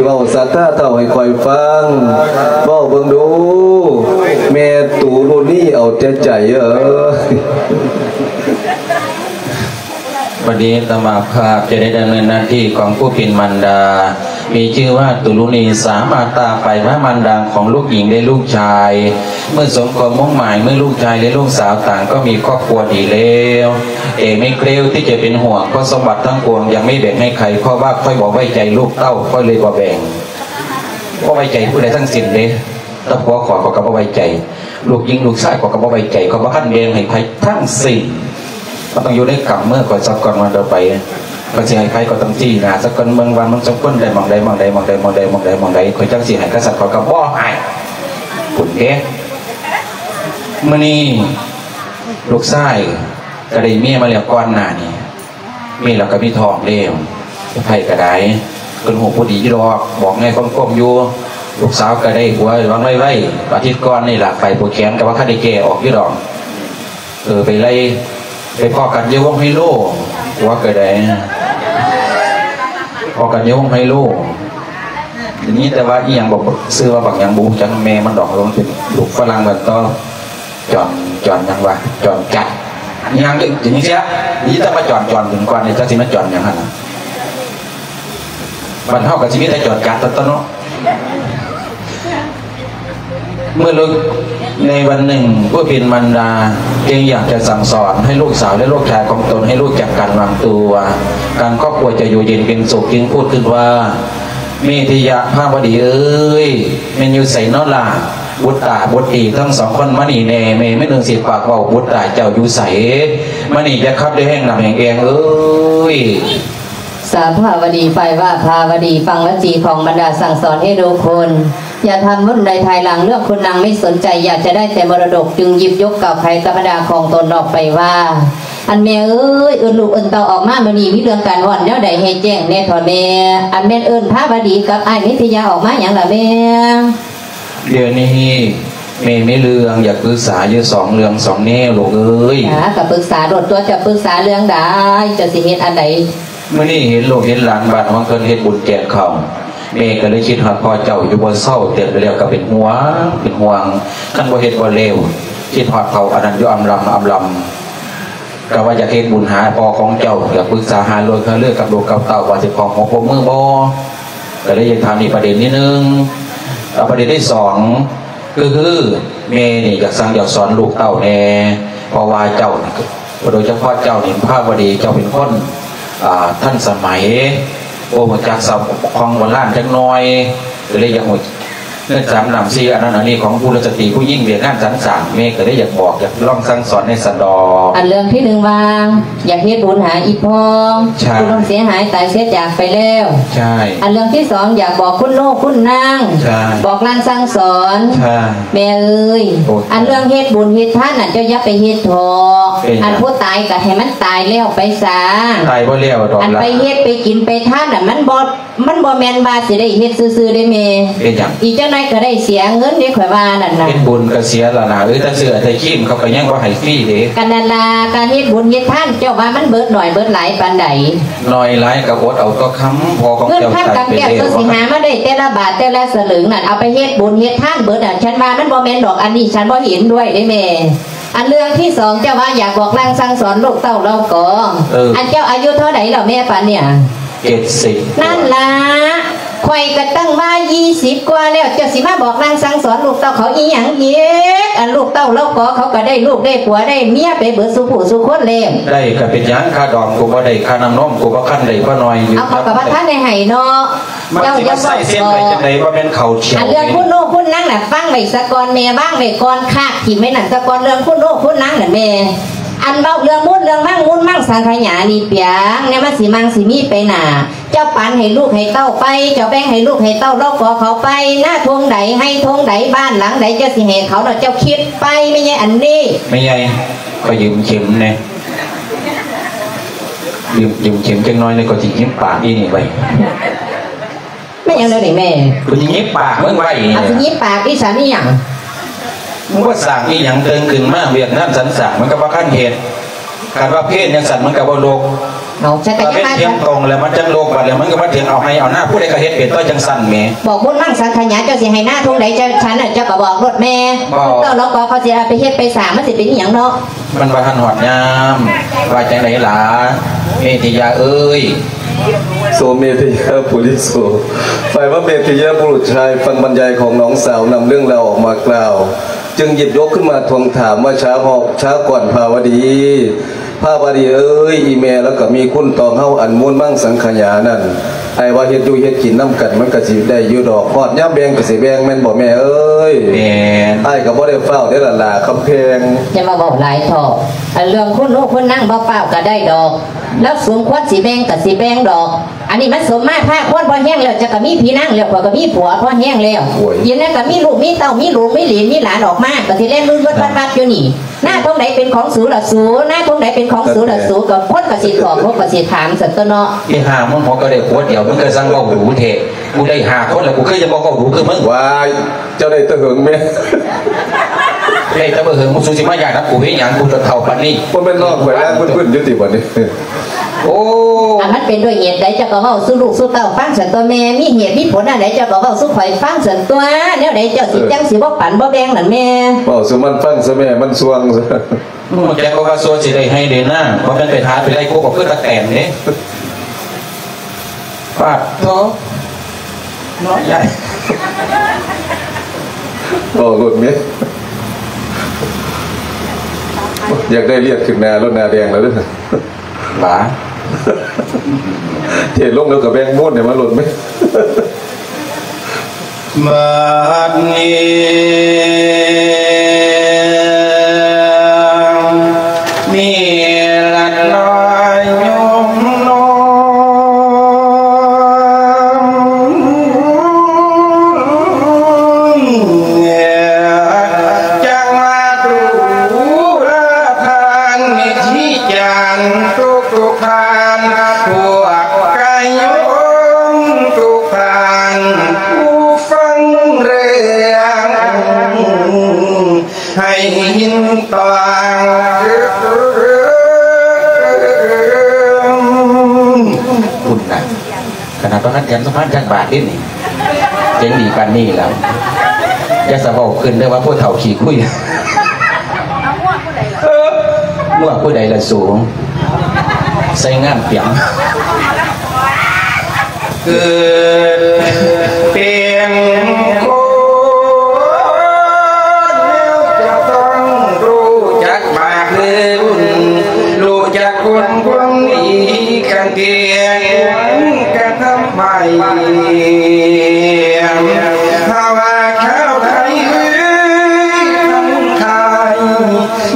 ເວົ້າສາທາເຖົ້າໃຫ້ຂ້ອຍຟັງ, ເວົ້າເບິ່ງດູ ແມ່ຕູລຸນີເອົາແຕ່ໃຈເອີຍ. ບັດນີ້ອາດຕະມາພາບຈະໄດ້ດຳເນີນໜ້າທີ່ຂອງຜູ້ເປັນມານດາ ມີຊື່ວ່າ ຕຸລຸນີ ສາມາດຕາໄປມາມານດາຂອງລູກຍິງ ແລະ ລູກຊາຍ ເມື່ອສົມຄວາມມຸ່ງໝາຍ ເມື່ອລູກຊາຍ ແລະ ລູກສາວຕ່າງກໍມີຄອບຄົວດີແລ້ວ ແຕ່ແມ່ເກລວທີ່ຈະເປັນຫ່ວງ ເພາະສົມບັດທັງປວງຍັງໄມ່ແບ່ງໃຫ້ໃຜ ເພາະວ່າຂ້ອຍບໍ່ໄວ້ໃຈລູກເຕົ້າ ຂ້ອຍເລີຍບໍ່ແບ່ງ. ບໍ່ໄວ້ໃຈຜູ້ໃດທັງສິ້ນເດ້. ແຕ່ຜົວຂ້ອຍ ຂ້ອຍກໍບໍ່ໄວ້ໃຈ, ລູກຍິງລູກຊາຍ ຂ້ອຍກໍບໍ່ໄວ້ໃຈ, ຂ້ອຍບໍ່ທັນແບ່ງໃຫ້ໃຜທັງສິ້ນ. ມັນຕ້ອງຢູ່ໃນກຳມືຂ້ອຍສາກ່ອນວ່າຕໍ່ໄປ ຂ້ອຍຊິໃຫ້ໃຜ ຂ້ອຍຕ້ອງຊີ້ໜ້າສາກ່ອນ ເບິ່ງວ່າມັນສົມຄວນໄດ້ໝ່ອງໃດ ໝ່ອງໃດ ໝ່ອງໃດ ໝ່ອງໃດ ໝ່ອງໃດ ໝ່ອງໃດ ຂ້ອຍຈັ່ງຊິໃຫ້. ຄັນຊັ້ນຂ້ອຍກໍບໍ່ໃຫ້ພຸ້ນເດ້. ມື້ນີ້ລູກຊາຍກໍໄດ້ເມຍມາແລ້ວ ກ່ອນໜ້ານີ້ ມີແລ້ວກໍມີທ້ອງແລ້ວ. ໃຜກໍໄດ້ ເພິ່ນຮູ້ຜູ້ດີຢູ່ດອກ ບອກໃຫ້ຄົມໆຢູ່. ລູກສາວກໍໄດ້ຜົວຫວັງໄວໆ ອາທິດກ່ອນນີ້ລະ ໄປຜູກແຂນກໍວ່າຄັນໄດ້ແກ້ອອກຢູ່ດອກ. ເອີ ໄປໄລ່ ໄປພໍ້ກັນຢູ່ວົງໄຮໂລ ຜົວກໍໄດ້ ພໍ້ກັນຢູ່ວົງໄຮໂລ. ໄດ້ຍິນແຕ່ວ່າອີ່ຫຍັງ ບອກຊື່ວ່າບັກຫຍັງບໍ່ຮູ້ຈັກແມ່ມັນດອກ ມັນເປັນລູກຝຣັ່ງກັນຕໍ່. ຈອນ ຈອນຫຍັງວະ ຈອນຈັດ ຫຍັງ ຈັ່ງຊີ້ ໄດ້ຍິນແຕ່ວ່າຈອນ ຈອນເຖິງກ່ອນນີ້ ຈັກຊິແມ່ນຈອນຫຍັງຫັ້ນນະ. ບ້ານເຮົາກໍຊິມີແຕ່ຈອນຈັດຕົວເນາະ. ເມື່ອໃນວັນໜຶ່ງ ຜູ້ເປັນມານດາຈຶ່ງຢາກຈະສັ່ງສອນໃຫ້ລູກສາວ ແລະ ລູກຊາຍຂອງຕົນໃຫ້ຮູ້ຈັກການວາງຕົວ ການຄອບຄົວຈະຢູ່ເຢັນເປັນສຸກ ຈຶ່ງພູດຂຶ້ນວ່າ ເມທິຍະພາວະດີເອີຍ ແມ່ນຢູ່ໃສນໍລະ? ບຸດຕາບຸດຕີທັງສອງຄົນມານີ້ແດ່ ແມ່ມື້ໜຶ່ງຊິປາກເວົ້າ ບຸດຕາເຈົ້າຢູ່ໃສ? ມານີ້ຢ່າຂັບດ້ວຍແຮງນ້ຳແຮງແອງເອີຍ. ສາພາວະດີ ຝ່າຍວ່າພາວະດີ ຟັງວະຈີຂອງບັນດາສັ່ງສອນໃຫ້ລູກຄຸນ ຢ່າທຳບຸນໃນພາຍຫຼັງ ເລື່ອງຄຸນນາງໄມ່ສົນໃຈ ຢາກຈະໄດ້ແຕ່ມໍລະດົກ ຈຶ່ງຢິບຍົກກ່າວໄຂກັບບັນດາຂອງຕົນອອກໄປວ່າ ອັນແມ່ເອີຍ ເອີ້ນລູກເອີ້ນເຕົ້າອອກມາມື້ນີ້ ມີເລື່ອງການຮ້ອນແນວໃດໃຫ້ແຈ້ງແດ່ເຖາະແມ່. ອັນແມ່ນເອີ້ນພາວະດີກັບອ້າຍເມທິຍາອອກມາຫຍັງລະແມ່? ດຽວນີ້ແມ່ມີເລື່ອງຢາກປຶກສາຢູ່ສອງເລື່ອງສອງແນວລູກເອີຍ. ຈ້າ ກໍປຶກສາໂລດຕົວະ ເຈົ້າປຶກສາເລື່ອງໃດ ເຈົ້າຊິເຮັດອັນໃດ? ມື້ນີ້ເຫັນລູກເຫັນຫຼານບ້ານຂອງເພິ່ນເຮັດບຸນແຈກເຂົ້າ ແມ່ກໍເລີຍຄິດຮອດພໍ່ເຈົ້າຢູ່ບໍ່ເຊົາ ແຕ່ແລ້ວກໍເປັນຫ່ວງ ເປັນຫ່ວງ ຄັນບໍ່ເຮັດບໍ່ແລ້ວ ຄິດຮອດເຖົ້າອັນນັ້ນຢູ່ອຳລຳ ອຳລຳ. ກໍວ່າຢາກເຮັດບຸນຫາພໍ່ຂອງເຈົ້າ ຢາກປຶກສາຫາລືຫາລືກັບລູກກັບເຕົ້າວ່າຊິຂໍຫົວໂປ້ມືບໍ່ ກໍເລີຍຢາກຖາມອີກປະເດັນນິດໜຶ່ງ. ແລ້ວປະເດັນທີສອງ ກໍຄືແມ່ນີ້ຢາກສັ່ງຢາກສອນລູກເຕົ້າແດ່ ເພາະວ່າເຈົ້ານີ້ ໂດຍສະເພາະເຈົ້ານີ້ພາວະດີ ເຈົ້າເປັນຄົນ ອ່າ ທັນສະໄໝ ບໍ່ຮູ້ຈັກສັບຂອງໂບລານຈັກໜ້ອຍ ກໍເລີຍຢາກຮູ້ ເງິນສາມນ້ຳສີ່ອັນນັ້ນອັນນີ້ຂອງກຸລະສະຕີຜູ້ຍິງວຽກງານສັນສ້າງ ແມ່ກໍເລີຍຢາກບອກ ຢາກລອງສັ່ງສອນແດ່ຊັ້ນດອກ. ອັນເລື່ອງທີໜຶ່ງວ່າ ຢາກເຮັດບຸນຫາອີ່ພໍ່ ໃຊ່ ຜູ້ລ່ວງເສຍຫາຍຕາຍເສຍຈາກໄປແລ້ວ ໃຊ່ ອັນເລື່ອງທີສອງ ຢາກບອກຄຸນໂນຄຸນນາງ ໃຊ່ ບອກລາງສັ່ງສອນ ໃຊ່ ແມ່ເອີຍ ໂອ້ ອັນເລື່ອງເຮັດບຸນເຮັດທານນັ້ນ ເຈົ້າຢ່າໄປເຮັດເຖາະ ເປັນຫຍັງ? ອັນຜູ້ຕາຍກໍໃຫ້ມັນຕາຍແລ້ວໄປຊະ ຕາຍບໍ່ແລ້ວດອກ ອັນໄປເຮັດໄປກິນໄປທານນັ້ນ ມັນບໍ່ ມັນບໍ່ແມ່ນວ່າຊິໄດ້ເຮັດຊື່ໆເດ້ແມ່ ເປັນຫຍັງ? ອີກຈັກໜ້ອຍກໍໄດ້ເສຍເງິນເດ້ ຂ້ອຍວ່ານັ້ນນະ ເຮັດບຸນກໍເສຍລະນະ ເອີ ແຕ່ເສື້ອແຕ່ຄຣີມເຂົາກໍຍັງບໍ່ໃຫ້ຟຣີເດ້ ກໍນັ້ນລະ ການເຮັດບຸນເຮັດທານ ເຈົ້າວ່າມັນເບີດໜ້ອຍເບີດຫຼາຍປານໃດ? ໜ້ອຍຫຼາຍກໍອົດເອົາຕົວະຄຳ ພໍ່ຂອງເຈົ້າຕາຍໄປແລ້ວ ເງິນຄຳກຳແກ້ວ ເຈົ້າຊິຫາມາໄດ້ແຕ່ລະບາດແຕ່ລະສະເຫຼີງນັ້ນ ເອົາໄປເຮັດບຸນເຮັດທານເບີດນະ ຄັນວ່າມັນບໍ່ແມ່ນດອກ ອັນນີ້ ສັນບໍ່ເຫັນດ້ວຍເດ້ແມ່. ອັນເລື່ອງທີສອງ ເຈົ້າວ່າຢາກບອກລາງສັ່ງສອນລູກເຕົ້າເຫຼົ່າກໍ ເອີ ອັນເຈົ້າອາຍຸເທົ່າໃດແລ້ວແມ່ປານນີ້? ເຈັດສິບ ນັ້ນລະ ຂ້ອຍກໍຕັ້ງວ່າຊາວກວ່າແລ້ວ ເຈົ້າຊິມາບອກລາງສັ່ງສອນລູກເຕົ້າເຂົາອີ່ຫຍັງອີກ? ອັນລູກເຕົ້າເຫຼົ່າກໍເຂົາກໍໄດ້ລູກໄດ້ຜົວໄດ້ເມຍໄປເບີດສູ່ຜູ້ສູ່ຄົນແລ້ວ ໄດ້ກໍເປັນຫຍັງ? ຄ່າດອງກໍບໍ່ໄດ້ ຄ່ານ້ຳນົມກໍບໍ່ທັນໄດ້ ພໍ່ນ້ອຍຢູ່ ເອົາ ເຂົາກໍບໍ່ທັນໄດ້ໃຫ້ເນາະ. ມັນຊິມາໃສ່ເສັ້ນໄປຈັ່ງໃດ ວ່າແມ່ນເຂົາຂຽວ. ອັນເລື່ອງຄຸນໂນຄຸນນາງນະ ຟັງໄວ້ສາກ່ອນແມ່ ວາງໄວ້ກ່ອນ ຄາກຖິ້ມໄວ້ນັ້ນສາກ່ອນ ເລື່ອງຄຸນໂນຄຸນນາງນັ້ນແມ່. ອັນເວົ້າເລື່ອງບຸນເລື່ອງມັງ ບຸນມັງສັງຂະຫຍານີ້ປຽງ ແນວມັນຊິມັ່ງຊິມີໄປໜ້າ ເຈົ້າປັນໃຫ້ລູກໃຫ້ເຕົ້າໄປ ເຈົ້າແບ່ງໃຫ້ລູກໃຫ້ເຕົ້າເຫຼົ່າກໍເຂົາໄປ ນາທົ່ງໃດ ໄຮ່ທົ່ງໃດ ບ້ານຫຼັງໃດ ເຈົ້າຊິໃຫ້ເຂົາເນາະ ເຈົ້າຄິດໄປ ແມ່ໃຫຍ່ອັນນີ້. ແມ່ໃຫຍ່ ຂໍຢືມເຂັມແດ່. ຢືມ ຢືມເຂັມຈັກໜ້ອຍໜຶ່ງ ຂ້ອຍຊິຫຍິບປາກອີ່ນີ້ໄວ້. ແມ່ນຫຍັງແນວນີ້ແມ່? ກູຊິຫຍິບປາກມຶງໄວ້ນີ້. ອາ ຊິຫຍິບປາກອີ່ສັນອີ່ຫຍັງ? ມຶງບໍ່ສ້າງອີ່ຫຍັງເຕີງຂຶ້ນມາ ວຽກງານສັນສ້າງມັນກໍບໍ່ທັນເຮັດ. ຄັນວ່າເພນຈັ່ງຊັ້ນມັນກໍບໍ່ລົກ. ເອົາ ສັກກະຍານ ຖ້າເປັນທຽງຕອງແລ້ວມັນຈັ່ງລົກ ບັດແລ້ວມັນກໍມາເຖິງເອົາໄຮ່ເອົານາ ຜູ້ໃດກໍເຮັດເປັນຕົວະຈັ່ງຊັ້ນແໝ. ບອກບຸນມັງສັງຂະຍາ ເຈົ້າຊິໄຮ່ນາທົ່ງໃດ ເຈົ້າ ຊະນັ້ນເຈົ້າກໍບອກໂລດແມ່. ບໍ່ ເຈົ້າລະກໍເຂົາຊິເອົາໄປເຮັດໄປສ້າງ ມັນຊິເປັນອີ່ຫຍັງເນາະ. ມັນບໍ່ທັນຮອດຍາມ. ວ່າຈັ່ງໃດລະ ເມທິຍາເອີຍ? ໂສເມທິຍາປຸລິໂສ ຝ່າຍວ່າເມທິຍາບຸລຸດຊາຍ ຟັງບັນຍາຍຂອງນ້ອງສາວ ນຳເລື່ອງລາວອອກມາກ່າວ ຈຶ່ງຫຍິບຍົກຂຶ້ນມາທວງຖາມວ່າ ຊາວເຮົາ ຊາວກ່ອນພາວະດີ ພາວະດີເອີຍ ອີ່ແມ່ລາວກໍມີຄຸນຕໍ່ເຮົາ ອັນມູນມັງສັງຂະຍານັ້ນ ອ້າຍວ່າເຮັດຢູ່ເຮັດກິນນຳກັນ ມັນກໍຊິໄດ້ຢູ່ດອກ ຮອດຍາມແບ່ງກໍຊິແບ່ງ ແມ່ນບໍ່ແມ່ເອີຍ? ແມ່ນ. ອ້າຍກໍບໍ່ໄດ້ຟ້າວເດ້ລະຫຼ້າຄຳແພງ. ຢ່າມາເວົ້າຫຼາຍເຖາະ ອັນເລື່ອງຄຸນໜູຄຸນນາງບໍ່ຟ້າວກໍໄດ້ດອກ ລາວສົມຄວນຊິແບ່ງກໍຊິແບ່ງດອກ. ອັນນີ້ມັນສົມມາພາຄວນພໍແຮງແລ້ວ ເຈົ້າກໍມີພີ່ນາງແລ້ວ ຂ້ອຍກໍມີຜົວພໍແຮງແລ້ວ. ໂອ້ຍ ອີ່ນັ້ນກໍມີລູກມີເຕົ້າ ມີລູກມີຫຼານ ມີຫຼານອອກມາ ກໍຊິແລ່ນວືດໆວັດໆຢູ່ນີ້. ນາທົ່ງໃດເປັນຂອງສູລະສູ ນາທົ່ງໃດເປັນຂອງສູລະສູ ກໍຄົນກໍຊິຖອກ ຄົນກໍຊິຖາມຊັ້ນຕົວະເນາະ. ອີຫ່າ ມຶງຫົວກໍໄດ້ຜົວດຽວ ມຶງກໍຊ່າງເວົ້າດູແທ້. ກູໄດ້ຫ້າຄົນແລ້ວ ກູຄືຈະບໍ່ເວົ້າດູຄືມຶງ. ວ້າຍ ເຈົ້າໄດ້ແຕ່ເຫິງແມ່. ໄດ້ແຕ່ບໍ່ເຫິງ ມຶງ ສູຊິມາຢ້ານນຳກູເຮັດຫຍັງ? ກູຈົນເຖົ້າປານນີ້ ບໍ່ແມ່ນນ້ອງຂ້ອຍນາງເພິ່ນໆຢູ່ຕິບັດນີ້? ໂອ້ ອັນມັນເປັນດ້ວຍເຫດໃດ ເຈົ້າກໍເວົ້າສູ່ລູກສູ່ເຕົ້າຟັງຊັ້ນຕົວະແມ່. ມີເຫດມີຜົນອັນໃດ ເຈົ້າກໍເວົ້າສູ່ຂ້ອຍຟັງຊັ້ນຕົວະ. ແນວໃດເຈົ້າຊິ ເອີ ຈັ່ງຊິບໍ່ປັນບໍ່ແບ່ງນັ້ນແມ່? ເວົ້າສູ່ມັນຟັງຊະແມ່ ມັນສ່ວງ. ຮູ້ຈັກບໍ່ວ່າຊົ່ວຊິໄດ້ໄຮ່ໄດ້ນາ ບໍ່ແມ່ນໄປຫາໄປໄລ່ກົບເອົາຄືຕະແຕນເດ້. ປາດໂທ ເນາະຍາຍ. ເວົ້າໂລດແມ່ ຢາກໄດ້ລຽດຂຶ້ນໜ້າໂລດ ໜ້າແດງແລ້ວເດີ້. ບາ ເທລົງແລ້ວກໍແບ່ງມູນໃຫ້ມາໂລດແມ່. ບັດນີ້ ມີລັດນ້ອຍໂຍມນ້ອຍ ຈັກມາຕູລະທ່ານ ມີທີ່ຈານທຸກໆທ່ານ ພວກກະໂຍມທຸກທ່ານ ຜູ້ຟັງເລື່ອງ ໃຫ້ເຫັນຕ້ອງ ພຸ້ນນະ ຂະໜາດປະທານແຖມສະພານຈັກບາດເດ້ນີ້ ເກັ່ງດີປານນີ້ແລ້ວ. ຢ່າສະເວົ້າຂຶ້ນເດີ້ວ່າຜູ້ເຖົ້າຂີ້ຄຸຍ. ງົວຜູ້ໃດລະສູ ໃສ່ງາມປຽງ. ເກີດເປັນຄົນແລ້ວຈະຕ້ອງຮູ້ຈັກບາບບຸນ ຮູ້ຈັກຄຸນຄວາມດີກັນແດ່ ຄວນກະທຳໃໝ່. ຖ້າວ່າຊາວໄທເອີຍ ທັງຫຼາຍ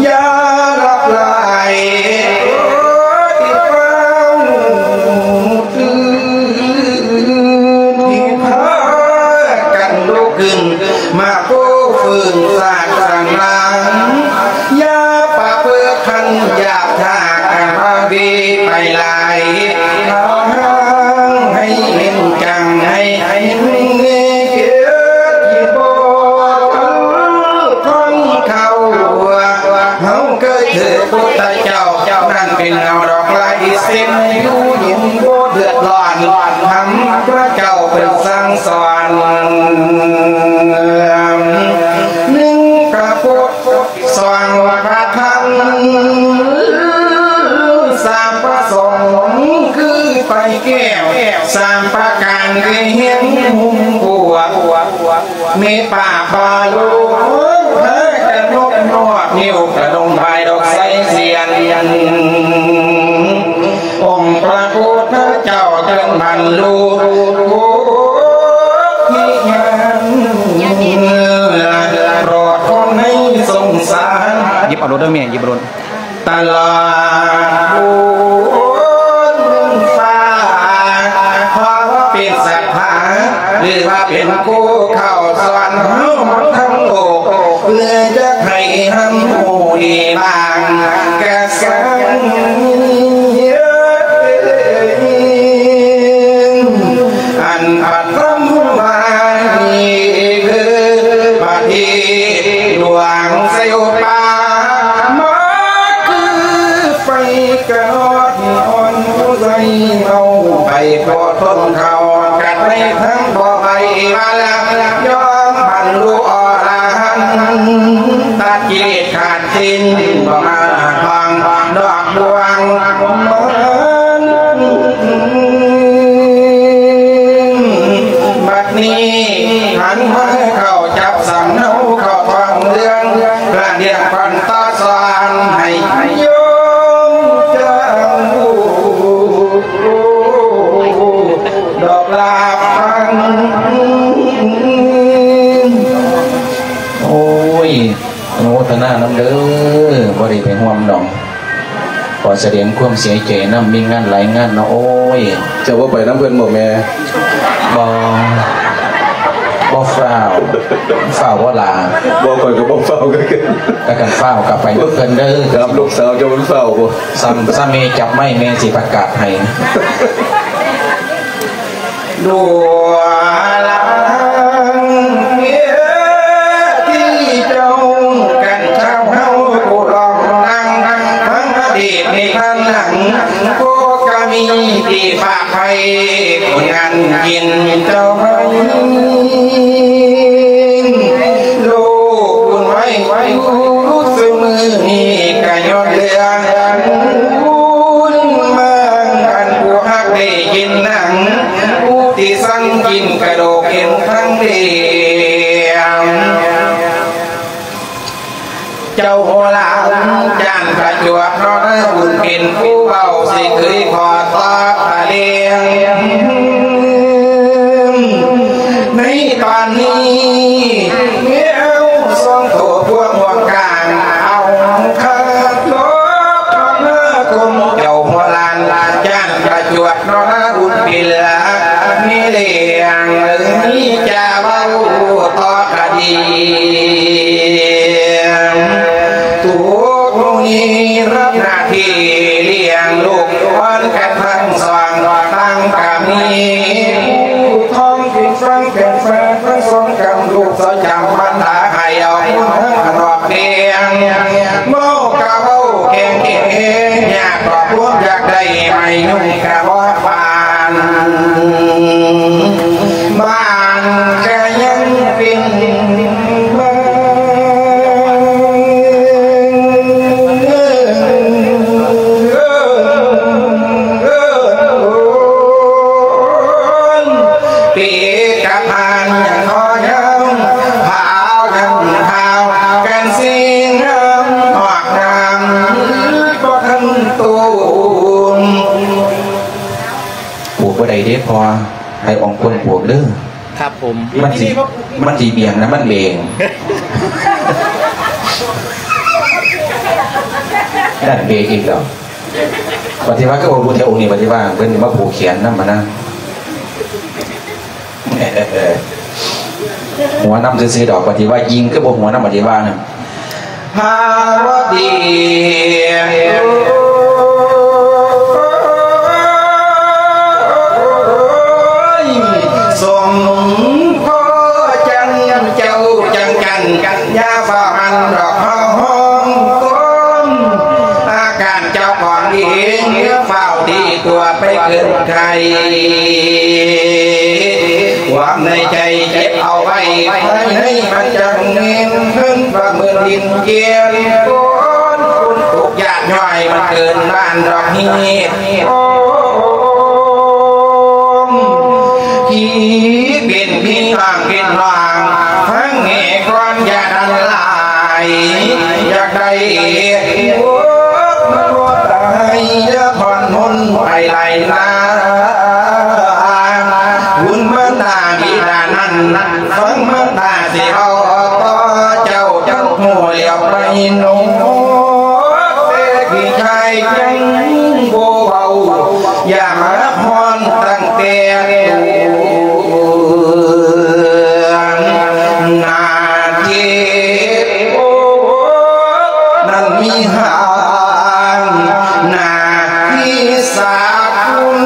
ຢ່າຫຼັບໄຫຼ ໂອ້ ທີ່ຟ້າວຕື່ນ ທີ່ພາກັນລຸກຂຶ້ນ ມາກູ້ຟື້ນຊາດສະໜາມ ຢ່າປະພຶດພັນຢາກທາກ ອາພາວີໄປຫຼາຍ ເອົາທາງໃຫ້ເຫັນຈັ່ງ ໃຫ້ເຫັນເກີດທີ່ບໍ່ທັນຂອງເຂົາ ເຮົາເກີດຄືພຸດທະເຈົ້າ ນັ້ນເປັນເງົາດອກລາຍເສັ້ນ ຢູ່ເຢັນບໍ່ເດືອດຮ້ອນ ທຳພະເຈົ້າເພິ່ນສັ່ງສອນ ໜຶ່ງພະພຸດ ສອງພະທຳ ສາມພະສົງ ຄືໄຟແກ້ວ ສາມປະການ ຄືເຮັດຫຸ້ມບົວ ເມດຕາບາໂລ ພາກັນນົບນອບ ນິ້ວກະດົງບາຍດອກໄຊສຽນ ອົງພະພຸດທະເຈົ້າເຖິງບັນລຸໂພທິຍານ ໂປດຄົນໃນສົງສານ ຫຍິບເອົາໂລດເດີ້ແມ່ ຫຍິບເອົາໂລດ ຕະຫຼອດບຸນຟ້າ ເພາະວ່າເປັນສັດທາ ຫຼືວ່າເປັນຜູ້ເຂົ້າສອນເຮົາທັງໂລກ ເພື່ອຈະໃຫ້ຮັບຮູ້ດີບາງກະສັນ ອັນປະຖມມານີ້ຄືປະເທດຫຼວງໄຊໂອປາ ມາຄືໄຟ ວ່າແລ້ວຍອມບັນລຸອໍລະຫັນ ຕັດກິເລດຂາດສິ້ນ ບໍ່ມາທອງດອກບວງເມີນ. ບັດນີ້ຫັນມາເຂົ້າຈັບສັງເນົາເຂົ້າທ້ອງເລື່ອງ ລະດຽງຄວັນຕາສອນໃຫ້ໂຍມຈາງຮູ້ ດອກລາບຟັງ. ໂອ້ຍ ອະນຸໂມທະນານຳເດີ ບໍ່ໄດ້ໄປຮ່ວມດອກ ຂໍສະແດງຄວາມເສຍໃຈນຳ ມີງານຫຼາຍງານເນາະ. ໂອ້ຍ ເຈົ້າບໍ່ໄປນຳເພິ່ນບໍ່ແມ່? ບໍ່ ບໍ່ຟ້າວ ຟ້າວບໍ່ລາ? ບໍ່ ຂ້ອຍກໍບໍ່ຟ້າວຄືກັນ. ຖ້າກັນຟ້າວກໍໄປນຳເພິ່ນເດີ. ຖາມລູກສາວເຈົ້າມັນຟ້າວບໍ່? ຊ້ຳ ຊ້ຳແມ່ຈັບໄມ້ແມ່ຊິປະກາດໃຫ້ ລູກຫຼານເອີຍ ທີ່ເຈົ້າກັນຊາວເຮົາຜູ້ລອງນັ່ງ ທັງອະດີດໃນທາງຫຼັງ ພວກກະມີທີ່ຝາກໄວ້ ຜົນງານກິນເຈົ້າໄວ້ ລູກບຸນໄວ້ຢູ່ ຊຸມື້ນີ້ກະຍ້ອນເລື່ອງບຸນມາງ ອັນຜູ້ຮັກໄດ້ກິນໜັງ ຜູ້ທີ່ສັ່ງກິນກະດູກເອັນທັງເດງ ເຈົ້າໂຫລານຈານປະຈວບເນາະ ບຸນເປັນຜູ້ເວົ້າ ຊິເຄີຍຂໍຕອບພະເລງ ໃນຕອນນີ້ ແມວສອງໂຕພວກຮ່ວມການ ເອົາຄາຕົວມາຄົມ ເຈົ້າໂຫລານຈານປະຈວບເນາະ ບຸນເປັນລາມີເລງ ມີຈາເວົ້າຕໍ່ຄະດີ ທຸກມື້ນີ້ຮັບໜ້າທີ່ລ້ຽງລູກອ່ອນກັນທັງສອງ ທັງກະມີຜູ້ທ້ອງ ເປັນຝັ່ງເປັນຝາທັງສອງກຳ ລູກສາວຈຳບັນດາໃຫ້ເອົາບຸນທັງອະນອກແດງ ເວົ້າກະເວົ້າແຂງແຂງ ຍາກກໍຄວາມຢາກໄດ້ ໄມ້ຍຸງກະບໍ່ປານ ບ້ານກະຍັງເປັນບ້ານ ເປັນກະພານຍັງຂໍຍາວ ພາວຍັງພາວກັນຊິງາມ ອອກນາມບໍ່ທັນຕູນ ປູກບໍ່ໄດ້ເດ້ພໍ່ ໃຫ້ອອງຄົນປູກເດີ. ຄັບຜົມ ມັນຊິ ມັນຊິບຽງນະ ມັນເບງ ນັ້ນເບງອີກແລ້ວ. ປະຕິວັດກໍບໍ່ຮູ້ແຕ່ອົງນີ້ ປະຕິວັດເພິ່ນຊິມາຜູກແຂນນຳຫັ້ນນະ ຫົວນຳຊື່ໆດອກ ປະຕິວັດຍິງຄືບໍ່ຫົວນຳ ປະຕິວັດນະ. ພາວະດີ ໂອ້ຍ ສົມພໍຈັ່ງເຈົ້າຈັ່ງຈັນ ຢ່າຟ້າວຫັນດອກເຮົາຮ້ອງກອນ ອາການເຈົ້າຂອງເອງ ຢ່າຟ້າວຕີຕົວໄປເກີນໄກ ຄວາມໃນໃຈເກັບເອົາໄວ້ ພາຍໃນມັນຈັ່ງແມ່ນ ເພິ່ນປະເມີນດິນກຽນ ຄົນທຸກຍາກຫຍ້ອຍ ມັນເກີນບ້ານດອກຮີດ ທີ່ເປັນພີ່ນ້ອງເປັນນ້ອງ ຟັງແມ່ກ່ອນຢ່າດັນຫຼາຍ ຢາກໄດ້ ໂອ້ ມັນບໍ່ຕາຍ ຢ່າຜ່ອນຫົນໄປໄຫຼນາ ບຸນມານດາບິດານັ້ນ ຟັງມານດາຊິເວົ້າຕໍ່ເຈົ້າ ເຈົ້າຮູ້ແລ້ວໄປເນາະ ແຕ່ພີ່ຊາຍຍັງບໍ່ເວົ້າ ຢ່າມາຮ້ອນຕັ້ງແຕ່ ໜ້າເຈັບ ນັ້ນມີຫາງ ໜ້າທີ່ສາບຄຸນ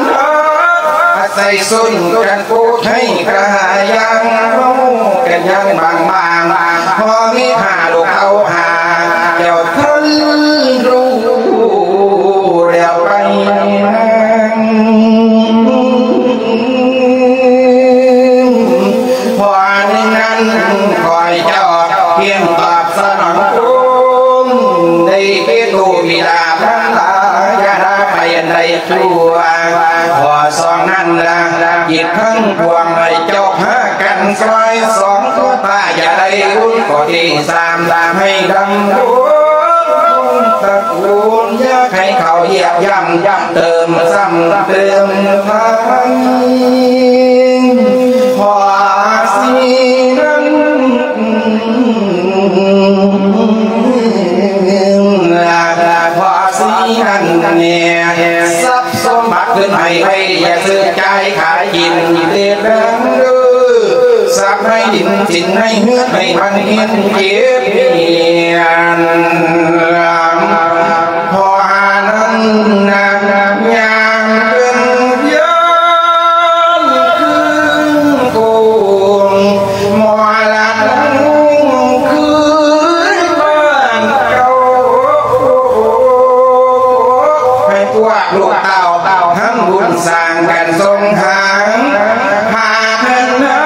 ອາໄສຊົນກັນໂອໄທກະຫາຍາງ ເຮົາກະຍັງບາງໆ ພໍມີຫາລູກເອົາຫາ ເຈົ້າທັນຮູ້ແລ້ວໄປນາງ ຂໍ້ໜຶ່ງນັ້ນ ຂໍໃຫ້ເຈົ້າພຽງຕອບສະໜອງຄຸນ ໄດ້ເຄໂຕບິດາມານດາ ຢ່າໄດ້ໄປອັນໃດຊົ່ວ. ຂໍ້ສອງນັ້ນລະ ຈິດທັງປວງໃຫ້ເຈົ້າພາກັນຊ່ອຍສອງ ຕົວພາຢ່າໄດ້ລຸນ. ຂໍ້ທີສາມ ໃຫ້ດຳລົງ ຕະກູນ ຢາກໃຫ້ເຂົາຢຽບຢ່ຳ ເຕີມຊ້ຳເຕີມໄພ. ຂໍ້ສີ່ນັ້ນ ຂໍ້ສີ່ນັ້ນແນ່ ຊັບສົມບັດຂຶ້ນໃຫ້ໄວ ຢ່າຊື້ຈ່າຍຂາຍກິນເຕັດເດີ ຊັບໃຫ້ດິນສິນໃຫ້ເຮືອນ ໃຫ້ມັນເຫັນເຈັບປຽນ. ພໍຫານັ້ນນາງຍ່າງເປັນຍານຄືນໂກງ ໝໍລັດຄືນບ້ານເກົ່າ ໃຫ້ພວກລູກເຕົ້າທຳບຸນສ້າງກັນສົງຫາ ພາເພິ່ນເນາ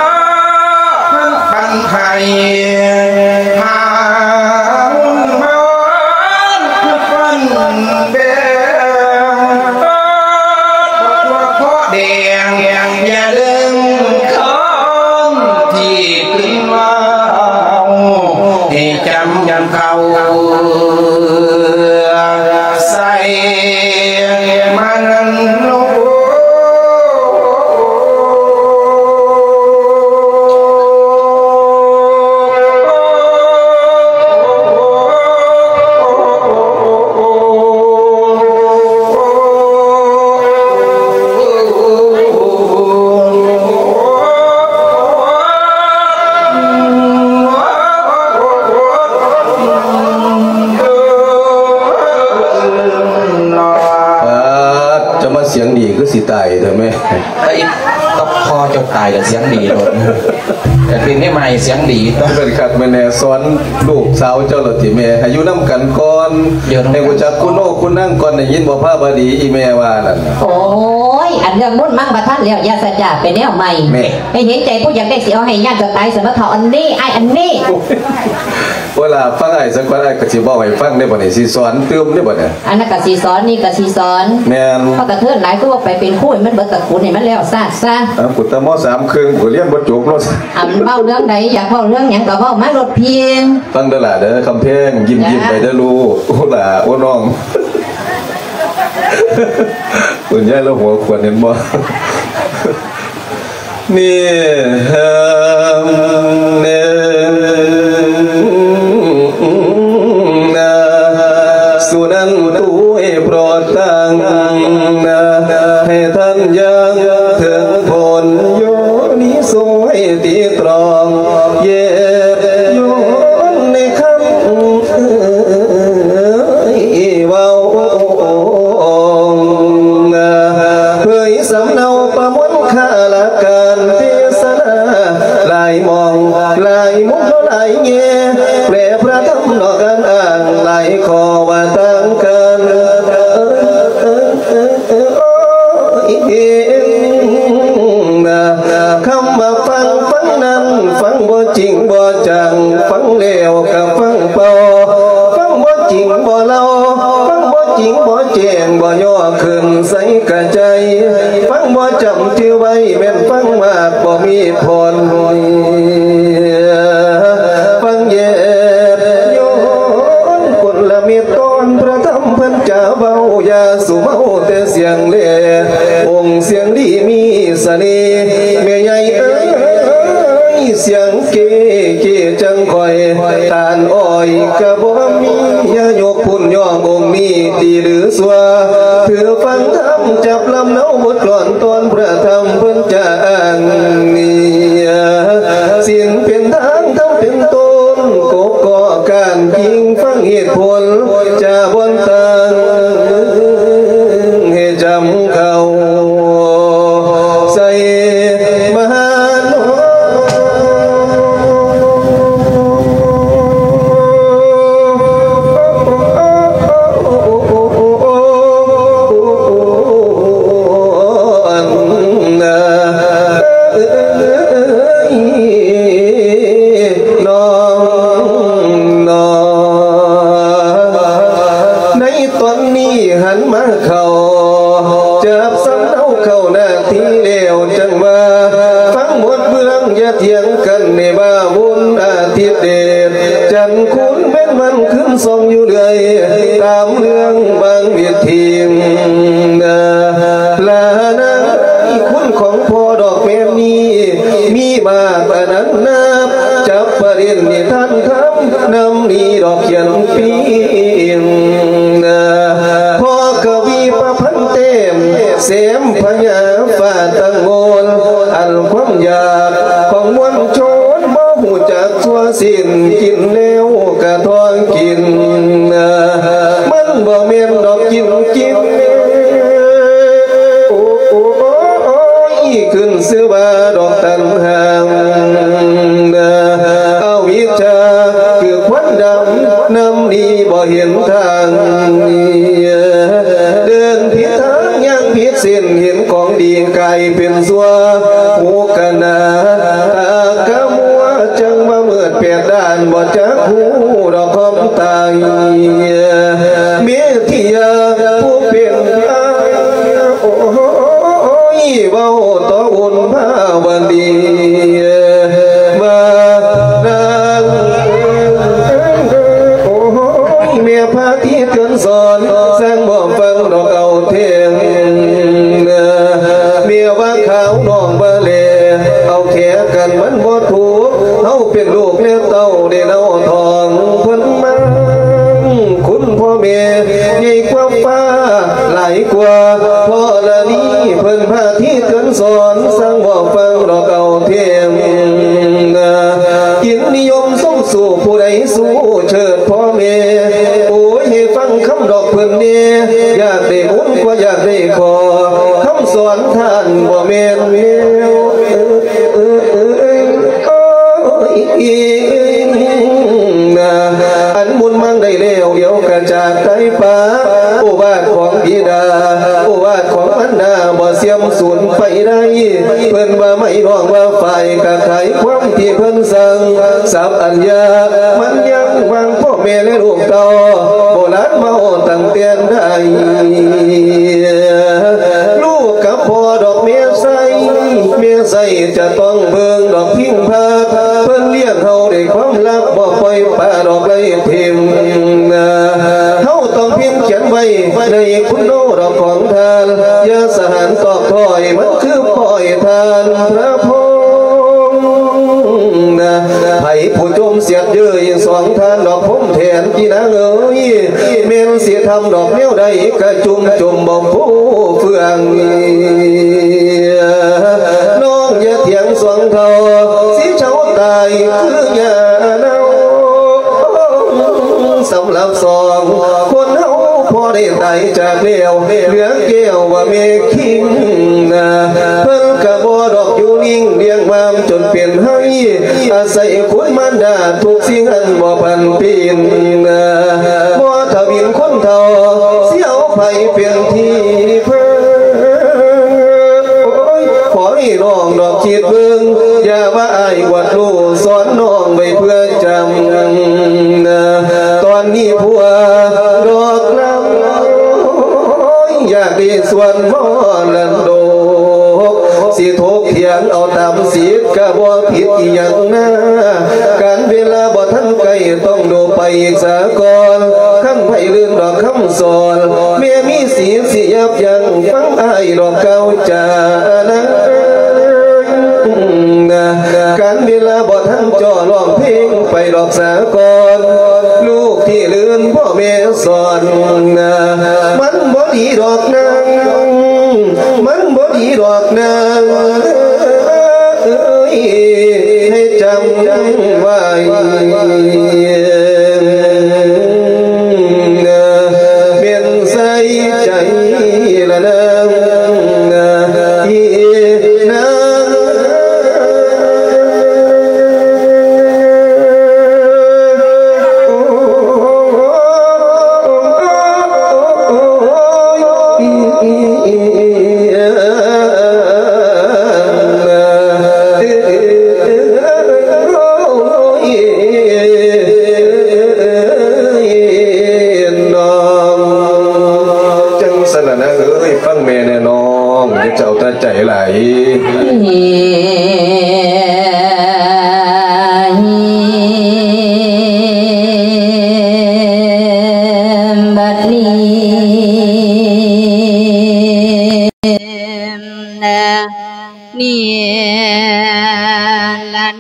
ະ ປັນໄພ ພາບຸນບ້ານປັນແບງ ເພາະແດງ ຢ່າລືມຄອນທີ່ເປັນວ່າ ໃຫ້ຈຳເຂົ້າໃສ່ມັນໂລ. ປາດ ເຈົ້າມາສຽງດີຄືຊິຕາຍແທ້ແມ່. ຕາອີກ ຕະພໍ່ເຈົ້າຕາຍກໍສຽງດີໂລດ ແຕ່ເປັນແມ່ໃໝ່ສຽງດີ. ເປັນຄັກແມ່ນແນ່ ສອນລູກສາວເຈົ້າລະຕິແມ່ ໃຫ້ຢູ່ນຳກັນກ່ອນ ໃຫ້ຮູ້ຈັກຄຸນໂອຄຸນນາງກ່ອນ ໄດ້ຍິນບໍ່ ພາບາດີ ອີແມ່ວ່ານັ້ນ. ໂອ້ຍ ອັນເລື່ອງບຸນມັງບໍ່ທັນແລ້ວ ຢ່າສະຈາ ເປັນແນວໃໝ່ ແມ່ ໃຫ້ເຫັນໃຈຜູ້ຢາກໄດ້ ຊິເອົາໃຫ້ຍາດເຈົ້າຕາຍ ສະມາເຖົ້າອັນນີ້ ອ້າຍອັນນີ້. ໂອ້ຍ ລະຟັງອ້າຍສາກ່ອນ ອ້າຍກໍຊິເວົ້າໃຫ້ຟັງເດ້ບັດນີ້ ຊິສອນຕື່ມເດ້ບັດນີ້. ອັນນັ້ນກະຊິສອນ ນີ້ກະຊິສອນ ແມ່ນ ເພາະກະເທີນຫຼາຍ ຄືວ່າໄປເປັນຄູໃຫ້ມັນເບິດຕະກູນ ໃຫ້ມັນແລ້ວຊາດຊະ. ເອົາ ກູຕະມໍສາມເຄິ່ງ ກູກໍຮຽນບໍ່ຈົບເນາະ. ອັນເວົ້າເລື່ອງໃດ ຢາກເວົ້າເລື່ອງຫຍັງກະເວົ້າມາໂລດພີ້. ຟັງເດີຫຼ້າເດີ ຄຳແພງ ຍິ້ມໆ ໄປເດີລູກ ໂອ້ຫຼ້າ ໂອ້ນ້ອງ. ຄຸນຍາຍລາວຫົວຂວັນ ເຫັນບໍ່? ນີ້ເຮີມເນີນນາ ສຸນັນຕຸເອໂປຣດຕັງນາ ໃຫ້ທ່ານຢ່າງເຖິງຜົນ ໂຍນິໂສໃຫ້ຕີຕຣອງ ເຢັບຢວນໃນຄຳເອີຍເວົ້າ ເຜີຍສຳເນົາປະມວນ ຄາລະການເທສະນາ ຫຼາຍໝ່ອງ ຫຼາຍມຸມ ຫຼາຍແງ່ ແປລະພະທຳນອກການອ້າງ ຫຼາຍຂໍ້ວ່າຕ່າງກັນ ຄຳວ່າຟັງ ຟັງນັ້ນ ຟັງບໍ່ຈິງບໍ່ຈັງ ຟັງແລ້ວກະຟັງເປົ່າ ຟັງບໍ່ຈິງບໍ່ເລົ່າ ຟັງບໍ່ຈິງບໍ່ແຈ້ງ ບໍ່ຍໍຂຶ້ນໃສ່ກະໃຈ ຟັງບໍ່ຈຳຈື່ໄວ້ ແມ່ນຟັງມາກບໍ່ມີຜົນ ຟັງແຍບຍ້ອນຄົນລະເມັດຕອນ ພະທຳເພິ່ນຈະເວົ້າ ຢ່າສູ່ເມົາແຕ່ສຽງແລ ອົງສຽງດີມີສະເໜ່ ແມ່ໃຫຍ່ເອີຍ ສຽງ ເກ ເກ ຈັ່ງຂ້ອຍ ຕານອ້ອຍກະບໍ່ມີ ຢ່າຍົກພຸ້ນຍ້ອງອົງນີ້ຕີຫຼືຊົ່ວ ຖືຟັງທຳຈັບລຳເນົາບົດກລອນຕອນ ພະທຳເພິ່ນຈະອ້າງນີ້ ສິນເປັນທາງ ທຳເປັນຕົ້ນ ກົກກໍກ້ານກິ່ງ ຟັງເຫດຜົນຈາບ່ອນຕ່າງ ໃຫ້ຈຳເຂົ້າ ໃສ່ມະຫານ ຢ່າຖຽງກັນໃນວ່າບຸນອາທິດເດດ ຈັນຄູນເປັນວັນຄືນສ່ອງຢູ່ເລື້ອຍ ຕາມເລື່ອງບາງວິທີນາ ລານາງຄຸນຂອງພໍ່ດອກແມ່ນນີ້ ມີມາກອະນັນນັບ ຈັບປະເດັນນິທານທຳ ນຳນີ້ດອກຂຽນປີ້ນາ ພໍ່ກະວີປະພັນແຕ້ມ ແຊມພະຍາຟ້າຕັ້ງໂງນ ອັນຄວາມຢາກຂອງມວນຊົນບໍ່ຮູ້ຈັກຊົ່ວສິ້ນ ກິນແລ້ວກະທ້ອງກິນ ມັນບໍ່ແມ່ນດອກກິນກິນ ໂອ້ຍ ຂຶ້ນຊື່ວ່າດອກຕັນຫາ ອະວິດຊາຄືຄວັນດຳ ນຳນີ້ບໍ່ເຫັນທາງ ເດີນຜິດທາງ ຍ່າງຜິດເສັ້ນ ເຫັນຂອງດີກາຍເປັນຊົ່ວ ໂພກະນາ ຕາກະມົວ ຈັ່ງວ່າມືດແປດດ້ານ ບໍ່ຈັກຮູ້ດອກຄວາມຕາຍ ເມທິຍາຜູ້ເປັນອ້າຍ ໂອ້ຍ ເວົ້າຕໍ່ອຸນພາວະດີ ວ່ານາງ ໂອ້ຍ ແມ່ພາທີ່ເຕືອນສອນ ສ້າງບໍ່ຟັງດອກເອົາແທ້ ແມ່ວ່າຂາວນ້ອງວ່າແລ ເອົາແຂກັນມັນບໍ່ຖືກ ເຮົາເປັນລູກແລະເຕົ້າໄດ້ເນົາທ້ອງເພິ່ນມາ ຄຸນພໍ່ແມ່ໃຫຍ່ກວ່າຟ້າ ຫຼາຍກວ່າທໍລະນີ ເພິ່ນພາທີ່ເຕືອນສອນ ສ້າງບໍ່ຟັງດອກເອົາແທ້ ກິນນິຍົມສົມສູ່ ຜູ້ໃດສູ້ເຊີດພໍ່ແມ່ ໂອ້ຍ ໃຫ້ຟັງຄຳດອກເພິ່ນແດ່ ຢາກໄດ້ບຸນກວ່າຢາກໄດ້ຂໍ ຄຳສອນທ່ານບໍ່ແມ່ນແນວ ອັນບຸນມັງໄດ້ແລ້ວ ດຽວກະຈາກຕາຍປາ ໂອວາດຂອງບິດາ ໂອວາດຂອງມານດາ ບໍ່ເສື່ອມສູນໄປໄດ້ ເພິ່ນວ່າໄມ້ ນ້ອງວ່າຝ້າຍ ກະຂາຍຄວາມທີ່ເພິ່ນສັ່ງ ສັບອັນຍາກມັນຍັງ ຫວ່າງພໍ່ແມ່ ແລະ ລູກເຕົ້າ ໂບລານເວົ້າຕັ້ງແຕ່ໃດ ລູກກັບພໍ່ດອກແມ່ໃສ ແມ່ໃສຈະຕ້ອງເບິ່ງດອກພິງພັກ ເພິ່ນລ້ຽງເຮົາດ້ວຍຄວາມຮັກ ບໍ່ປ່ອຍປະດອກໄລ່ຖິ້ມ ເຮົາຕ້ອງພິມຂຽນໄວ້ໃນຄຸນໂນດອກຂອງທ່ານ ຢ່າສະຫານຕອກຖອຍ ມັນຄືປ້ອຍທ່ານພະພົມ ໃຜຜູ້ຈົ່ມສຽດເຍີ້ຍສອງທ່ານດອກພົມແທນ ອີນາງເອີຍ ແມ່ນຊິທຳດອກແນວໃດ ກະຈຸ່ມຈົມບໍ່ຟູເຟືອງ ນ້ອງຢ່າຖຽງສອງເຖົ້າ ຊິເຊົາຕາຍຄືຫຍ້າເນົ່າ ສຳລັບສອງຄົນເຮົາ ພໍ່ໄດ້ຕາຍຈາກແລ້ວ ເຫຼືອແກ້ວວ່າແມ່ຄິງນາ ເພິ່ນກະບໍ່ດອກຢູ່ນິ່ງ ລ້ຽງມາຈົນເປັນໄຮ ອາໄສຄຸນມານດາ ທຸກສິ່ງອັນບໍ່ຜັນປີນ ບໍ່ທະວິນຄົນເຖົ້າ ຊິເອົາໃຜເປັນທີ່ເພິ່ງ ໂອ້ຍ ຂໍໃຫ້ນ້ອງດອກຄິດເບິ່ງ ຢ່າວ່າອ້າຍອວດຮູ້ ສອນນ້ອງໄວ້ເພື່ອຈຳ ຕອນນີ້ຜົວດອກລຳ ຢາກໄດ້ສ່ວນມໍລະດົກ ຊິຖົກຖຽງເອົາຕາມສິດ ກະບໍ່ຜິດອີ່ຫຍັງນາ ການເວລາບໍ່ທັນໃກ້ ຕ້ອງດູໄປອີກສາກ່ອນ ຄັນໃຜລືມດອກຄຳສອນ ແມ່ມີສິດຊິຢັບຢັ້ງ ຟັງອ້າຍດອກກ່າວຈານາ ການເວລາບໍ່ທັນຈໍ້ ຮ້ອງເພງໄປດອກສາກ່ອນ ລູກທີ່ລື່ນພໍ່ແມ່ສອນນາ ມັນບໍ່ດີດອກນາງ ມັນບໍ່ດີດອກນາງເອີຍ ໃຫ້ຈຳໄວ້ ແມ່ນໃສ່ໃຈລະນາງ ອີນາງ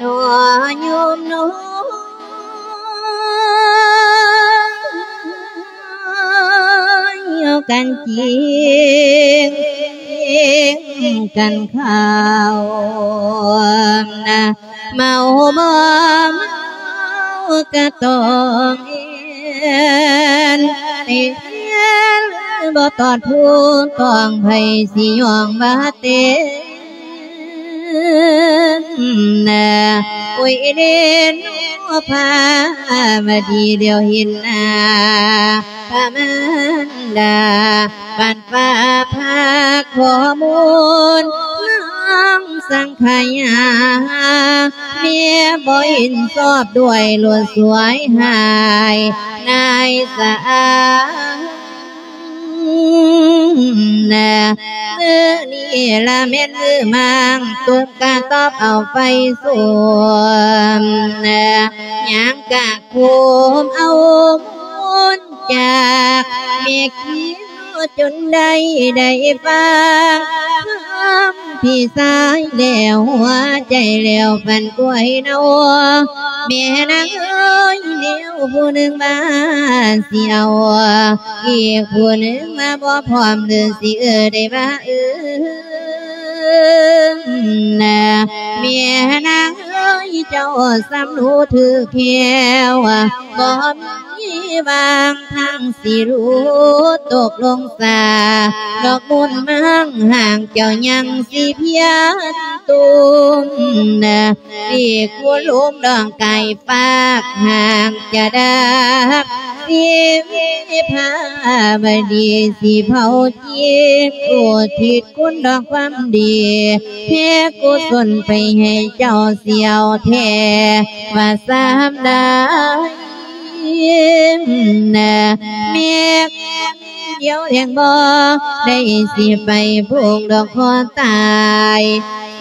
ນອຍໂຍມນ້ອຍ ເອົາກັນຈິງກັນເຂົ້ານະ ເມົາບໍ່ເມົາກະຕ້ອງແມ່ນ ແຕ່ບໍ່ຕອດຜູ້ຕ້ອງ ໃຜຊິຍ້ອງວ່າເຕັມ ໂອ້ຍເດໂນພາວະດີ ດຽວເຫັນໜ້າພະມານດາ ບັດວ່າພາຂໍ້ມູນນາງສັງຂະຍາ ແມ່ບໍ່ເຫັນຊອບດ້ວຍ ໂລດສວຍຫາຍນາຍສາ ນະ ມື້ນີ້ລະແມ່ນມື້ມາງ ຕົບກະຕອບເອົາໄຟສວມ ນະ ຍ່າງກະໂຄມເອົາມູນຈາກແມ່ຄິວ ຈົນໄດ້ ໄດ້ຟັງຄຳພີ່ຊາຍແລ້ວ ຫົວໃຈແລ້ວປັ່ນປ່ວຍເນົາ ແມ່ນາງເອີຍ ແນວຜູ້ໜຶ່ງວ່າຊິເອົາ ອີກຜູ້ໜຶ່ງວ່າບໍ່ພ້ອມ ຫຼືຊິເອີ້ນໄດ້ວ່າເອີ້ນນະ ແມ່ນາງເອີຍ ເຈົ້າສຳຮູ້ຖືກແລ້ວ ບໍ່ມີຫວ່າງທາງຊິຫຼຸດຕົກລົງສາ ດອກບຸນມັງຫາງເຈົ້າຍັງຊິພຽນຕຸມນະ ອີກຜູ້ລົມດອງກາຍ ຝາກຫາກຈະດັກສິວິພາວະດີ ຊິເຜົາຈິດອຸທິດຄຸນດອກຄວາມດີ ແຜ່ກຸສົນໄປໃຫ້ເຈົ້າ ສຽວແທ້ວ່າສາມດາຍນະ ແມ່ນດຽວແຮງບໍ່ໄດ້ ຊິໄປພຸງດອກຄໍຕາຍ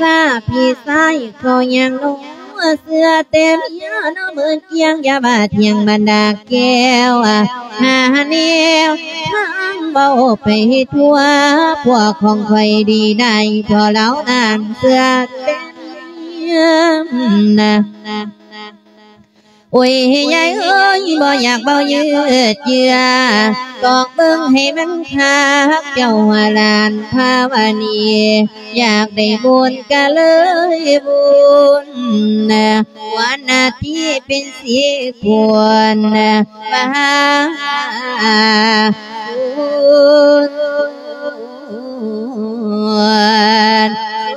ສາພີ່ຊາຍເຂົາຍັງໜຸ່ມ ເສື້ອແຕ່ເມຍເນາະ ເມີນກຽງ ຢ່າວ່າທ່ຽງບັນດາແກ້ວ ຫາແນວທາງເວົ້າໄປທົ່ວ ພວກຂອງຂ້ອຍດີໄດ້ ເພາະລາວນັ້ນເສື້ອແຕ່ເມຍນະ. ໂອ້ຍ ຍາຍເອີຍ ບໍ່ຢາກເວົ້າຍືດເຍື້ອ ຕອກເບິ່ງໃຫ້ມັນຄັກ ເຈົ້າວ່າຫຼານພາວະນີ ຢາກໄດ້ບຸນກະເລີຍບຸນ ວັນນາທີເປັນສິບຜົນ ວ່າບຸນ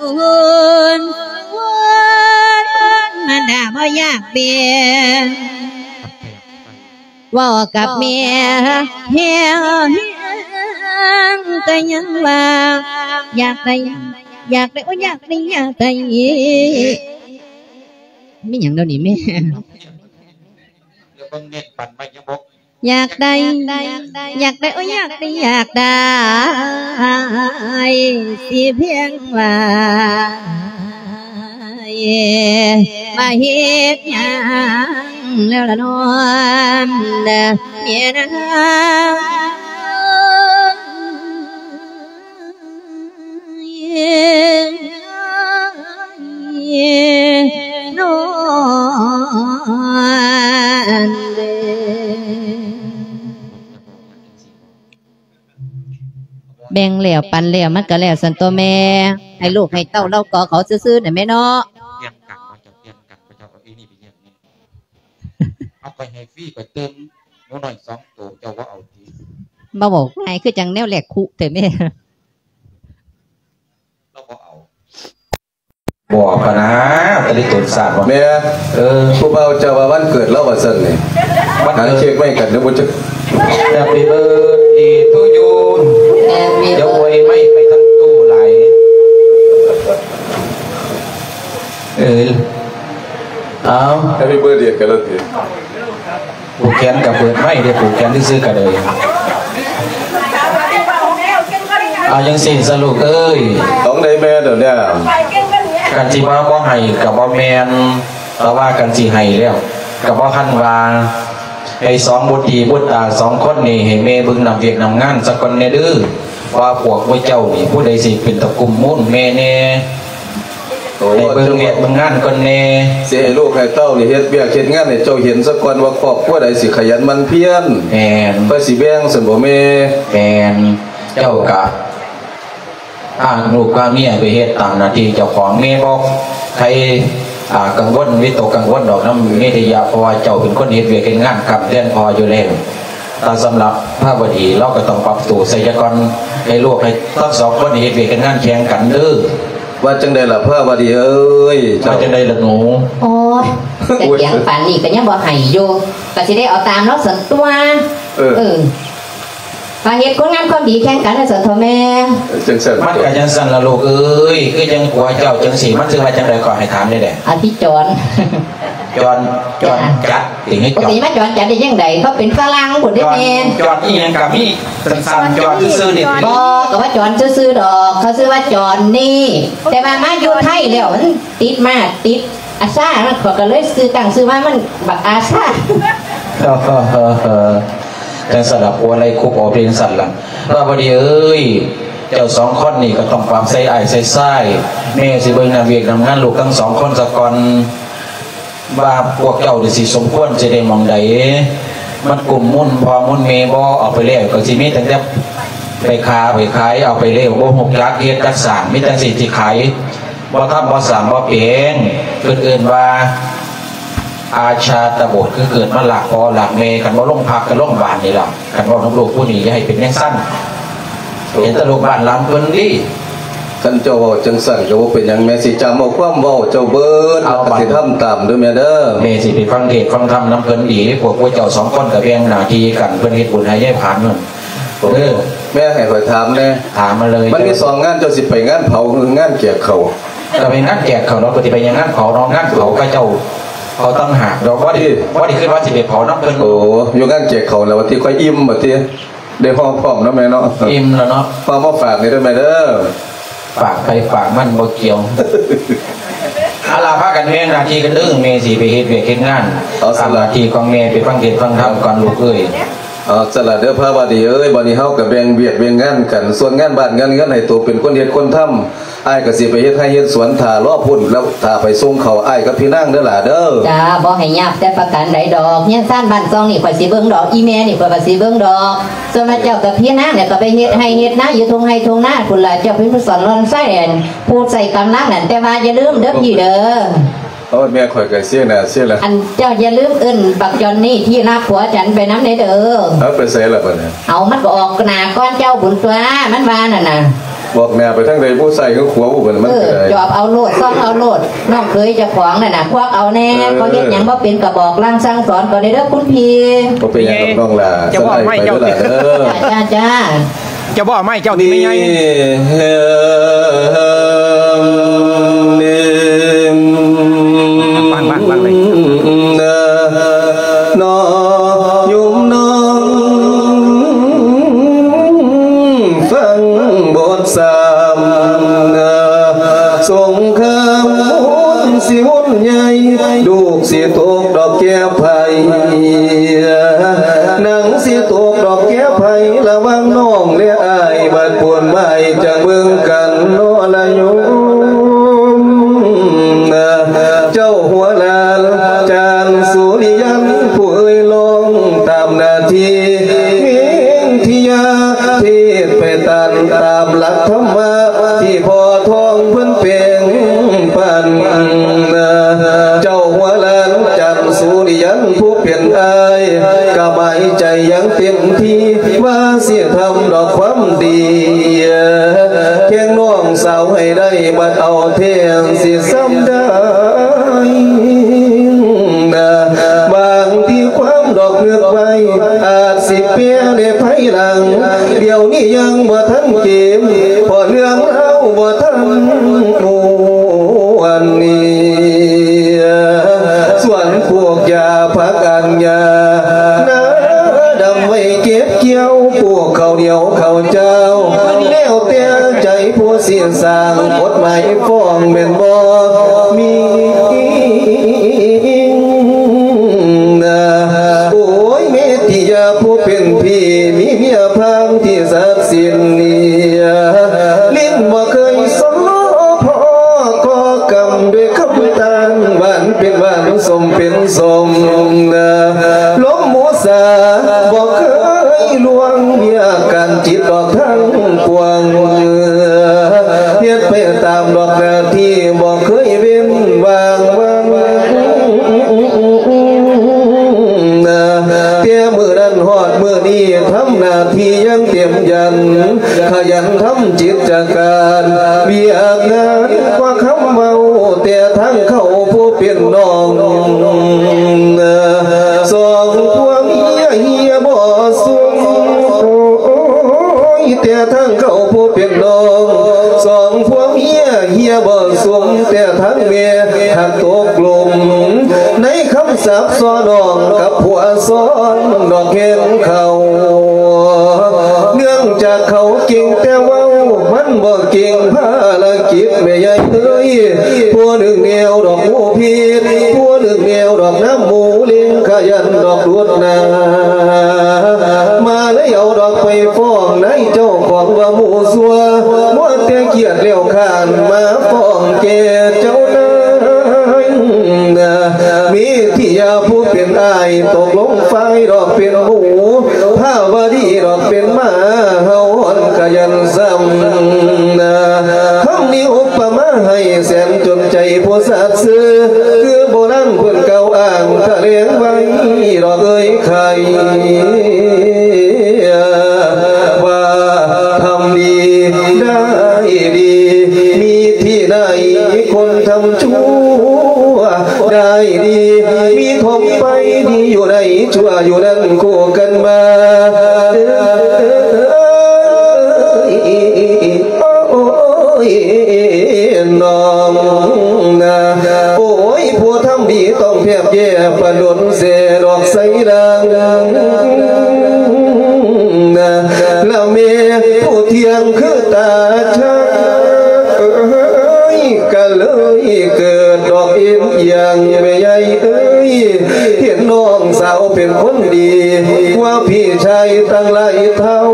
ບຸນ ບຸນ ມັນດາບໍ່ຢາກເປັນ ເວົ້າກັບແມ່ແຮງ ແຮງກໍຍັງວ່າ ຢາກໄດ້ ຢາກໄດ້ ໂອ້ຍ ຢາກໄດ້ ຢາກໄດ້ ມີຫຍັງດຽວນີ້ແມ່? ແລ້ວເບິ່ງເນັ້ນປັນໄວ້ຍັງບໍ່ ຢາກໄດ້ ຢາກໄດ້ ໂອ້ຍ ຢາກໄດ້ ຢາກໄດ້ ຊິພຽງວ່າ ມາເຮັດຫຍັງແລ້ວລະນ້ອ ເມຍນາງ ນອນເດີ. ແບ່ງແລ້ວປັນແລ້ວ ມັນກໍແລ້ວຊັ້ນຕົວແມ່ ໃຫ້ລູກໃຫ້ເຕົ້າລາວກໍເຂົາຊື່ໆນະແມ່ເນາະ. ປ່ຽນກັນບໍ່ເຈົ້າ ປ່ຽນກັນບໍ່ເຈົ້າ ເອົາອີ່ນີ້ໄປຮຽນນີ້ ເອົາ ຂ້ອຍໃຫ້ຟຣີ ຂ້ອຍຕື່ມ ໜູນ້ອຍສອງໂຕ ເຈົ້າບໍ່ເອົາຕິ? ມາເວົ້າງ່າຍຄືຈັ່ງແນວແລກຄຸແທ້ແມ່. ລາວບໍ່ເອົາ ບອກພະນາ ຕະລິຕົນສາດວ່າ ແມ່ ເອີ ຜູ້ບ່າວເຈົ້າວ່າວັນເກີດລາວວ່າຊັ້ນນີ້ ວັນເກີດ ຫັນເຄ້ກໄວ້ກັນເດີບໍ່ຈັກ Happy birthday to you ຢ່າອວຍໄມ້ໄປທັງຕູ້ຫຼາຍ ເອີ ເອົາ Happy birthday ກັນແລ້ວຕິ. ຜູກແຂນກໍເປີດໄມ້ເດ້ ຜູກແຂນຊື່ໆກໍໄດ້ ເອົາຈັ່ງຊີ້ຊະລູກເອີຍ ຕ້ອງໄດ້ແມ່ດອກເດ້ ຄັນຊິວ່າບໍ່ໃຫ້ກໍບໍ່ແມ່ນ ແຕ່ວ່າຄັນຊິໃຫ້ແລ້ວກໍບໍ່ທັນວ່າ ໃຫ້ສອງບຸດດີບຸດຕາສອງຄົນນີ້ ໃຫ້ແມ່ເບິ່ງນຳວຽກນຳງານສາກ່ອນແດ່ເດີ ວ່າພວກໝູ່ເຈົ້ານີ້ ຜູ້ໃດຊິເປັນຕະກຸ່ມມູນແມ່ແດ່. ໂອ້ ໃຫ້ເບິ່ງວຽກເບິ່ງງານກ່ອນແດ່ ຊິໃຫ້ລູກໃຫ້ເຕົ້ານີ້ເຮັດວຽກເຮັດງານໃຫ້ເຈົ້າເຫັນຊະກ່ອນວ່າຄອບຄົວໃດຊິຂະຫຍັນໝັ່ນພຽນ. ແມ່ນ. ຂ້ອຍຊິແບ່ງຊັ້ນບໍ່ແມ່? ແມ່ນ. ເຈົ້າກະ ພາລູກພາເມຍໄປເຮັດຕາມໜ້າທີ່ເຈົ້າຂອງ. ແມ່ບໍ່ໃຄ່ ອາ ກັງວົນ ວິຕົກກັງວົນດອກນຳເມທິຍະ ເພາະວ່າເຈົ້າເປັນຄົນເຮັດວຽກເຮັດງານຄ້ຳແທນພໍ່ຢູ່ແລ້ວ. ແຕ່ສຳລັບພາວະດີ ລາວກໍຕ້ອງປັບໂຕໃສ່ຊະກ່ອນ ໃຫ້ລູກໃຫ້ທັງສອງຄົນເຮັດວຽກເຮັດງານແຂ່ງກັນເດີ້. ວ່າຈັ່ງໃດລະພາວະດີເອີຍ? ເຈົ້າ ວ່າຈັ່ງໃດລະໜູ? ໂອ້ຍ ກະຖຽງປານນີ້ກໍຍັງບໍ່ໃຫ້ຢູ່ ກໍຊິໄດ້ເອົາຕາມລາວຊັ້ນຕົວະ. ເອີ ເອີ ມາເຮັດຄຸນງາມຄວາມດີແຂ່ງກັນວ່າຊັ້ນເຖາະແມ່. ຈັ່ງຊັ້ນ ມັນກໍຈັ່ງຊັ້ນລະລູກເອີຍ. ຄືຈັ່ງຜົວເຈົ້າຈັ່ງຊີ້ ມັນຊື່ວ່າຈັ່ງໃດກໍໃຫ້ຖາມແດ່. ອະທິຈອນ. ຈອນ ຈອນຈັດຕິ ຫຼື ປະຕິມາຈອນຈັດໄດ້ຈັ່ງໃດ? ເຂົາເປັນຝຣັ່ງພຸ້ນເດ້ແມ່. ຈອນອີ່ຫຍັງກໍມີ ສັ້ນໆ ຈອນຊື່ໆນີ້. ບໍ່ ກໍວ່າຈອນຊື່ໆດອກ ເຂົາຊື່ວ່າຈອນນີ້ ແຕ່ວ່າມາຢູ່ໄທແລ້ວມັນຕິດມາ ຕິດອາຊາ ມັນ ເຂົາກໍເລີຍຊື່ ຕັ້ງຊື່ວ່າມັນບັກອາຊາ. ຈັ່ງຊັ້ນລະ ຜົວໄລ່ຄຸບເອົາເປັນຊັ້ນລະ. ພາວະດີເອີຍ ເຈົ້າສອງຄົນນີ້ກໍຕ້ອງປັບໃສ່ອ້າຍໃສ່ຊາຍ. ແມ່ຊິເບິ່ງນຳວຽກນຳງານລູກທັງສອງຄົນສາກ່ອນ ວ່າພວກເຈົ້ານີ້ຊິສົມຄວນຊິໄດ້ໝ່ອງໃດ ມັນກຸ້ມມູນພໍ່ມູນແມ່ບໍ່? ເອົາໄປແລ້ວກໍຊິມີຕັ້ງແຕ່ໄປຄ້າໄປຂາຍ ເອົາໄປແລ້ວບໍ່ຮູ້ຈັກເຮັດຈັກສ້າງ ມີແຕ່ຊິ ຊິຂາຍ ບໍ່ທຳບໍ່ສ້າງບໍ່ແປງ. ເພິ່ນເອີ້ນວ່າອາຊາຕະບູດ ຄືເກີດມາລາກພໍ່ລາກແມ່ ຄັນບໍ່ລົງພັກກໍລົງບານນີ້ລະ. ຄັນເວົ້ານຳລູກຜູ້ນີ້ຢ່າໃຫ້ເປັນຈັ່ງຊັ້ນ ເຫັນແຕ່ລູກບ້ານຫຼັງເພິ່ນດີ. ຄັນເຈົ້າເວົ້າຈັ່ງຊັ້ນກໍບໍ່ເປັນຫຍັງ ແມ່ຊິຈຳເອົາຄວາມເວົ້າເຈົ້າເບີດ ແລ້ວກໍຊິທຳຕາມເດີ້ແມ່ເດີ້. ແມ່ຊິໄປຟັງເທດຟັງທຳນຳເພິ່ນດີ. ພວກພວກເຈົ້າສອງຄົນກໍແບ່ງໜ້າທີ່ກັນ ເພິ່ນເຮັດບຸນໃຫ້ຍາຍຜານເພິ່ນ. ເອີ ແມ່ໃຫ້ຂ້ອຍຖາມແດ່. ຖາມມາເລີຍ. ມັນມີສອງງານ ເຈົ້າຊິໄປງານເຜົາ ງານແຈກເຂົ້າ? ກໍໄປງານແຈກເຂົ້າເນາະ. ກໍຊິໄປຫຍັງງານເຜົາເນາະ? ງານເຜົາເຂົາເຈົ້າເຜົາຕ່າງຫາກດອກ. ບໍ່ໄດ້ ບໍ່ໄດ້ຄິດວ່າຊິໄປເຜົານຳເພິ່ນ. ໂອ້ ຢູ່ງານແຈກເຂົ້າແລ້ວວ່າຕິ ຂ້ອຍອີ່ມບັດຕິ. ໄດ້ຫໍ່ພ້ອມເນາະແມ່ເນາະ. ອີ່ມແລ້ວເນາະ. ຝາກມາຝາກນີ້ເດີ້ແມ່ເດີ້. ຝາກໃຜຝາກມັນບໍ່ກ່ຽວ. ເອົາລະ ພາກັນແບ່ງໜ້າທີ່ກັນເດີ້. ແມ່ຊິໄປເຮັດວຽກເຮັດງານ. ເອົາ ຕາມໜ້າທີ່ຂອງແມ່ ໄປຟັງເທດຟັງທຳກ່ອນລູກເອີຍ. ເອົາຊັ້ນລະເດີ້ພາວະດີເອີຍ. ບັດນີ້ເຮົາກໍແບ່ງວຽກແບ່ງງານກັນ. ສ່ວນງານບ້ານງານເຮືອນໃຫ້ໂຕເປັນຄົນເຮັດຄົນທຳ. ອ້າຍກໍຊິໄປເຮັດໄຮ່ເຮັດສວນຖ້າລໍພຸ້ນ ແລ້ວຖ້າໄປສົ່ງເຂົ້າອ້າຍກັບພີ່ນາງເດີ້ຫຼ້າເດີ້. ຈ້າ ບໍ່ໃຫ້ຍາກແຕ່ປະການໃດດອກ. ເຮືອນຊານບ້ານຊ່ອງນີ້ຂ້ອຍຊິເບິ່ງດອກ. ອີ່ແມ່ນີ້ຂ້ອຍກໍຊິເບິ່ງດອກ. ສ່ວນວ່າເຈົ້າກັບພີ່ນາງນີ້ກໍໄປເຮັດໄຮ່ເຮັດນາຢູ່ທົ່ງໄຮ່ທົ່ງນາພຸ້ນລະ. ເຈົ້າເປັນຜູ້ສອນລອນໄຊ ອັນ ຜູ້ໃຊ້ກຳລັງນັ້ນ. ແຕ່ວ່າຢ່າລືມເດີ້ພີ່ເດີ້. ໂອ້ຍ ແມ່ຂ້ອຍກໍເສຍໜ້າເສຍຫຼາ. ອັນ ເຈົ້າຢ່າລືມເອີ້ນບັກຈອນນີ້ທີ່ລັກຜົວຈັນໄປນຳແດ່ເດີ້. ເອົາ ໄປໃສລະບັດນີ້? ເອົາ ມັນກໍອອກໜ້າກ່ອນເຈົ້າພຸ້ນຕົວະ ມັນວ່ານັ້ນນະ. ອອກໜ້າໄປທາງໃດ? ຜູ້ຊ້າຍຄືຂວາ? ໂອ້ ມັນກໍໄດ້. ເອີ ຈອບເອົາໂລດ ຊອກເອົາໂລດ. ນ້ອງເຂີຍເຈົ້າຂອງນັ້ນນະ ຄວັກເອົາແດ່. ເອີ ເຂົາເຮັດຫຍັງບໍ່ເປັນກໍບອກລາງສັ່ງສອນກໍໄດ້ເດີ້ຄຸນພີ່. ບໍ່ເປັນຫຍັງດອກນ້ອງຫຼ້າ. ເຈົ້າເວົ້າໃຫ້ເຈົ້າ ເຈົ້າເວົ້າໃຫ້ເຈົ້າ. ເຈົ້າບໍ່ເອົາໄມ້ເຈົ້າຕິແມ່ໃຫຍ່? ຟັງ ຟັງ ຟັງເລີຍ. ນ້ອງໂຍມນ້ອງ ຟັງບົດສາມ ສົງຄາມວົນຊິວຸ້ນໃຫຍ່ ລູກຊິຕົກດອກແກ້ໄພ ນາງຊິຕົກດອກແກ້ໄພ ລະຫວ່າງນ້ອງ ແລະ ອ້າຍ ບາດປວນໝາຍຈາກເບິ່ງກັນເນາະລະໂຍມ. ເຈົ້າຫົວຫຼານຈານສຸລິຍັນ ຜູ້ເອີ່ຍລອງຕາມໜ້າທີ່ ວິທະຍາເທດໄປຕັນຕາມຫຼັກທຳມະ ທີ່ພໍ່ທອງເພິ່ນແປງປັນ. ເຈົ້າຫົວຫຼານຈັນສຸລິຍັນ ຜູ້ເປັນອ້າຍ ກະໝາຍໃຈຢ່າງເຕັມທີ່ ວ່າຊິທຳດອກຄວາມດີ ແຂ່ງນ້ອງສາວໃຫ້ໄດ້ ບັດເອົາແທ້ຊິຊ້ຳໃຈ. ບາງທີຄວາມດອກນຶກໄວ້ ອາດຊິແປໃນພາຍຫຼັງ ດຽວນີ້ຍັງບໍ່ທັນເກມ ເພາະເລື່ອງລາວບໍ່ທັນອ້ວນນີ້. ສວນປູກຢາຜັກອັນຍາ ນາດຳໄວ້ເກັບກ່ຽວ ປູກເຂົ້າໜຽວເຂົ້າເຈົ້າ ແລ້ວແຕ່ໃຈຜູ້ຊິສ້າງ ກົດໝາຍຟ້ອງແມ່ນບໍ່ມີ. ໂອ້ຍ ເມດຕິຍາຜູ້ເປັນພີ່ ມີເມຍພາງທີ່ສັກສິດນີ້ ຫຼິ້ນບໍ່ເຄີຍສໍ້ພໍກໍກຳ ສົມເປັນສົມ ລົມໝູສາບໍ່ເຄີຍລ່ວງ ວຽກການຈິດອອກທັງປວງ ເຮັດໄປຕາມດອກໜ້າທີ່ ບໍ່ເຄີຍເວັ້ນວ່າງ ແຕ່ມື້ນັ້ນຮອດມື້ນີ້ ທຳໜ້າທີ່ຢ່າງເຕັມຢັນ ຂະຫຍັນທຳກິດຈະການ ວຽກງານກວ່າຄຳເວົ້າ ແຕ່ທາງເຂົາຜູ້ເປັນນ້ອງ ສອງພວງເຮຍ ເຮຍບໍ່ສຸມ ໂອ້ຍ ແຕ່ທາງເຂົາຜູ້ເປັນນ້ອງ ສອງພວງເຮຍ ເຮຍບໍ່ສຸມ ແຕ່ທາງແມ່ຫັກຕົກຫຼົມ ໃນຄຳສາບສໍ້ນ້ອງກັບຜົວຊ້ອນດອກແຮງເຂົາ ເນື່ອງຈາກເຂົາເກັ່ງແຕ່ເວົ້າ ມັນບໍ່ເກັ່ງພາລະກິດແມ່ໃຫຍ່ເອີຍ ຜູ້ໜຶ່ງແນວດອກງູພິດ ຜູ້ໜຶ່ງແນວດອກນ້ຳໝູລິງ ຂະຫຍັນດອກດູດໜ້າ ມາເລີຍເອົາດອກໄປຟ້ອງນາຍເຈົ້າຂອງວ່າໝູ່ຊົ່ວ ມົວແຕ່ກຽດແລ້ວຄ້ານມາຟ້ອງແກ່ເຈົ້ານາຍ ມີທີ່ຍາຜູ້ເປັນອ້າຍຕົກລົງຝ່າຍດອກເປັນໝູ່ ພາວະດີດອກເປັນໝາ ເຮົາອ່ອນກະຢັນຊ້ຳນາ ຄຳນີ້ອຸປະມາໃຫ້ແສນຈົນໃຈຜູ້ສັດຊື່ ຄືໂບລານເພິ່ນກ່າວອ້າງຖະແຫຼງໄວ້ດອກເອີຍໄຂ່ ວ່າທຳດີໄດ້ດີ ມີທີ່ໄດ້ຄົນທຳຊົ່ວ ໄດ້ດີມີຖົມໄປ ດີຢູ່ໃນຊົ່ວຢູ່ນັ້ນຄູ່ກັນມາ ໂອ້ຍ ນ້ອງນາ ໂອ້ຍ ຜູ້ທຳດີຕ້ອງແທບແຍ່ປານດົນແສດອກໃສລາງນາ ລະແມ່ຜູ້ທ່ຽງຄືຕາຈາກ ເອີຍ ກະເລີຍເກີດດອກເອັນອີ່ຫຍັງແມ່ໃຫຍ່ເອີຍ ເຫັນນ້ອງສາວເປັນຄົນດີ ວ່າພີ່ຊາຍຕັ້ງຫຼາຍເທົ່າ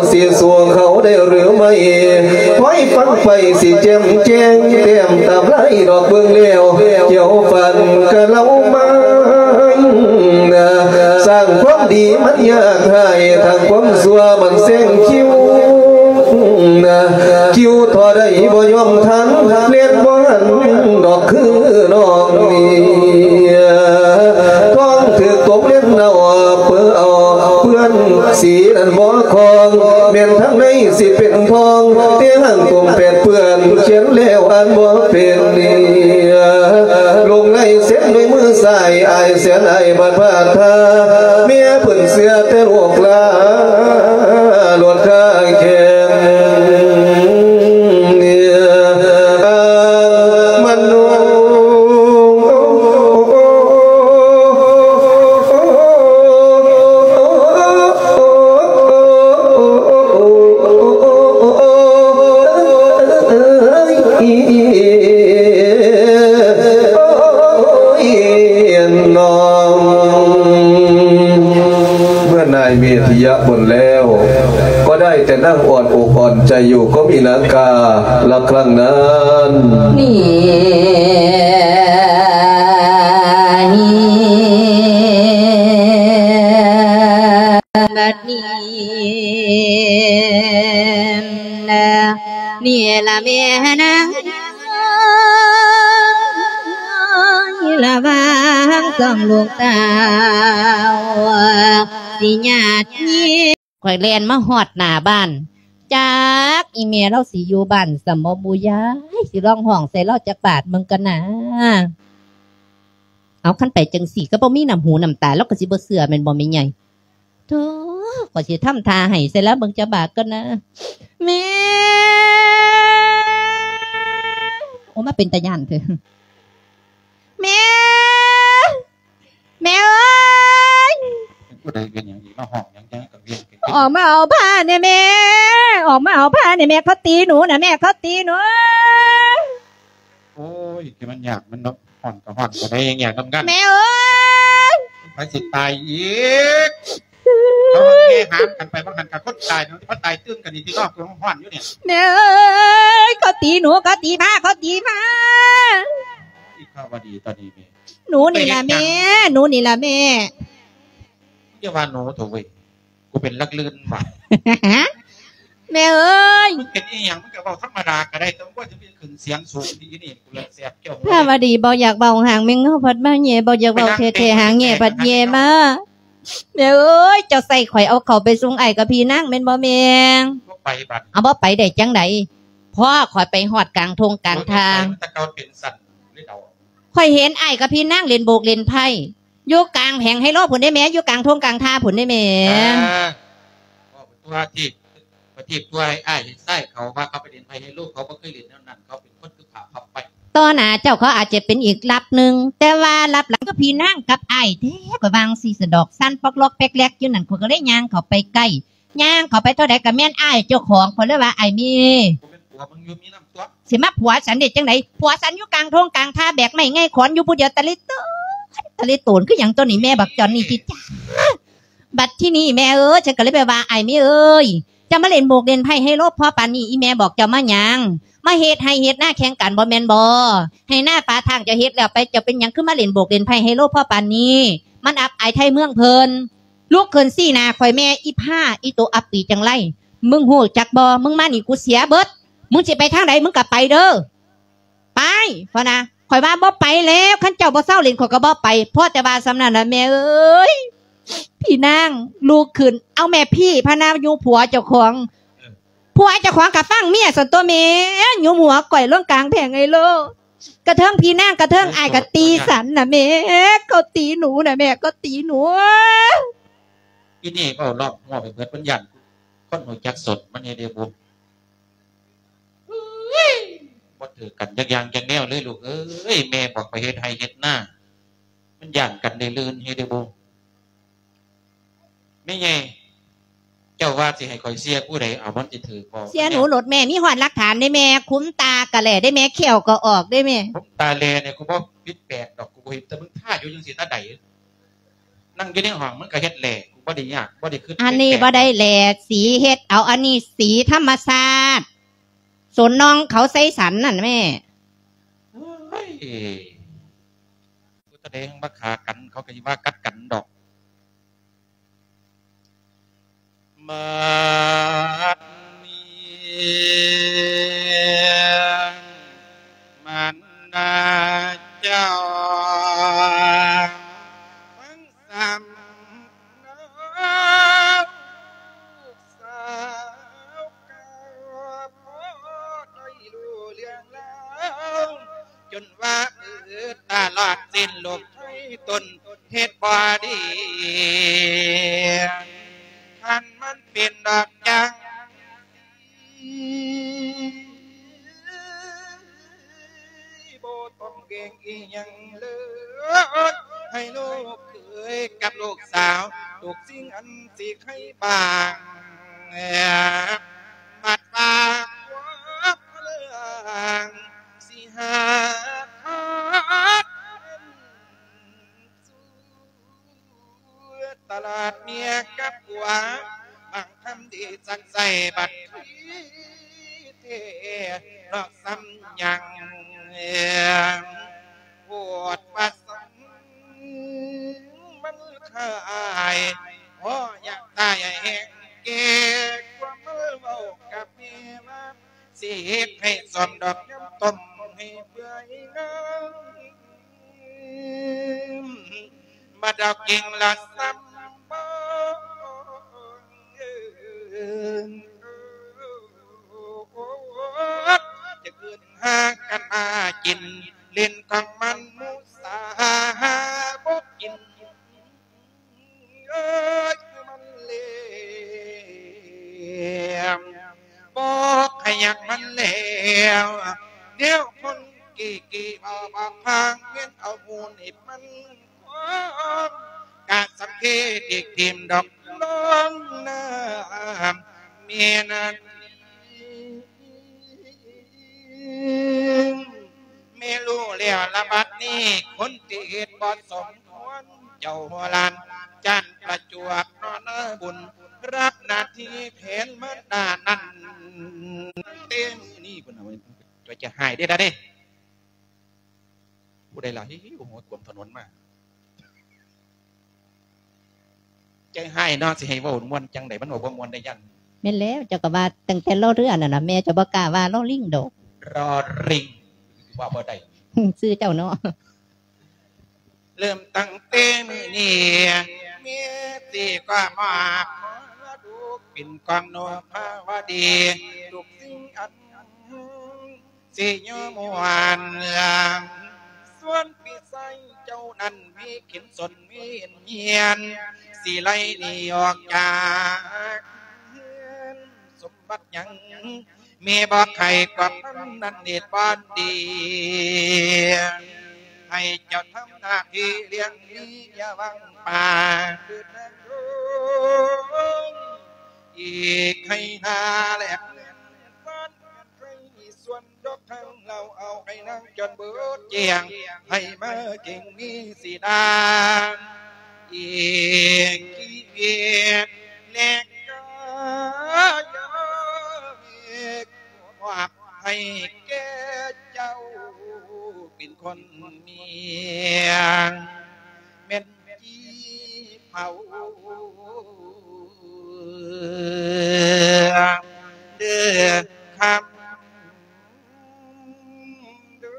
ຊິສູ້ເຂົາໄດ້ຫຼືໄມ່ ຄອຍຟັງໄປຊິແຈ່ມແຈ້ງ ແຕ້ມຕາມລາຍດອກເບິ່ງແລ້ວ ກ່ຽວຟັນກະເລົ່າມາ ສ້າງຄວາມດີມັນຍາກ ຮ້າຍທາງຄວາມຊົ່ວມັນແຊງຄິວ ຄິວທໍ່ໃດບໍ່ຍອມທັນ ເລັດບໍ່ຫັນດອກຄືນ້ອງນີ້ ທ້ອງຖືກຕົກເລັດເນົ່າເປິເອົາເປື້ອນ ສີນັ້ນບໍ່ຄອງ ແມ່ນທາງໃນຊິເປັນທອງ ແຕ່ຫາງຕົມແປດເປື້ອນ ຂຽນແລ້ວອ່ານບໍ່ເປັນ ລົງລາຍເຊັນດ້ວຍມືຊ້າຍ ອ້າຍແສນອ້າຍບາດພາດພາ ແມ່ເພິ່ນເຊື່ອແຕ່ລູກຫຼານ ໂລດຄາແຂນ ອ້າງມະໂນ ເມື່ອນາຍເມທິຍະບົນແລ້ວ ກໍໄດ້ແຕ່ນັ່ງອ່ອນອົກອ່ອນໃຈຢູ່ ກໍມີນາງກາລະຄັ້ງນັ້ນ ນີ້ ບັດນີ້ ນີ້ລະແມ່ນາງ ລະວັງສອງລູກສາວ ຊິຍາດຍິງ ຂ້ອຍແລ່ນມາຮອດໜ້າບ້ານ ຈັກອີ່ແມ່ລາວຊິຢູ່ບ້ານຊ້ຳບໍ່ບຸຍາຍ ຊິລອງຮ້ອງໃສ່ລາວຈັກບາດເບິ່ງກ່ອນນາ. ເອົາ ຄັນໄປຈັ່ງຊີ້ກໍບໍ່ມີນ້ຳຫູນ້ຳຕາ ລາວກໍຊິບໍ່ເຊື່ອແມ່ນບໍ່ແມ່ໃຫຍ່? ໂທ້ ຂ້ອຍຊິທຳທ່າໄຫ້ໃສ່ລາວເບິ່ງຈັກບາດກ່ອນນາ ແມ່. ໂອ້ ມາເປັນຕາຢ້ານເຖາະ ແມ່ ແມ່ເອີຍ ເປັນຜູ້ໃດເປັນຫຍັງອີກ ມາຮ້ອງຫຍັງຈັງກະວຽນ ອອກມາເອົາຜ້າແດ່ແມ່ ອອກມາເອົາຜ້າແດ່ແມ່ ເຂົາຕີໜູນະແມ່ ເຂົາຕີໜູ. ໂອ້ຍ ທີ່ມັນຍາກມັນເນາະ ຮ້ອນກໍຮ້ອນ ບໍ່ໄດ້ຫຍັງນຳກັນ ແມ່ເອີຍ ໃຜຊິຕາຍອີກ ເຂົາເຮົຫາມກັນໄປ ວ່າຫັ້ນກະຄົນຕາຍເນາະ ມາຕາຍຕື່ມກັນອີກ ທີ່ນອກຮ້ອນຢູ່ນີ້ ແມ່ເອີຍ ເຂົາຕີໜູ ເຂົາຕີໝາ ເຂົາຕີໝາ. ອີພາວະດີຕອນນີ້ແມ່ ໜູນີ້ລະແມ່ ໜູນີ້ລະແມ່. ຢ່າວ່າໜູເຖາະເວີຍ ກູເປັນລັກລື່ນຫວາ ແມ່ເອີຍ. ມຶງເປັນອີ່ຫຍັງ ມຶງກະເວົ້າທຳມະດາກະໄດ້ ແຕ່ບໍ່ຈຳເປັນຂຶ້ນສຽງສູງ ອີນີ້ກູລະແສບແກ້ວຫູ. ພາວະດີບໍ່ຢາກເວົ້າຫາງແມ່ງເຫງົາພັດມາແຍ່ ບໍ່ຢາກເວົ້າແທ້ໆຫາງແຍ່ພັດແຍ່ມາ. ແມ່ເອີຍ ເຈົ້າໃສ່ຂ້ອຍເອົາເຂົ້າໄປສົ່ງອ້າຍກັບພີ່ນາງແມ່ນບໍ່ແມ່? ບໍ່ໄປບັດ ເອົາ ບໍ່ໄປໄດ້ຈັ່ງໃດ? ພໍຂ້ອຍໄປຮອດກາງທົ່ງກາງທ່າ ແຕ່ເກົ່າເປັນສັນເລີຍເອົາ ຂ້ອຍເຫັນອ້າຍກັບພີ່ນາງຫຼິ້ນໂບກຫຼິ້ນໄພ້ຢູ່ກາງແຜງໄຮໂລພຸ້ນເດ້ແມ່ ຢູ່ກາງທົ່ງກາງທ່າພຸ້ນເດ້ແມ່. ເວົ້າໄປຕົວະ ປະທີບຕົວະໃຫ້ອ້າຍເຫັນຊາຍເຂົາວ່າເຂົາໄປຫຼິ້ນໄພ້ໄຮໂລ ເຂົາບໍ່ເຄີຍຫຼິ້ນແນວນັ້ນ ເຂົາເປັນຄົນຄືຂາພັບໄປ. ຕໍ່ໜ້າເຈົ້າເຂົາອາດຈະເປັນອີກລັບໜຶ່ງ ແຕ່ວ່າລັບຫຼັງຄືພີ່ນາງກັບອ້າຍແທ້ ຂ້ອຍວ່າຈັ່ງຊີ້ສະດອກ ສັ່ນປອກລອກແປກແລກຢູ່ນັ້ນ ຂ້ອຍກໍເລີຍຍ່າງເຂົ້າໄປໃກ້ ຍ່າງເຂົ້າໄປເທົ່າໃດກໍແມ່ນອ້າຍເຈົ້າຂອງ ຂ້ອຍເລີຍວ່າ ອ້າຍມີ ບໍ່ແມ່ນຜົວມຶງຢູ່ ມີນຳຕົວະ. ຊິມາຜົວສັນໄດ້ຈັ່ງໃດ? ຜົວສັນຢູ່ກາງທົ່ງກາງທ່າ ແບກໄມ້ໄງຂອນຢູ່ຜູ້ດຽວ ຕະລິໂຕນ ຕະລິໂຕນຄືຫຍັງຕົວນີ້ ແມ່ບັກຈອນນີ້ຕິຈ້າ. ບັດທີນີ້ແມ່ເອີຍ ເຊິ່ງກໍເລີຍໄປວ່າ ອ້າຍເມເອີຍ ເຈົ້າມາຫຼິ້ນໂບກຫຼິ້ນໄພ້ໄຮໂລພໍປານນີ້ ອີແມ່ບອກເຈົ້າມາຫຍັງ? ມາເຮັດໄຮ່ເຮັດນາແຂ່ງກັນບໍ່ແມ່ນບໍ່? ໄຮ່ນາປາທາງເຈົ້າເຮັດແລ້ວໄປ ເຈົ້າເປັນຫຍັງຄືມາຫຼິ້ນໂບກຫຼິ້ນໄພ້ໄຮໂລພໍປານນີ້? ມັນອັບອາຍໄທເມືອງເພິ່ນ. ລຸກຂຶ້ນຊີ້ໜ້າຂ້ອຍແມ່ ອີພາ ອີໂຕອັບປີຈັງໄລ ມຶງຮູ້ຈັກບໍ່? ມຶງມານີ້ກູເສຍເບິດ ມຶງຊິໄປທາງໃດ ມຶງກໍໄປເດີ້. ໄປ ພະນະ ຂ້ອຍວ່າບໍ່ໄປແລ້ວ ຄັນເຈົ້າບໍ່ເຊົາຫຼິ້ນ ຂ້ອຍກໍບໍ່ໄປ. ພໍແຕ່ວ່າສ່ຳນັ້ນລະແມ່ເອີຍ. ພີ່ນາງລຸກຂຶ້ນ ເອົາແມ່ ພີ່ ພະນະ ຢູ່ຜົວເຈົ້າຂອງ ເອີ ຜົວເຈົ້າຂອງກໍຟັງເມຍຊັ້ນຕົວະແມ່ ຍຸມຫົວກ້ອຍລົງກາງແຜງໄຮໂລ ກະເທີງພີ່ນາງ ກະເທີງອ້າຍກໍຕີສັນນະແມ່ ເຂົາຕີໜູນະແມ່ ເຂົາຕີໜູ. ອີນີ້ເວົ້າລອບຫົວໄປເບິດ ມັນຢ້ານຄົນຮູ້ຈັກສົດ ມັນເຮັດໃຫ້ບຸ ບໍ່ຖືກກັນຈັກຢ່າງຈັກແນວເລີຍລູກເອີຍ. ແມ່ບອກໄປເຮັດໄຮ່ເຮັດນາ ມັນຢ້ານກັນໄດ້ລື່ນເຮັດໄດ້ບໍ່? ແມ່ໃຫຍ່ ເຈົ້າວ່າຊິໃຫ້ຂ້ອຍເຊຍຜູ້ໃດ? ເອົາ ມັນຊິຖືກບໍ່? ເຊຍໜູໂລດແມ່ ມີຮອດຫຼັກຖານເດ້ແມ່ ຂຸມຕາກະແຫຼເດ້ແມ່ ແຂ້ວກໍອອກເດ້ແມ່. ຂຸມຕາແຫຼນີ້ ກູບໍ່ຜິດແປກດອກ ກູບໍ່ເຫັນ ແຕ່ມຶງທາຢູ່ຈັ່ງຊີ້ແຕ່ໃດ. ນັ່ງຢູ່ໃນຫ້ອງ ມັນກໍເຮັດແຫຼ ບໍ່ໄດ້ຍາກ ບໍ່ໄດ້ຄິດ. ອັນນີ້ບໍ່ໄດ້ແຫຼສີເຮັດເອົາ ອັນນີ້ສີທຳມະຊາດ ສົນນ້ອງເຂົາໄຊສັນນັ້ນແມ່. ໂອ້ຍ ຜູ້ໃດມາຂ້າກັນ ເຂົາກໍຊິວ່າກັດກັນດອກ. ບັດນີ້ ມານດາເຈົ້າ ຟັງສຳເນົາ ລູກສາວເຈົ້າ ພໍໄດ້ຮູ້ເລື່ອງລາວ ຈົນວ່າ ເອີ ຕະຫຼອດເສັ້ນລູກໄທຕົນ ເຮັດບໍ່ດີ ຄັນມັນເປັນດອກຈັ່ງຊີ້ ບໍ່ຕ້ອງແບ່ງອີ່ຫຍັງເລີຍ ໃຫ້ລູກເຂີຍກັບລູກສາວ ທຸກສິ່ງອັນຊິໄຄບາງ ບັດວ່າຄວາມເລື່ອງ ຊິຫາທາງ ສູ່ຕະຫຼາດເມຍກັບຜົວ ບາງຄຳດີສັກໃສ່ບັດທີ່ແທ້ ນອກສ່ຳຍັງ ໂພດວ່າສັນ ມັນຂາຍ ພໍຢາກຕາຍແຮງແກ່ ຄວາມເວົ້າກັບແມ່ວ່າ ຊິເຮັດໃຫ້ສອມດອກຍຳຕົ້ມໃຫ້ເປື່ອຍງາມ ມາດອກກິ່ງລະຊຳບໍ່ ຈະຂຶ້ນຫາກັນມາກິນ ຫຼິ້ນຂອງມັນໝູສາຫາບໍ່ກິນ ເອີຍ ຄືມັນແຫຼມ ບໍ່ຂະຫຍັກມັນແລ້ວ ແນວຄົນກີ້ກີ້ເວົ້າບໍ່ຟັງ ແມ່ນເອົາໝູນີ້ມັນຄອງ ກະສັງເກດອີກທີມດອກນ້ອງນ້ຳແມ່ນາ ແມ່ຮູ້ແລ້ວລະບັດນີ້ ຄົນທີ່ເຮັດບໍ່ສົມຄວນ ເຈົ້າຫົວລ້ານຈານປະຈວບເນາະ ນາບຸນ ຮັບໜ້າທີ່ແທນມາດານັ້ນ ເຕັມນີ້ພຸ້ນນະ ຈະຫາຍເດ້ລະເດ້. ຜູ້ໃດລະ ຫິວໆ ຫົວກວມຖະໜົນມາ. ໃຈຮ້າຍເນາະ ຊິໃຫ້ເວົ້າມ່ວນຈັ່ງໃດ ມັນເວົ້າບໍ່ມ່ວນໄດ້ຢ້ານ. ແມ່ນແລ້ວ ເຈົ້າກໍວ່າຕັ້ງແຕ່ລໍເຮືອນັ້ນນະ ແມ່ເຈົ້າບໍ່ກ້າວ່າລໍລິງດອກ. ລໍລິງ ວ່າບໍ່ໄດ້ ຊື່ເຈົ້າເນາະ. ເລີ່ມຕັ້ງແຕ່ມື້ນີ້ ແມ່ຊິຂໍມອບມໍລະດົກເປັນຂອງນົບພະວະດີ ທຸກສິ່ງອັນ ຊິຢູ່ມ່ວນ ສ່ວນພີ່ຊາຍເຈົ້ານັ້ນມີກິນສົນມີເຮັດຮຽນ ຊິໄລ່ໜີອອກຈາກເຮືອນ ສົມບັດຫຍັງແມ່ບໍ່ໃຄ່ກວ່າປານນັ້ນເຮັດບໍ່ດີ ໃຫ້ເຈົ້າທຳໜ້າທີ່ລ້ຽງມີຢ່າຫວັງປາກ ອີກໃຫ້ໜ້າແລກເງິນ ໃຫ້ສ່ວນດອກທາງລາວ ເອົາໃຫ້ນາງຈົນເບີດແຈ້ງ ໃຫ້ມາເກັ່ງມີສີດາ ອີກກິເລດແລກກາຍ ມອບໃຫ້ແກ່ເຈົ້າ ເປັນຄົນເມຍ ແມ່ນຈີ່ເຜົາເດີຄຳເດີ.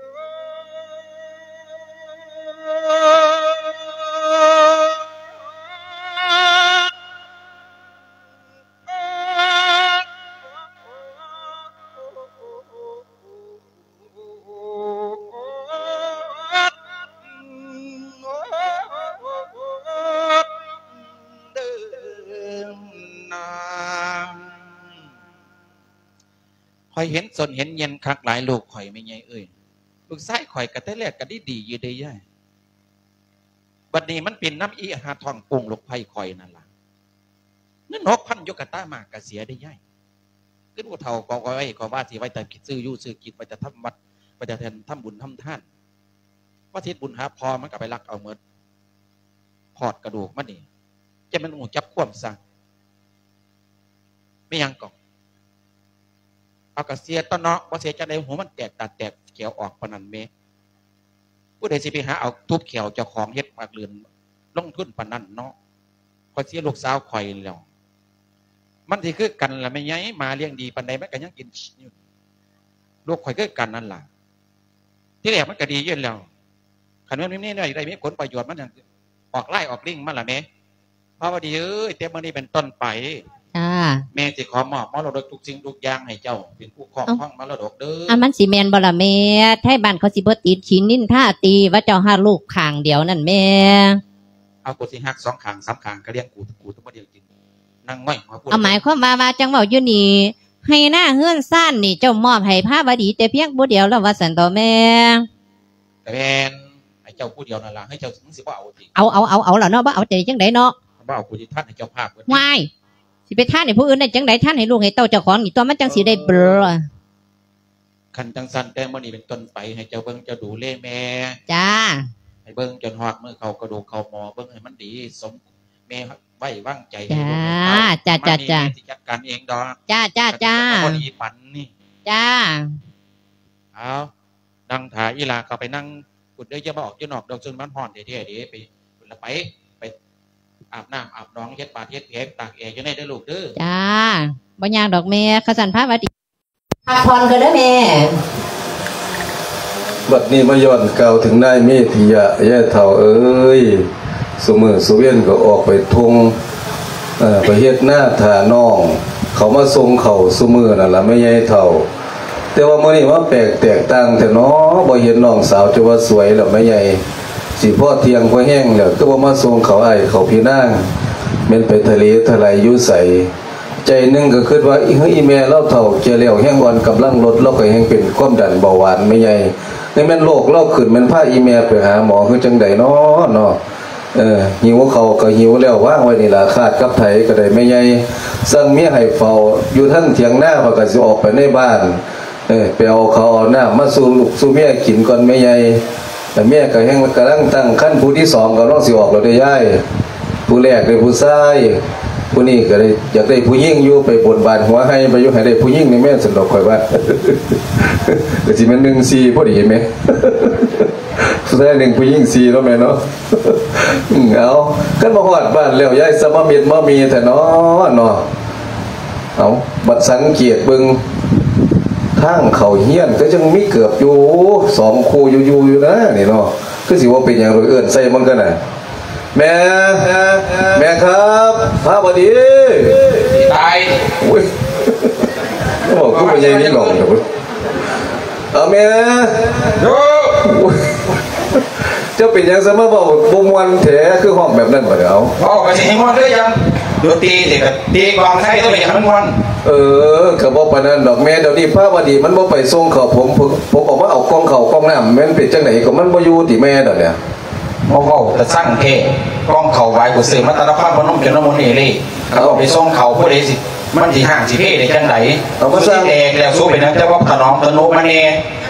ຂ້ອຍເຫັນສົນເຫັນເຫຍື່ອນຄັກຫຼາຍລູກຂ້ອຍ ແມ່ໃຫຍ່ເອີຍ. ລູກຊາຍຂ້ອຍກໍແຕ່ແລກກໍດີໆຢູ່ເດ້ຍາຍ. ບັດນີ້ມັນເປັນນຳອີ່ຫາທ້ອງໂປ່ງລູກໃພ້ຂ້ອຍນັ້ນລະ. ເງິນຫົກພັນຢູ່ກະຕາມາກະເສຍເດ້ຍາຍ. ຄືຜູ້ເຖົ້າກໍເອົາໄວ້ ກໍວ່າຊິໄວ້ແຕ່ຊື້ຢູ່ຊື້ກິນ ໄວ້ແຕ່ທຳວັດ ໄວ້ແຕ່ທຳບຸນທຳທານ. ວ່າຊິເຮັດບຸນຫາພໍ່ມັນກໍໄປລັກເອົາໝົດ. ທອດກະດູກມັນນີ້ ຈະແມ່ນຮູ້ຈັກຄວາມຊະ. ແມ່ນຫຍັງກໍ ເອົາກະເສຍຕົວະເນາະ ບໍ່ເສຍຈັ່ງໃດ ຫູມັນແຕກ ຕາແຕກ ແກວອອກປານນັ້ນແມ. ຜູ້ໃດຊິໄປຫາເອົາທຸບແຂວເຈົ້າຂອງເຮັດປາກເລື່ອນ ລົງທຶນປານນັ້ນເນາະ. ຂ້ອຍເສຍລູກສາວຂ້ອຍແລ້ວ ມັນຊິຄືກັນລະແມ່ໃຫຍ່. ໝາລ້ຽງດີປານໃດມັນກໍຍັງກິນຢູ່. ລູກຂ້ອຍຄືກັນນັ້ນລະ. ທີແລກມັນກໍດີຢູ່ແລ້ວ ຄັນແມ່ນມີແນວໃດມີຜົນປະໂຫຍດ ມັນຫຍັງອອກລາຍອອກລິງມາລະແມ. ພາວະດີເອີຍ ແຕ່ມື້ນີ້ເປັນຕົ້ນໄປ ຈ້າ ແມ່ຊິຂໍມອບມໍລະດົກທຸກສິ່ງທຸກຢ່າງໃຫ້ເຈົ້າເປັນຜູ້ຄອບຄອງມໍລະດົກເດີ. ເອົ້າ ອັນມັນຊິແມ່ນບໍ່ລະແມ່? ໄທບ້ານເຂົາຊິບໍ່ຕິດຂີນນິນທາຕິ ວ່າເຈົ້າຮັກລູກຂ້າງດຽວນັ້ນແມ່. ເອົາ ກູຊິຮັກສອງຂ້າງສາມຂ້າງ ກະລ້ຽງກູ ກູຕ້ອງມາລ້ຽງກິນ. ນາງນ້ອຍຫົວໂພດ ເອົາ ໝາຍຄວາມວ່າ ວ່າຈັ່ງເວົ້າຢູ່ນີ້ ໄຮ່ນາເຮືອນຊານນີ້ເຈົ້າມອບໃຫ້ພາວະດີແຕ່ພຽງຜູ້ດຽວແລ້ວວ່າຊັ້ນເຖາະແມ່. ກະແມ່ນ ໃຫ້ເຈົ້າຜູ້ດຽວນັ້ນລະ ໃຫ້ເຈົ້າ ມຶງຊິບໍ່ເອົາຕິ? ເອົາ ເອົາ ເອົາ ເອົາລະເນາະ ບໍ່ເອົາຈະເຮັດຈັ່ງໃດເນາະ. ບໍ່ເອົາ ກູຊິທານໃຫ້ເຈົ້າພາບເບິດ. ວ້າຍ ຊິໄປທານໃຫ້ຜູ້ອື່ນໄດ້ຈັ່ງໃດ? ທານໃຫ້ລູກໃຫ້ເຕົ້າເຈົ້າຂອງນີ້ຕົວະ ມັນຈັ່ງຊິໄດ້ເບີ. ເອີ ຄັນຈັ່ງຊັ້ນ ແຕ່ມື້ນີ້ເປັນຕົ້ນໄປ ໃຫ້ເຈົ້າເບິ່ງເຈົ້າດູແລແມ່. ຈ້າ ໃຫ້ເບິ່ງຈົນຮອດມື້ເຂົ້າກະດູກເຂົ້າໝໍ ເບິ່ງໃຫ້ມັນດີ ສົມແມ່ໄວ້ວາງໃຈໃຫ້ລູກໃຫ້ເຕົ້າ. ຈ້າ ມານີ້ ແມ່ຊິຈັດການເອງດອກ. ຈ້າ ຈ້າ ຈ້າ ຄັນເຈົ້າບໍ່ດີປານນີ້. ຈ້າ ເອົາ ນັ່ງຖ້າອີ່ຫຼ້າເຂົ້າໄປນັ່ງພຸ້ນເດີ ຢ່າມາອອກຢູ່ນອກດອກ ຊຸມມັນຮ້ອນແທ້ໆເດ້. ໄປພຸ້ນລະ ໄປ ໄປອາບນ້ຳອາບໜອງ ເຮັດບາດເຮັດແຜ ຕາກແອຢູ່ໃນເດີລູກເດີ. ຈ້າ ບໍ່ຍາກດອກແມ່. ຄັນຊັ້ນພາຫວັດດີ ພັກຜ່ອນກ່ອນເດີແມ່. ບັດນີ້ມາຍ້ອນກ່າວເຖິງນາຍເມທິຍະ ຍາຍເຖົ້າເອີຍ ຊຸມື້ຊຸວຽນກໍອອກໄປທົ່ງ ເອີ ໄປເຮັດນາຖ້ານ້ອງເຂົາມາສົ່ງເຂົ້າຊຸມື້ນັ້ນລະແມ່ໃຫຍ່ເຖົ້າ. ແຕ່ວ່າມື້ນີ້ມາແປກແຕກຕ່າງແທ້ເນາະ ບໍ່ເຫັນນ້ອງສາວຈະວ່າສວຍແລ້ວແມ່ໃຫຍ່ ຊິພໍທ່ຽງພໍແຮງແລ້ວ ຄືບໍ່ມາສົ່ງເຂົ້າອ້າຍເຂົ້າພີ່ນາງ ແມ່ນໄປທະເລທະໄລຢູ່ໃສ? ໃຈໜຶ່ງກໍຄິດວ່າ ອີ ອີແມ່ລາວເຖົ້າແກ່ແລ້ວແຮງອ່ອນກຳລັງລົດ ລາວກໍແຮງເປັນຄວາມດັນເບົາຫວານແມ່ໃຫຍ່ ນີ້ແມ່ນໂລກລາວຂຶ້ນ ແມ່ນພາອີແມ່ໄປຫາໝໍຄືຈັ່ງໃດນໍເນາະ. ເອີ ຫິວເຂົ້າກໍຫິວແລ້ວ ວາງໄວ້ນີ້ລະ ຄາດກັບໄຖກໍໄດ້ແມ່ໃຫຍ່. ສັ່ງເມຍໃຫ້ເຝົ້າຢູ່ທາງຖຽງນາ ຂ້ອຍກໍຊິອອກໄປໃນບ້ານ ເອີ ໄປເອົາເຂົ້າເອົານ້ຳມາສູ່ລູກສູ່ເມຍກິນກ່ອນແມ່ໃຫຍ່. ແລ້ວເມຍກໍແຮ່ງກຳລັງຕັ້ງຄັນ ຜູ້ທີສອງກຳລັງຊິອອກແລ້ວເດ້ຍາຍ. ຜູ້ແລກເດ້ຜູ້ຊາຍ ຜູ້ນີ້ກໍໄດ້ຢາກໄດ້ຜູ້ຍິງຢູ່ ໄປບົນບານຫົວໄຮ່ໄປຢູ່ ໃຫ້ໄດ້ຜູ້ຍິງນີ້ແມ່ນ ຊັ້ນດອກຂ້ອຍວ່າ ກໍຊິແມ່ນໜຶ່ງສີ່ພໍດີແມ່. ຜູ້ຊາຍໜຶ່ງ ຜູ້ຍິງສີ່ເນາະແມ່ເນາະ. ເອົາ ຄັນມາຮອດບ້ານແລ້ວ ຍາຍສະມາເມັດມາມີແທ້ເນາະ ເນາະ. ເອົາ ບັດສັງເກດເບິ່ງ ທາງເຂົ້າເຮືອນກໍຍັງມີເກີບຢູ່ສອງຄູ່ຢູ່ໆຢູ່ນະນີ້ເນາະ. ຄືຊິບໍ່ເປັນຫຍັງດອກ ເອີ້ນໃສ່ມັນກໍນະ. ແມ່ ແມ່ຄັບ ພາວະດີ ຕາຍ ໂອ້ຍ ເວົ້າຄືບໍ່ໃຫຍ່ນີ້ນ້ອງ. ເອົາແມ່ ໂອ້ຍ ເຈົ້າເປັນຫຍັງຊະມາເວົ້າບໍ່ມ່ວນແທ້ ຄືຮ້ອງແບບນັ້ນບັດນີ້? ເອົາ ເວົ້າກໍຊິໃຫ້ມ່ວນຄືຫຍັງ ຢູ່ຕີຕິ ກະຕີກອງໄທ ຕ້ອງໄປຫຍັງມັນມ່ວນ. ເອີ ກໍບໍ່ປານນັ້ນດອກແມ່ ດຽວນີ້ພາວະດີມັນບໍ່ໄປສົ່ງເຂົ້າ ຜົມ ຜົມອອກມາເອົາກ່ອງເຂົ້າກ່ອງນ້ຳ ແມ່ນເປັນຈັ່ງໃດ ກໍມັນບໍ່ຢູ່ຕິແມ່ດຽວນີ້? ມາເວົ້າຕາຊັງແທ້ ກ່ອງເຂົ້າຫວາຍ ກູຊື້ມາແຕ່ນະຄອນພະນົມຈົນນະໝູນເອເລ ຄັນເອົາໄປສົ່ງເຂົ້າ ຜູ້ໃດຊິ ມັນຊິຮ້າງຊິເພໄດ້ຈັ່ງໃດ? ເອົາ ມັນຊິແຕກແລ້ວ ສູເປັນຫຍັງຈະບໍ່ຖະໜອມທະນຸມາແດ່?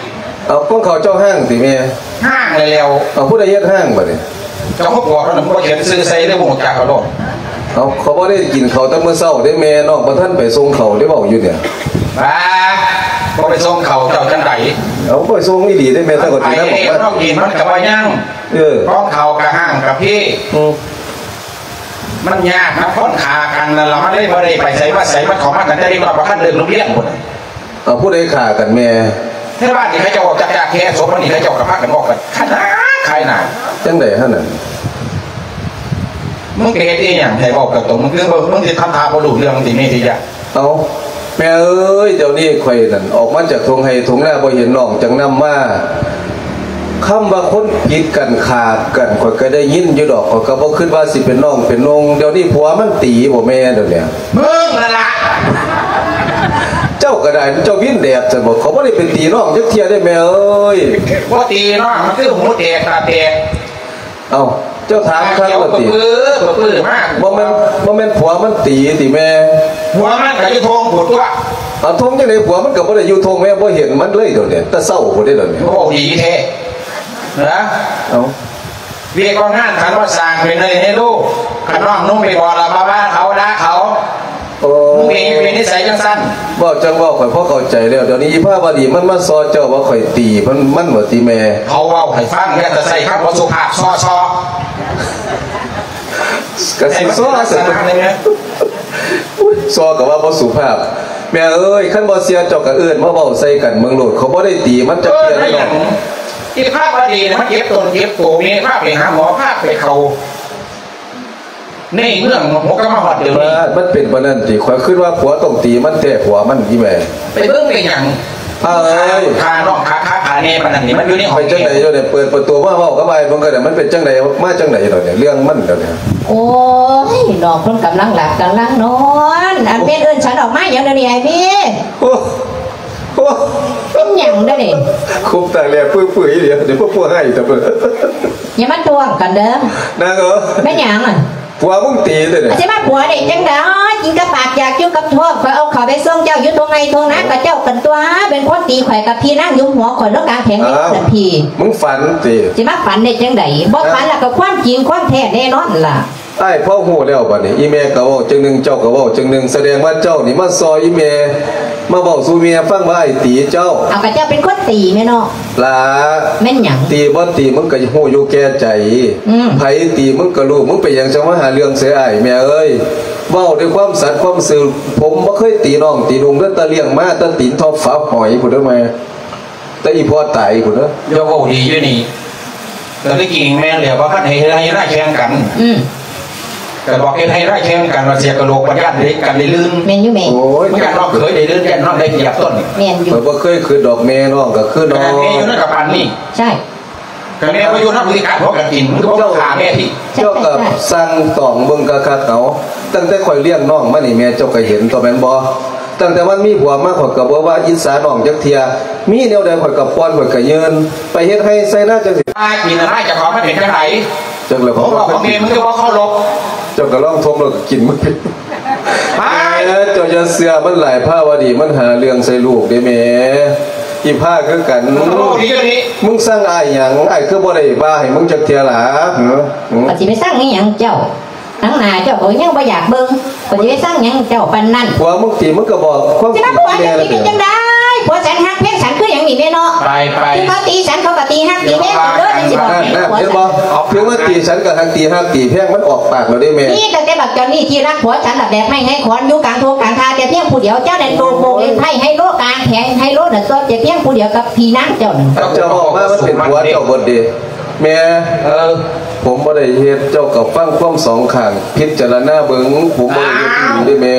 ເອົາ ຂອງເຂົາເຈົ້າຮ້າງຕິແມ່? ຮ້າງແລ້ວ. ເອົາ ຜູ້ໃດເຮັດຮ້າງບັດນີ້? ເຈົ້າຂອງພວກນັ້ນບໍ່ຂຽນຊື່ໃສ່ເລີຍ ບໍ່ຮູ້ຈັກເຂົາໂລດ. ເອົາ ເຂົາບໍ່ໄດ້ກິນເຂົ້າແຕ່ມື້ເຊົ້າເດ້ແມ່ ນ້ອງບໍ່ທັນໄປສົ່ງເຂົ້າເດ້ ເວົ້າຢູ່ນີ້. ບ້າ ບໍ່ໄປສົ່ງເຂົ້າເຈົ້າຈັ່ງໃດ? ເອົາ ບໍ່ໄປສົ່ງອີ່ຫຼີເດ້ແມ່ ແຕ່ກໍຊິໄປແລ້ວ ນ້ອງກິນມັນກໍບໍ່ຍັງ. ເອີ ຂອງເຂົາກໍຮ້າງກະພີ. ອືມ ມັນຍາກນຳຄົນຂ້າກັນນັ້ນລະ ມັນເລີຍບໍ່ໄດ້ໄປໃສມາໃສ ມັນເຂົ້າມາຕັ້ງແຕ່ເດັກນ້ອຍ ບໍ່ທັນເລີ່ມໂຮງຮຽນພຸ້ນ. ເອົາ ຜູ້ໃດຂ້າກັນແມ່? ໃນບ້ານນີ້ເຂົາເຈົ້າອອກຈາກແຍກສົບ ມັນນີ້ເຂົາເຈົ້າກໍພາກັນອອກກັນຂາຍໜ້າຂາຍໜ້າ. ຈັ່ງໃດຫັ້ນນະ? ມຶງໄປເຮັດອີ່ຫຍັງໃຫ້ເວົ້າກັບຕົວ ມຶງຄື ມຶງຊິທຳທ່າບໍ່ຮູ້ເລື່ອງຕິ ມີຕິຢະ. ເອົາ ແມ່ເອີຍ ດຽວນີ້ຂ້ອຍນັ້ນອອກມາຈາກທົ່ງໄຮ່ທົ່ງນາ ບໍ່ເຫັນນ້ອງຈັກນຳມາ. ຄຳວ່າຄົນຜິດກັນຂ້າກັນ ຂ້ອຍກໍໄດ້ຍິນຢູ່ດອກ ຂ້ອຍກໍບໍ່ຄິດວ່າຊິເປັນນ້ອງເປັນນຸ່ງ. ດຽວນີ້ຜົວມັນຕີບໍ່ແມ່ ດຽວນີ້? ມຶງນັ້ນລະ. ເຈົ້າກໍໄດ້ ເຈົ້າວິນແດດຊັ້ນບໍ? ຂ້ອຍບໍ່ໄດ້ໄປຕີນ້ອງຈັກເທື່ອເດ້ແມ່ເອີຍ. ບໍ່ຕີນ້ອງ ມັນຄືຫູແຕກຕາແຕກ. ເອົ້າ ເຈົ້າຖາມຄັກແລ້ວຕິ? ປຶ້ ປຶ້ມາກ. ບໍ່ແມ່ນ ບໍ່ແມ່ນຜົວມັນຕີຕິແມ່? ຜົວມັນກໍຢູ່ທົ່ງພຸ້ນຕົວະ. ເອົາ ທົ່ງຈັ່ງໃດ? ຜົວມັນກໍບໍ່ໄດ້ຢູ່ທົ່ງແມ່ ບໍ່ເຫັນມັນເລີຍດຽວນີ້ ແຕ່ເຊົ້າພຸ້ນເດ້ດຽວນີ້. ໂອ້ ດີແທ້ນະ. ເອົ້າ ວຽກວ່າງານ ຄັນວ່າສ້າງເປັນເລີຍໃຫ້ລູກ ຄັນນ້ອງນຸ່ງໄປບອກລະ ມາວ່າເຂົາ ດ່າເຂົາ. ໂອ້ ເປັນ ເປັນນິໄສຈັ່ງຊັ້ນ. ເວົ້າຈັ່ງເວົ້າ ຂ້ອຍພໍເຂົ້າໃຈແລ້ວ. ດຽວນີ້ອີພາວະດີມັນມາສໍ້ເຈົ້າວ່າຂ້ອຍຕີມັນ ມັນວ່າຕິແມ່? ເຂົາເວົ້າໃຫ້ຟັງ ຢ່າແຕ່ໃຊ້ຄຳບໍ່ສຸພາບ ສໍ້ ສໍ້. ກະຊິສໍ້ ໃຫ້ມັນເປັນລັກສະນະ ຊະ ເລີຍແມ່. ອຸ້ຍ ສໍ້ກໍວ່າບໍ່ສຸພາບ. ແມ່ເອີຍ ຄັນບໍ່ເຊື່ອເຈົ້າກໍເອີ້ນມາເວົ້າໃສ່ກັນເບິ່ງໂລດ ຂ້ອຍບໍ່ໄດ້ຕີມັນຈັກເທື່ອເລີຍ. ເອີ ເນາະ ອີພາວະດີນີ້ມັນເຈັບຕົນເຈັບໂຕ ແມ່ພາໄປຫາໝໍ ພາໄປເຂົ້າ ໃນເມືອງຫົວກະມາຮອດດຽວນີ້. ມັນເປັນປານນັ້ນຕິ? ຂ້ອຍຄິດວ່າຜົວຕ້ອງຕີມັນແທ້ ຜົວມັນອີແມ່. ໄປເບິ່ງໄປຫຍັງ? ອ້າຍ ຂ້ານ້ອງຂ້າ ຂ້າຂ້າແນ່ປານນັ້ນນີ້ ມັນຢູ່ໃນຫ້ອງ. ໄປຈັ່ງໃດຢູ່ນີ້? ເປີດປະຕູມາເວົ້າກັບອ້າຍເບິ່ງກໍໄດ້ ມັນເປັນຈັ່ງໃດ ມາຈັ່ງໃດດອກນີ້ ເລື່ອງມັນດອກນີ້. ໂອ້ຍ ນ້ອງເພິ່ນກຳລັງຫຼັບກຳລັງນອນ. ອັນແມ່ນເອີ້ນສັນອອກມາຫຍັງດຽວນີ້ອ້າຍເມ? ໂອ້ ໂອ້ ເປັນຫຍັງດຽວນີ້? ຄຸບຕາແລປຶ້ຍໆ ດຽວ ດຽວພວກພວກໃຫ້ຕະເບີ. ຢ່າມາທ້ວງກັນເດີ ນາງເອີຍ. ແມ່ນຫຍັງ? ຜົວມຶງຕີເດ້. ຊິມາຜົວໄດ້ຈັ່ງໃດ? ກິນກັບປາກ ຢາກຢູ່ກັບທ້ອງ. ຂ້ອຍເອົາເຂົ້າໄປສົ່ງເຈົ້າຢູ່ທົ່ງໄຮ່ທົ່ງນາ ກໍເຈົ້າກັນຕົວະ ເປັນຄົນຕີຂ້ອຍກັບພີ່ນາງ ຍຸມຫົວຂ້ອຍລົງກາງແຜງນີ້. ອ້າວ ເປັນຜີ. ມຶງຝັນຕິ? ຊິມາຝັນໄດ້ຈັ່ງໃດ? ບໍ່ຝັນລະກໍຄວາມຈິງຄວາມແທ້ແນ່ນອນລະ. ອ້າຍພໍຮູ້ແລ້ວບັດນີ້ ອີແມ່ກໍເວົ້າຈັ່ງໜຶ່ງ ເຈົ້າກໍເວົ້າຈັ່ງໜຶ່ງ ສະແດງວ່າເຈົ້ານີ້ມາສໍ້ອີແມ່ ມາເວົ້າສູ່ແມ່ຟັງວ່າອ້າຍຕີເຈົ້າ. ເອົາ ກໍເຈົ້າເປັນຄົນຕີແມ່ເນາະ. ຫຼ້າ ແມ່ນຫຍັງ? ຕີບໍ່ຕີ ມຶງກໍຮູ້ຢູ່ແກ່ໃຈ. ອືມ ໃຜຕີ ມຶງກໍຮູ້. ມຶງເປັນຫຍັງຈັ່ງມາຫາເລື່ອງໃສ່ອ້າຍ? ແມ່ເອີຍ ເວົ້າດ້ວຍຄວາມສັດຄວາມຊື່ ຜົມບໍ່ເຄີຍຕີນ້ອງຕີນຸ່ງເດີ ແຕ່ລ້ຽງມາແຕ່ຕີນທອບຝາຫອຍພຸ້ນເດີແມ່ ແຕ່ອີພໍ່ຕາຍພຸ້ນເດີ. ຢ່າເວົ້າດີຢູ່ນີ້ ກໍຄືຈິງແມ່ນແຫຼະ ວ່າຄັນໃຫ້ເຮັດໄຮ່ເຮັດນາແຂ່ງກັນ. ອືມ ກໍບອກເຮັດໄຮ່ນາແຂ່ງກັນ ວ່າເສຍກະໂຫຼກ ບັດຢ້ານເດັກກັນໄດ້ລື່ນ. ແມ່ນຢູ່ແມ່. ໂອ້ຍ ມັນຢ້ານນ້ອງເຂີຍໄດ້ລື່ນ ຢ້ານນ້ອງໄດ້ປຽບຕົ້ນ. ແມ່ນຢູ່. ຂ້ອຍບໍ່ເຄີຍຄິດດອກ ແມ່ນ້ອງກໍຄືນ້ອງ. ຂະໜາດແມ່ຢູ່ນຳກໍປານນີ້. ໃຊ່. ຄັນແມ່ບໍ່ຢູ່ນຳ ຄືຊິກັດຫົວກັນກິນ ມັນກໍບໍ່ຂ້າແມ່ຕິ. ເຈົ້າກໍສັ່ງຕອງເບິ່ງຄັກໆ ເອົາ. ຕັ້ງແຕ່ຂ້ອຍລ້ຽງນ້ອງມານີ້ ແມ່ເຈົ້າກໍເຫັນຕົວະແມ່ນບໍ່? ຕັ້ງແຕ່ມັນມີຜົວມາ ຂ້ອຍກໍບໍ່ວ່າອິດສານ້ອງຈັກເທື່ອ. ມີແນວໃດຂ້ອຍກໍປ້ອນ ຂ້ອຍກໍຍື່ນ. ໄປເຮັດໄຮ່ໄຊນາຈັ່ງຊິ ອາ ກິນອາຫານເຈົ້າຂອງມັນເປັນຈັ່ງໃດ? ຈັກແລ້ວ ຂອງພໍ່ຂອງແມ່ ມຶງຄືບໍ່ເຄົາລົບ. ເຈົ້າກໍລອງທົບແລ້ວກໍກິນມັນ. ໄປ ເຈົ້າຢ່າເຊື່ອມັນຫຼາຍ ພາວະດີມັນຫາເລື່ອງໃສ່ລູກເດ້ແມ່. ອີພາຄືກັນ. ໂອ້ ດີຢູ່ນີ້. ມຶງສັ່ງອ້າຍຫຍັງ? ອ້າຍຄືບໍ່ໄດ້ວ່າໃຫ້ມຶງຈັກເທື່ອລະ? ຫື ຫື ຂ້ອຍຊິໄປສັ່ງອີຫຍັງເຈົ້າ? ໜັງໜ້າເຈົ້າກໍຍັງບໍ່ຢາກເບິ່ງ ຂ້ອຍຊິໄປສັ່ງຫຍັງເຈົ້າປານນັ້ນ? ຜົວມຶງຕິ ມຶງກໍບອກຄວາມຈິງແມ່ລະ. ຊິມາຜົວເຈົ້າຕິ ເປັນຈັ່ງໃດ? ຜົວສັນຮັກແພງສັນຄືຫຍັງນີ້ແມ່ເນາະ? ໄປໆ ຄືເຂົາຕີສັນເຂົາກໍຕີຮັກຕີແພງກັນເດີ ຈັ່ງຊີ້ບໍ່? ນັ້ນໆ ເຫັນບໍ່? ເຖິງວ່າຕີສັນກໍຮັກ ຕີຮັກຕີແພງ ມັນອອກປາກແລ້ວເດ້ແມ່. ມີຕັ້ງແຕ່ບັກຈອນນີ້ທີ່ຮັກຜົວສັນລະແບບໄມ້ໄຮຂອນ ຢູ່ກາງທົ່ງກາງທ່າແຕ່ພຽງຜູ້ດຽວ. ເຈົ້ານັ້ນໂຕໂກງເຫຼັນໄພ້ໄຮໂລກາງແຂງໄຮໂລນັ້ນຕົວແຕ່ພຽງຜູ້ດຽວກັບພີ່ນາງເຈົ້ານັ້ນ. ເຈົ້າເວົ້າມາມັນເປັນຜົວເຈົ້າເບິດເດ້ແມ່. ເອີ ຜົມບໍ່ໄດ້ເຮັດ ເຈົ້າກໍຟັງຄວາມສອງຂ້າງ ພິຈາລະນາເບິ່ງ ຜົມບໍ່ໄດ້ເຮັດອີ່ຫຼີເດ້ແມ່.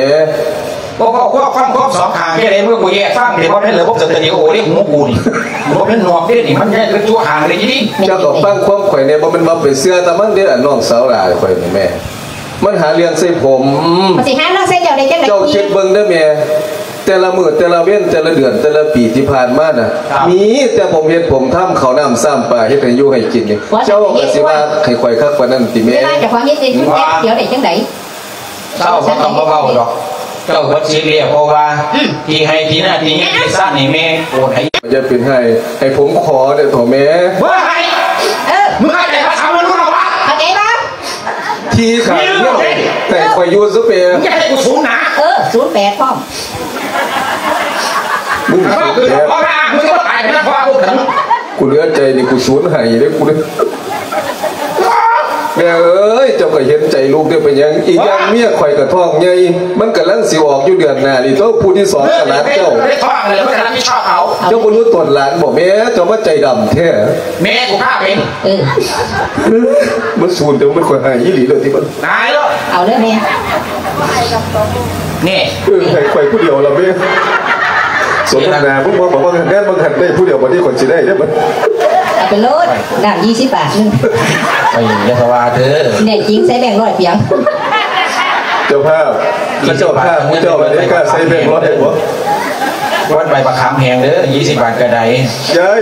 ບໍ່ເວົ້າຄວາມ ຟັງຄວາມສອງຂ້າງຈັ່ງໃດ ມຶງບໍ່ແຍກຟັງເດ້. ບໍ່ແມ່ນລະບົບສະເຕີຣີໂອເດ້ ຫູກູນີ້ ບໍ່ແມ່ນນອກເດ້ນີ້ ມັນແຍກເປັນຕົວຂ້າງເດ້. ເຈົ້າກໍຟັງຄວາມຂ້ອຍແດ່ ບໍ່ແມ່ນວ່າໄປເຊື່ອແຕ່ມັນເດ້ ອັນນ້ອງສາວຫຼ້າຂ້ອຍນີ້ແມ່ ມັນຫາເລື່ອງໃສ່ຜົມ. ມັນຊິຫາເລື່ອງໃສ່ເຈົ້າໄດ້ຈັ່ງໃດ? ເຈົ້າຄິດເບິ່ງເດີແມ່ ແຕ່ລະມື້ ແຕ່ລະເວັນ ແຕ່ລະເດືອນ ແຕ່ລະປີທີ່ຜ່ານມານະ ມີແຕ່ຜົມເຮັດຜົມທຳ ເຂົ້ານ້ຳຊຳປາ ເຮັດໃຫ້ຢູ່ໃຫ້ກິນນີ້ ເຈົ້າກໍຊິວ່າໃຫ້ຂ້ອຍຄັກປານນັ້ນຕິແມ່? ເວລາເຈົ້າຂອງເຮັດໃຫ້ຢູ່ແປັບດຽວໄດ້ຈັ່ງໃດ? ເຈົ້າບໍ່ຕ້ອງມາເວົ້າດອກ ເຈົ້າເບິດສິດແລ້ວ ເພາະວ່າທີ່ໄຮ່ທີ່ນາທີ່ຫຍັງທີ່ຊານນີ້ແມ່ໂອນໃຫ້. ຢ່າເປັນໄຫ້ ໃຫ້ຜົມຂໍເດີເຖາະແມ່. ບໍ່ໃຫ້ ເອີ ມຶງເຂົ້າໃຈພາສາມະນຸດແລ້ວວະ? ເຂົ້າໃຈບໍ່? ທີ່ຂາຍເຮືອນໃຫ້ຂ້ອຍຢູ່ຊະແປ. ມຶງຢ່າໃຫ້ກູສູນໜາ. ເອີ ສູນແປດພ້ອມ. ມຶງສູນແປດ ເອີ ກູເຫຼືອໃຈນີ້ ກູສູນໄຫ້ເດ້ ກູເລີຍ ແມ່ເອີຍ ເຈົ້າກໍເຫັນໃຈລູກເດ້ ເປັນຫຍັງ? ອີກຢ່າງເມຍຂ້ອຍກໍທ້ອງໃຫຍ່ ມັນກຳລັງຊິອອກຢູ່ເດືອນໜ້ານີ້ ໂຕຜູ້ທີສອງກໍຫຼານເຈົ້າ. ເຈົ້າບໍ່ຮູ້ຕົນຫຼານບໍ່ແມ່? ເຈົ້າມາໃຈດຳແທ້. ແມ່ກູພາເປັນ. ເອີ ມັນສູນ ແຕ່ມັນຂ້ອຍໃຫ້ອີ່ຫຼີເລີຍຕິມັນ. ຕາຍແລ້ວ ເອົາເລີຍແມ່. ນີ້ ເອີ ໃຫ້ຂ້ອຍຜູ້ດຽວລະແມ່. ສົມນ້ຳໜ້າ ມຶງບອກວ່າງານມັນຫັ້ນໄດ້ຜູ້ດຽວ ບັດນີ້ຂ້ອຍຊິໄດ້ເດ້ບັດ. ເອົາໄປໂລດ ນ້ຳຍີ່ສິບບາດໜຶ່ງ. ໄປ ຢ່າສະຫວາເດີ ແນ່ຈິງໃສ່ແບງຮ້ອຍປຽງ. ເຈົ້າພາບ ເຂົາເຈົ້າພາບ ເຈົ້າບໍ່ໄດ້ກ້າໃສ່ແບງຮ້ອຍບໍ່? ວັດໃບປະຄຳແຮງເດີ ຍີ່ສິບບາດກະໄດ້. ຍາຍ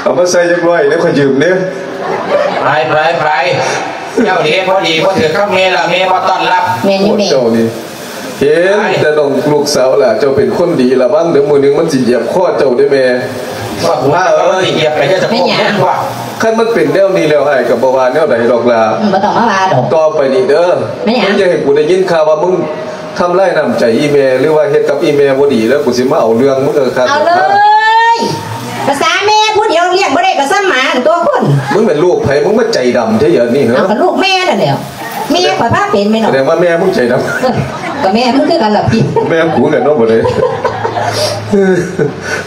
ເອົາມາໃສ່ຈັກຮ້ອຍແດ່ ຂ້ອຍຢືມແດ່. ໄປ ໄປ ໄປ ເຈົ້າເດພໍດີບໍ່ຖືກຄຳແມ່ລະ ແມ່ບໍ່ຕ້ອນຮັບ. ແມ່ນຢູ່ແມ່ ເຈົ້ານີ້ ເຫັນແຕ່ນ້ອງລູກສາວຫຼ້າ ເຈົ້າເປັນຄົນດີ ລະວັງເດີ ມື້ໜຶ່ງມັນຊິຢຽບຄໍເຈົ້າເດ້ແມ່. ວ່າກູວ່າ ເອີຍ ຢຽບໄປ ຢ່າຈະໂກງ. ຄັນມັນເປັນແນວນີ້ແລ້ວ ອ້າຍກໍບໍ່ວ່າແນວໃດດອກຫຼ້າ. ອືມ ບໍ່ຕ້ອງມາວ່າດອກ. ຕໍ່ໄປນີ້ເດີ ແມ່ນຫຍັງ? ຢ່າໃຫ້ກູໄດ້ຍິນຂ່າວວ່າມຶງທຳລາຍນ້ຳໃຈອີ່ແມ່ ຫຼືວ່າເຮັດກັບອີ່ແມ່ບໍ່ດີ ແລ້ວກູຊິມາເອົາເລື່ອງມຶງເດີຄັກ. ເອົາເລີຍ ພາສາແມ່ຜູ້ດຽວລ້ຽງບໍ່ໄດ້ກໍສ່ຳໝາຕົວຄົນ. ມຶງແມ່ນລູກໃຜ ມຶງມາໃຈດຳແທ້ດຽວນີ້ເຮີ? ເອົາ ກໍລູກແມ່ນັ້ນແຫຼ້ວ. ແມ່ຂ້ອຍພາເປັນແມ່ນບໍ່? ສະແດງວ່າແມ່ມຶງໃຈດຳ. ເອີ ກໍແມ່ມຶງຄືກັນລະພີ່. ແມ່ກູຄືກັນເນາະ ບໍ່ໄດ້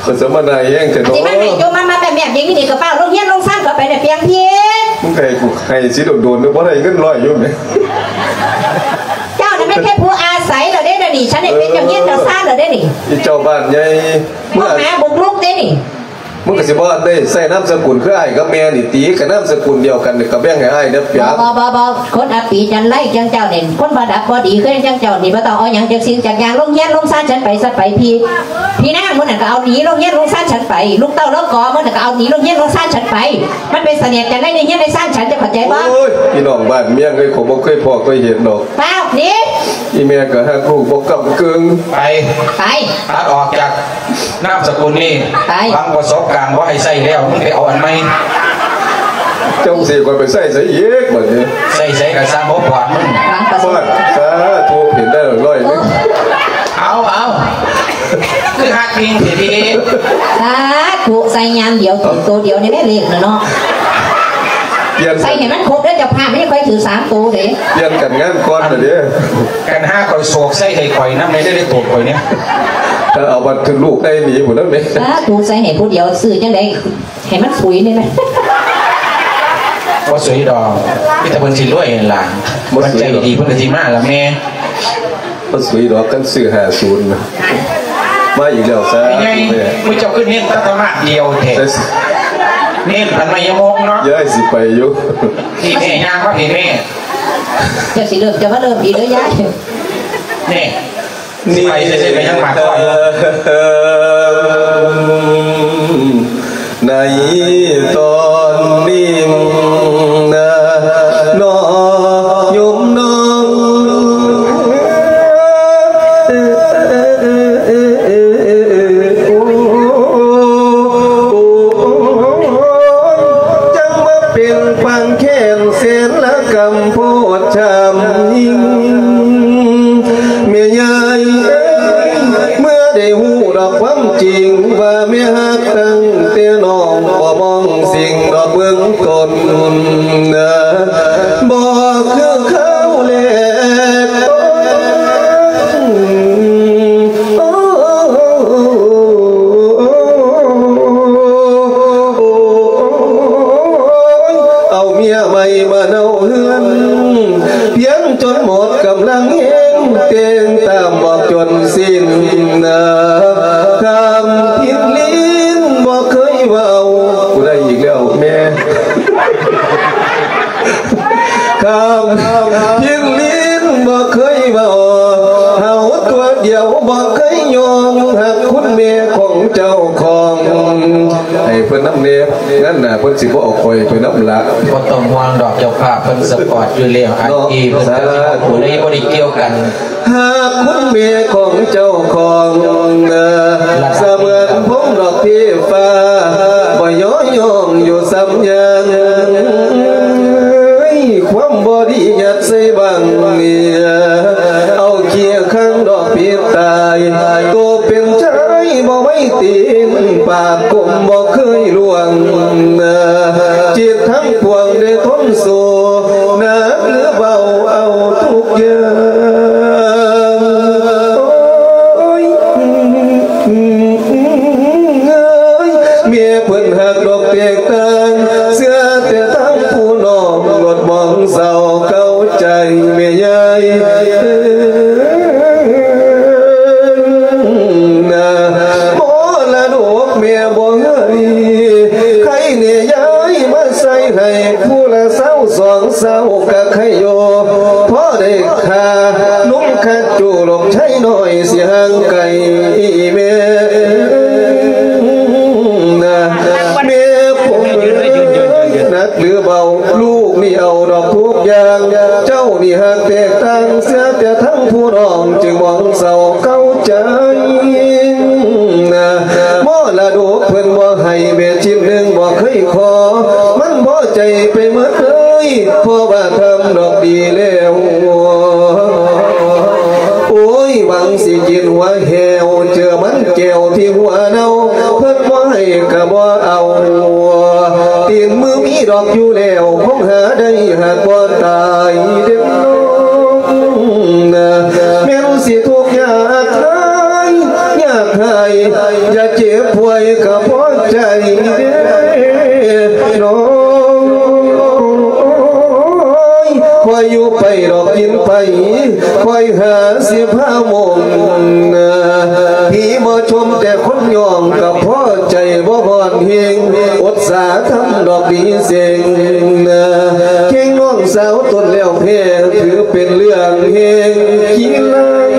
ຂ້ອຍສະມານາຍແຮງແທ້ເນາະ. ຊິມາໃຫ້ໂຈມມາແມບໆຢ່າງນີ້ນີ້ ກໍຟ້າວລົງຮຽນລົງຊານເຂົ້າໄປແລ້ວ ປຽງເພດ. ມຶງໃຫ້ກູໃຫ້ຊິໂດນໆ ບໍ່ໄດ້ເງິນຮ້ອຍຢູ່ແມ. ເຈົ້ານັ້ນແມ່ນແຄ່ຜູ້ອາໄສແລ້ວເດ້ດຽວນີ້ ສັນໄດ້ເປັນເຈົ້າຮຽນເຈົ້າຊານແລ້ວເດ້ນີ້. ອີເຈົ້າບ້ານໃຫຍ່ ມາຫາບຸກລຸກເດ້ນີ້. ມຶງກໍຊິບໍ່ໄດ້ໃຊ້ນາມສະກຸນຄືອ້າຍກັບແມ່ນີ້ຕິ ກະນາມສະກຸນດຽວກັນ ກະແບ່ງໃຫ້ອ້າຍແດ່ປຽກ. ບໍ່ ບໍ່ ບໍ່ ຄົນອັບປີຈັນໄລຈັ່ງເຈົ້ານີ້ ຄົນບໍ່ດັບບໍ່ດີຄືຈັ່ງເຈົ້ານີ້ ບໍ່ຕ້ອງເອົາຫຍັງຈັກສິ່ງຈັກຢ່າງ. ລົງຮຽນລົງຊານສັນໄປ ສັນໄປ ພີ່ ພີ່ນາງມື້ນັ້ນກໍເອົາໜີລົງຮຽນລົງຊານສັນໄປ ລູກເຕົ້າລາວກໍມື້ນັ້ນກໍເອົາໜີລົງຮຽນລົງຊານສັນໄປ. ມັນເປັນສະເໜ່ຫຍັງໃນຮຽນໃນຊານສັນ ເຈົ້າເຂົ້າໃຈບໍ່? ໂອ້ຍ ພີ່ນ້ອງບ້ານເມືອງເອີຍ ຂ້ອຍບໍ່ເຄີຍພໍ້ເຄີຍເຫັນດອກ. ປ້າວໜີ ອີແມ່ກໍຮັກລູກບໍ່ກ້ຳເກິ່ງ. ໄປ ໄປ ຕັດອອກຈາກນາມສະກຸນນີ້ ໄປ ຫວັງປະສົບການບໍ່ໃຫ້ໃຊ້ແລ້ວ ມຶງໄປເອົາອັນໃໝ່. ເຈົ້າຊິໃຫ້ຂ້ອຍໄປໃຊ້ໃສອີກບັດນີ້? ໃຊ້ໃສກໍຊ່າງ ບໍ່ປອດມຶງ. ຫວັງປະສົບ ສາທຸ ເຫັນໄດ້ຮ້ອຍໜຶ່ງ. ເອົາ ເອົາ ຄືຮັກພິງແທ້ຕິ. ສາທຸ ໃສ່ຍາມດຽວຖືກໂຕດຽວນີ້ແມ່ເລກນະເນາະ. ປ່ຽນ ໃສ່ໃຫ້ມັນຄົບເດີ ເຈົ້າພາບ ມັນຍັງຄ່ອຍຖືກສາມໂຕເດ້. ປ່ຽນກັນງາມກ່ອນລະເດ້. ກັນຫາຂ້ອຍໂສກໃສ່ໃຫ້ຂ້ອຍນຳແດ່ເດີ ໂຕຂ້ອຍນີ້. ຖ້າເອົາບັດຖືກລູກໄດ້ໜີພຸ້ນນະແມ່. ສາທຸ ໃສ່ໃຫ້ຜູ້ດຽວ ຊື້ຈັ່ງໃດໃຫ້ມັນສຸຍນີ້ນະ. ບໍ່ສຸຍດອກ ມີແຕ່ເພິ່ນຊິລວຍຫັ້ນລະ. ບໍ່ສຸຍດອກ ມັນໃຈດີ ເພິ່ນກໍຊິມາລະແມ່. ບໍ່ສຸຍດອກ ຄັນຊື້ຫ້າສູນນະ. ມາອີກແລ້ວ ສາທຸແມ່. ມື້ເຈົ້າຄືເນັ້ນແຕ່ທຳມະດຽວແທ້ ເນັ້ນອັນໄມຍະມົກເນາະ. ຍາຍຊິໄປຢູ່. ນີ້ແມ່ ຍ່າງມາພີ້ແມ່. ເຈົ້າຊິເລີ່ມ ເຈົ້າມາເລີ່ມອີກເດີຍາຍ. ນີ້ ຊິໄປໃສໆ ໄປຍັງປາກຄອນ. ໃນຕອນນີ້ນະ ນ້ອງໂຍມນ້ອງ ຈັ່ງມາເປັນປານແຄ້ນແສນລະກຳໂພດຊ່ຳຍິ່ງ ແມ່ຍາຍເອີຍ ເມື່ອໄດ້ຮູ້ດອກ ຄວາມຈິງວ່າແມ່ຮັກຕັ້ງແຕ່ນ້ອງ ບໍ່ມອງສິ່ງດອກເບື້ອງຕົ້ນ ບໍ່ຄືຄາວແລກ ເອົາເມຍໃໝ່ມາເນົາເຮືອນ ພຽງຈົນໝົດກຳລັງແຮງ ແຕ່ງຕາມບອກຈົນສິ້ນ ຄຳພິນລີນບໍ່ເຄີຍເວົ້າ ກູໄດ້ອີກແລ້ວແມ່ ຄຳພິນລີນບໍ່ເຄີຍເວົ້າ ເຮົາຕົວດຽວບໍ່ເຄີຍຍອມ ຮັກຄຸນແມ່ຂອງເຈົ້າຂອງ ໃຫ້ເພິ່ນນຳແດ່ ນັ້ນນະ ເພິ່ນຊິບໍ່ເອົາຂ້ອຍໄປນຳລະ ບໍ່ຕ້ອງຫ່ວງດອກ ເຈົ້າພາບເພິ່ນສະປອດຢູ່ແລ້ວ ອັນ ເນາະ ທີ່ເພິ່ນ ສາທຸ ກໍຊິບໍ່ໄດ້ ບໍ່ໄດ້ກ່ຽວກັນ ຫາກຄຸນແມ່ຂອງເຈົ້າຂອງ ສະເໝືອນພົງດອກເທຟ້າ ບໍ່ຍໍຍ້ອງຢູ່ສ່ຳຍາງ ຄວາມບໍ່ດີຍັດໃສ່ບັງ ເອົາຂີ້ຄັງດອກປິດຕາຍ ໂຕເປັນຊາຍບໍ່ໄວ້ຕີນ ປາກກົມບໍ່ເຄີຍລ່ວງ ຈິດທັງປວງໄດ້ທົນສູ້ ໜັກຫຼືເບົາເອົາທຸກຢ່າງ ໂອ້ຍ ເອີຍ ແມ່ເພິ່ນຮັກດອກແຕກຕ່າງ ເຊື່ອແຕ່ທາງຜູ້ນ້ອງ ລົດມອງເສົ້າເກົາໃຈແມ່ຍາຍ ນະ ມໍລະດົກແມ່ບໍ່ໃຫ້ ໃຄແນ່ຍາຍມາໃສ່ໃຫ້ ຜູ້ລະຊາວສອງຊາວກະໃຄຢູ່ ພໍໄດ້ຄ່ານຸ່ງຄັດຈູ ລູກຊາຍນ້ອຍຊິຫ່າງໄກແມ່ນະ ແມ່ຜົມເອີຍ ໜັກຫຼືເບົາ ລູກນີ້ເອົາດອກທຸກຢ່າງ ເຈົ້ານີ້ຫາກແຕກຕ່າງ ເຊື່ອແຕ່ທັງຜູ້ນ້ອງ ຈຶ່ງມອງເສົ້າເກົາໃຈ ມໍລະດົກເພິ່ນບໍ່ໃຫ້ ແມ່ຊິ້ນໜຶ່ງບໍ່ເຄີຍຂໍ ມັນພໍໃຈໄປໝົດເລີຍ ເພາະວ່າທຳດອກດີແລ້ວ ໂອ້ຍ ຫວັງຊິກິນຫົວແຫ້ວ ເຈີມັນແກ້ວທີ່ຫົວເນົ່າ ເພິ່ນບໍ່ໃຫ້ກະບໍ່ເອົາ ຕີນມືມີດອກຢູ່ແລ້ວ ຄົງຫາໄດ້ຫາກບໍ່ຕາຍເດ້ນ ແມ່ນຊິທຸກຍາກຫາຍ ຍາກຫາຍ ຢ່າເຈັບປ່ວຍກະພໍໃຈເດ້ນ້ອງ ຄ່ອຍຢູ່ໄປດອກກິນໄປ ຄ່ອຍຫາຊິພາມົງ ຜີບໍ່ຊົມແຕ່ຄົນຍ້ອງ ກະພໍໃຈບໍ່ຮ້ອນເຮງ ອົດສາທຳດອກດີເສັງ ເຄັ່ງນ້ອງສາວຕົນແລ້ວແພ້ ຖືເປັນເລື່ອງເຮງຂີ້ລັງ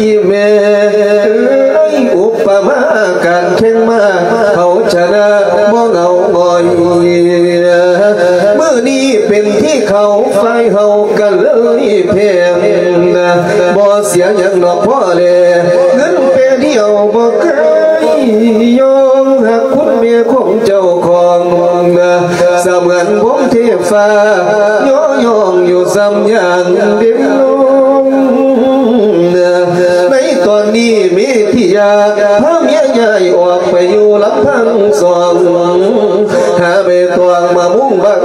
ອີແມ່ເອີຍ ອຸປະມາການແຂ່ງມ້າ ເຂົາຊະນະບໍ່ເຫງົາຫງອຍ ມື້ນີ້ເປັນທີ່ເຂົາ ຝ່າຍເຮົາກະເລີຍແພ້ ບໍ່ເສຍຫຍັງດອກພໍ່ແລ ເງິນແປດຽວບໍ່ເຄີຍຍອມ ຮັກຄຸນແມ່ຂອງເຈົ້າຂອງ ສະເໝືອນວົງເທ ຟ້າຍໍຍ້ອງຢູ່ສ່ຳຢ່າງເດັ່ນລົງ ໃນຕອນນີ້ມີທີ່ຢາກ ພາເມຍຍ້າຍອອກໄປຢູ່ລຳພັງສອງ ຫາໃບຕອງມາມຸງບັງ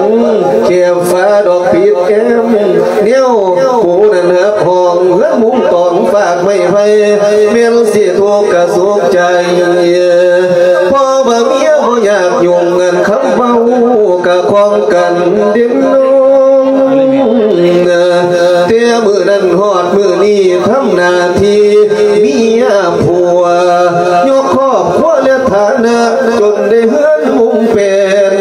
ແຄບຝາດອກປິດແອ້ມ ແນວປູນັ້ນຫາກຫ້ອງ ເຮືອນມຸງຕອງ ຝາກໄມ້ໄຜ່ ແມ່ນຊິທຸກກະສຸກໃຈ ເພາະວ່າເມຍບໍ່ຢາກຫຍຸ້ງ ອັນຄຳເວົ້າກະຂອງກັນເດັ່ນລົງ ແຕ່ມື້ນັ້ນຮອດມື້ນີ້ ທຳໜ້າທີ່ເມຍຜົວ ຍົກຄອບຄົວແລະຖານະ ຈົນໄດ້ເຮືອນມຸງແປນ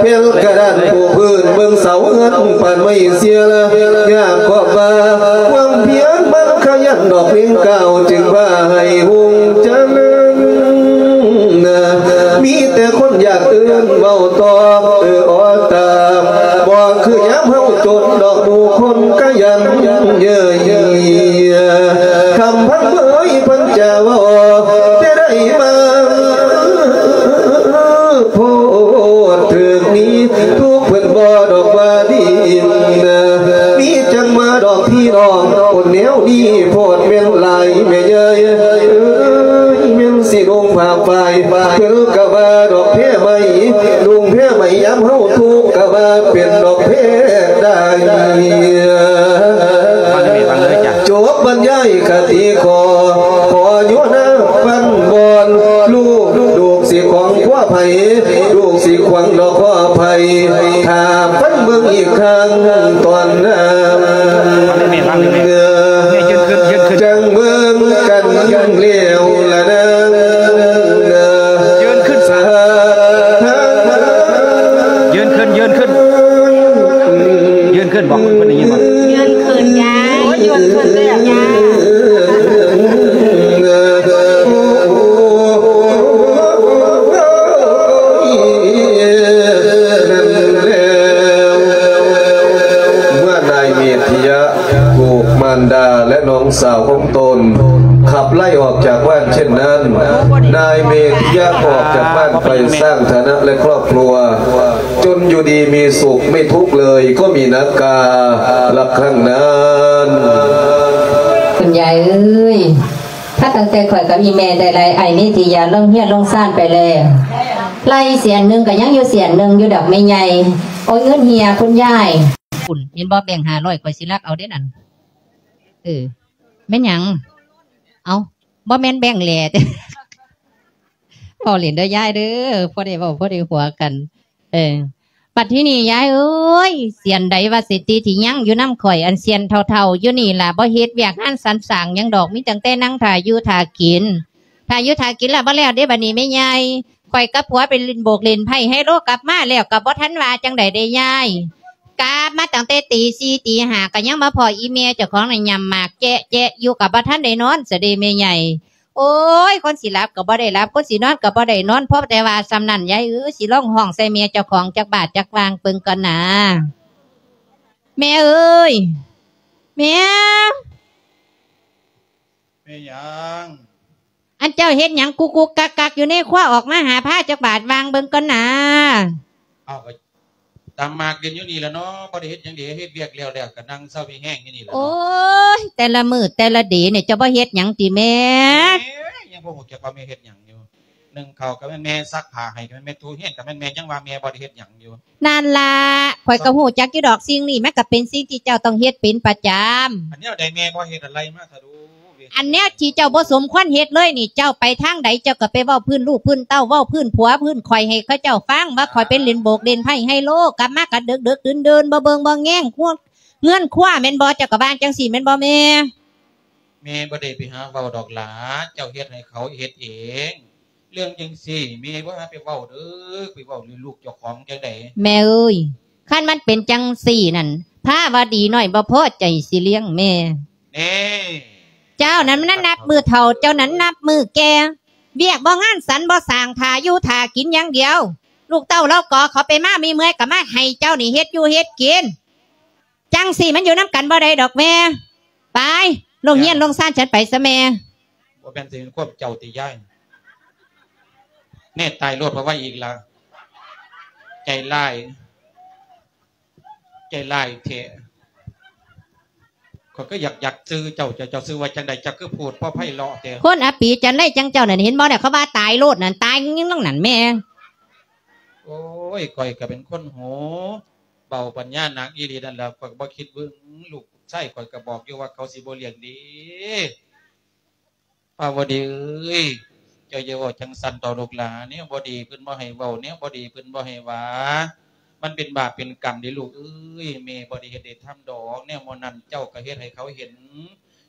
ແຜ່ນກະດານປູພື້ນ ເບິ່ງເສົາເຮືອນປານໄມ້ເຊຍລະ ຍາກຄອບວ່າ ຄວາມພຽນມັນຂະຫຍັນດອກເມັງກ້າວ ຈຶ່ງວ່າໃຫ້ຮຸ່ງຈະເລີນ ມີແຕ່ຄົນຢາກອື່ນເວົ້າຕອບ ເອີອອຕາມ ບໍ່ຄືຍາມເຮົາຈົນດອກ ໝູ່ຄົນຂະຫຍັນເຍີ້ຍ ຄຳພັນເອີຍ ເພິ່ນຈະເວົ້າແຕ່ໃດມາ ໂພດເຖິງນີ້ ທຸກເພິ່ນບໍ່ດອກວ່າດີ ມີຈັ່ງມາ ເປັນຫຼາຍແມ່ເອີຍ ເອີຍ ແມ່ນຊິນຸ່ງຜ້າຝ້າຍ ເພິ່ນກະວ່າດອກແພໄໝ ນຸ່ງແພໄໝຍາມເຮົາທຸກກະວ່າເປັນດອກແພໄດ້. ຟັງເດີ ຟັງເດີຈ້ະ ຈົບບັນຍາຍຄະຕິຂໍ ຂໍຢູ່ນາຟັນບອນ ລູກ ລູກຊິຂວາງຂົວໃຜ ລູກຊິຂວາງດອກຂໍໃຜ ຖ້າຟັງເບິ່ງອີກຄັ້ງຕອນໜ້າ ຟັງເດີແມ່ ຟັງເດີແມ່ ເອີຍ ຢືນຂຶ້ນ ຢືນຂຶ້ນ ຈັ່ງເບິ່ງກັນແລ້ວລະນາງ ຢືນຂຶ້ນຊະ ຢືນຂຶ້ນ ຢືນຂຶ້ນ ຢືນຂຶ້ນ ບອກເພິ່ນໄດ້ຍິນບໍ່? ຢືນຂຶ້ນ ຍາຍ ໂອ້ຍ ຢືນຂຶ້ນເລີຍ ຍາຍ. ນັ້ນແລ້ວ ເມື່ອນາຍເມດທິຍະ ຖືກມານດາ ແລະ ນ້ອງສາວຂອງຕົນ ຂັບໄລ່ອອກຈາກບ້ານເຊັ່ນນັ້ນ, ນາຍເມດທິຍະອອກຈາກບ້ານໄປສ້າງຖານະ ແລະ ຄອບຄົວ ຈົນຢູ່ດີມີສຸກ ໄມ່ທຸກເລີຍ ກໍມີນາກາ ລັກຄັ້ງນັ້ນ. ຄຸນຍາຍເອີຍ ຖ້າຕັ້ງແຕ່ຂ້ອຍກັບອີ່ແມ່ໄດ້ໄລ່ອ້າຍເມດທິຍະລົງເຮືອນລົງຊານໄປແລ້ວ ໄລ່ເສຍນໜຶ່ງກໍຍັງຢູ່ເສຍນໜຶ່ງຢູ່ດອກແມ່ໃຫຍ່. ໂອ້ຍ ເງິນເຫຍຄຸນຍາຍ. ພຸ້ນ ເຫັນບໍ່ ແບງຫ້າຮ້ອຍ ຂ້ອຍຊິລັກເອົາເດ້ນັ້ນ. ເອີ ແມ່ນຫຍັງ? ເອົ້າ ບໍ່ແມ່ນແບງແຫຼຕິ? ເວົ້າຫຼິ້ນເດີຍາຍເດີ ພໍໄດ້ເວົ້າ ພໍໄດ້ຫົວກັນ. ເອີ ບັດທີນີ້ຍາຍເອີຍ ເສຍນໃດວ່າເສດຖີທີ່ຍັງຢູ່ນຳຂ້ອຍ ອັນເສຍນເຖົ້າໆຢູ່ນີ້ລະ ບໍ່ເຮັດວຽກງານສັນສ້າງຫຍັງດອກ ມີຕັ້ງແຕ່ນັ່ງຖ້າຢູ່ຖ້າກິນ ຖ້າຢູ່ຖ້າກິນລະບໍ່ແລ້ວເດ້. ບັດນີ້ແມ່ໃຫຍ່ ຂ້ອຍກັບຜົວໄປຫຼິ້ນໂບກຫຼິ້ນໄພ້ໄຮໂລ ກັບມາແລ້ວກໍບໍ່ທັນວ່າຈັ່ງໃດເດ້ຍາຍ. ກັບມາຕັ້ງແຕ່ຕີສີ່ຕີຫ້າ ກໍຍັງມາພໍ້ອີ່ແມ່ເຈົ້າຂອງນັ້ນຫຍ້ຳໝາກແຈະໆຢູ່ ກໍບໍ່ທັນໄດ້ນອນຊະເດ້ແມ່ໃຫຍ່. ໂອ້ຍ ຄົນຊິຫຼັບກໍບໍ່ໄດ້ຫຼັບ ຄົນຊິນອນກໍບໍ່ໄດ້ນອນ ພໍແຕ່ວ່າສ່ຳນັ້ນ. ຍາຍເອີຍ ຊິລອງຮ້ອງໃສ່ແມ່ເຈົ້າຂອງຈັກບາດຈັກຫວ່າງເບິ່ງກ່ອນນາ. ແມ່ເອີຍ ແມ່. ແມ່ຫຍັງ? ອັນເຈົ້າເຮັດຫຍັງກຸກໆກັກໆຢູ່ໃນຄົວ? ອອກມາຫາພາຈັກບາດຫວ່າງເບິ່ງກ່ອນນາ. ເອົາ ກໍຕາມໝາກຫຼິ້ນຢູ່ນີ້ລະເນາະ ບໍ່ໄດ້ເຮັດຫຍັງເດ ເຮັດວຽກແລ້ວໆ ກໍນັ່ງເຊົາມີແຮງຢູ່ນີ້ລະເນາະ. ໂອ້ຍ ແຕ່ລະມື້ແຕ່ລະເດນີ້ ເຈົ້າບໍ່ເຮັດຫຍັງຕິແມ່? ເອີຍ ຍັງບໍ່ຮູ້ຈັກວ່າແມ່ເຮັດຫຍັງຢູ່. ໜຶ້ງເຂົ້າກໍແມ່ນແມ່ ຊັກຜ້າໃຫ້ກໍແມ່ນແມ່ ຖູເຮືອນກໍແມ່ນແມ່ ຍັງວ່າແມ່ບໍ່ໄດ້ເຮັດຫຍັງຢູ່. ນັ້ນລະ ຂ້ອຍກໍຮູ້ຈັກຢູ່ດອກ ສິ່ງນີ້ມັນກໍເປັນສິ່ງທີ່ເຈົ້າຕ້ອງເຮັດເປັນປະຈຳ. ອັນແນວໃດແມ່ບໍ່ເຮັດ ອັນໄລ່ມາຊະດູ. ອັນແນວທີ່ເຈົ້າບໍ່ສົມຄວນເຮັດເລີຍນີ້ ເຈົ້າໄປທາງໃດ ເຈົ້າກໍໄປເວົ້າພື້ນລູກພື້ນເຕົ້າ ເວົ້າພື້ນຜົວພື້ນຂ້ອຍໃຫ້ເຂົາເຈົ້າຟັງວ່າຂ້ອຍໄປຫຼິ້ນໂບກຫຼິ້ນໄພ້ໄຮໂລ ກັບມາກໍເດິກໆດື່ນໆ ບໍ່ເບິ່ງບໍ່ແຍງຄົວເຮືອນຄົວແມ່ນບໍ່? ເຈົ້າກໍວ່າຈັ່ງຊີ້ແມ່ນບໍ່ແມ່? ແມ່ບໍ່ໄດ້ໄປຫາເວົ້າດອກຫຼາ ເຈົ້າເຮັດໃຫ້ເຂົາເຮັດເອງ. ເລື່ອງຈັ່ງຊີ້ແມ່ບໍ່ຫາໄປເວົ້າເດີ ໄປເວົ້າເລື່ອງລູກເຈົ້າຂອງຈັ່ງໃດ? ແມ່ເອີຍ ຄັນມັນເປັນຈັ່ງຊີ້ນັ້ນ ພາວະດີນ້ອຍບໍ່ພໍໃຈຊິລ້ຽງແມ່. ແນ່ ເຈົ້ານັ້ນມັນນັບມື້ເຖົ້າ ເຈົ້ານັ້ນນັບມື້ແກ່ ວຽກບໍ່ງານສັນບໍ່ສ້າງ ຖ້າຢູ່ຖ້າກິນຢ່າງດຽວ. ລູກເຕົ້າລາວກໍເຂົາໄປມາ ມີເມື່ອຍກໍມາໃຫ້ເຈົ້ານີ້ເຮັດຢູ່ເຮັດກິນ. ຈັ່ງຊີ້ມັນຢູ່ນຳກັນບໍ່ໄດ້ດອກແມ່. ໄປ ລົງເຮືອນລົງຊານ ເຈົ້າ ສັນໄປຊະແມ່. ບໍ່ແມ່ນຊິເປັນຄວາມເຈົ້າຕິຍາຍ? ແນ່ ຕາຍໂລດ ເພາະວ່າອີກລະ ໃຈຮ້າຍ ໃຈຮ້າຍແທ້. ຂ້ອຍກໍຢາກ ຢາກຊື່ເຈົ້າ ເຈົ້າ ເຈົ້າຊື່ວ່າຈັ່ງໃດ? ເຈົ້າຄືພູດພໍໄພເລາະແທ້. ຄົນອາປີຈັນໄລຈັ່ງເຈົ້ານັ້ນ ເຫັນບໍ່ ເຂົາວ່າຕາຍໂລດນັ້ນ ຕາຍຍັງນັ້ນແມ່. ໂອ້ຍ ຂ້ອຍກໍເປັນຄົນໂຫ ເບົາປັນຍາໜັກອີ່ຫຼີນັ້ນແຫຼະ ຂ້ອຍກໍບໍ່ຄິດເບິ່ງລູກຊາຍ ຂ້ອຍກໍບອກຢູ່ວ່າເຂົາຊິບໍ່ລ້ຽງດີ. ພາວະດີເອີຍ ເຈົ້າຢ່າເວົ້າຈັ່ງຊັ້ນຕໍ່ລູກຫຼານ ແນວບໍ່ດີເພິ່ນບໍ່ໃຫ້ເວົ້າ ແນວບໍ່ດີເພິ່ນບໍ່ໃຫ້ວ່າ ມັນເປັນບາບເປັນກຳເດ້ລູກເອີຍ. ແມ່ບໍ່ໄດ້ເຮັດໄດ້ທຳດອກ ແນວໝໍນັ້ນ ເຈົ້າກໍເຮັດໃຫ້ເຂົາເຫັນ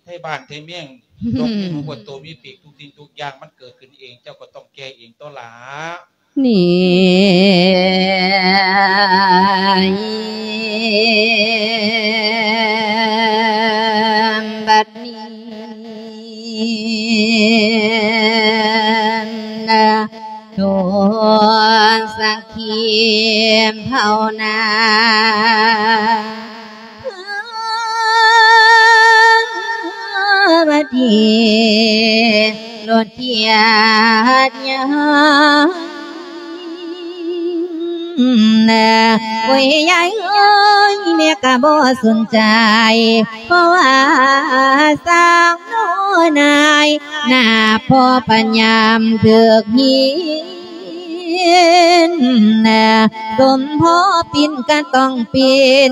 ໄທບ້ານໄທເມືອງ ນົກມີຫູ ບົດໂຕມີປີກ ທຸກສິ່ງທຸກຢ່າງມັນເກີດຂຶ້ນເອງ ເຈົ້າກໍຕ້ອງແກ້ເອງຕົວະຫຼ້າ. ນີ້ ບັດນີ້ນະ ທຸກສັກ ທີມພາວນາ ມາດີໂລດທຽດຍາ ໂອ້ຍ ຍາຍເອີຍ ແມ່ກໍບໍ່ສົນໃຈ ເພາະວ່າສາວນ້ອຍນາຍ ໜ້າພໍ່ພະຍາມຖືກຫີນ ສົມພໍປິ່ນກໍຕ້ອງປິ່ນ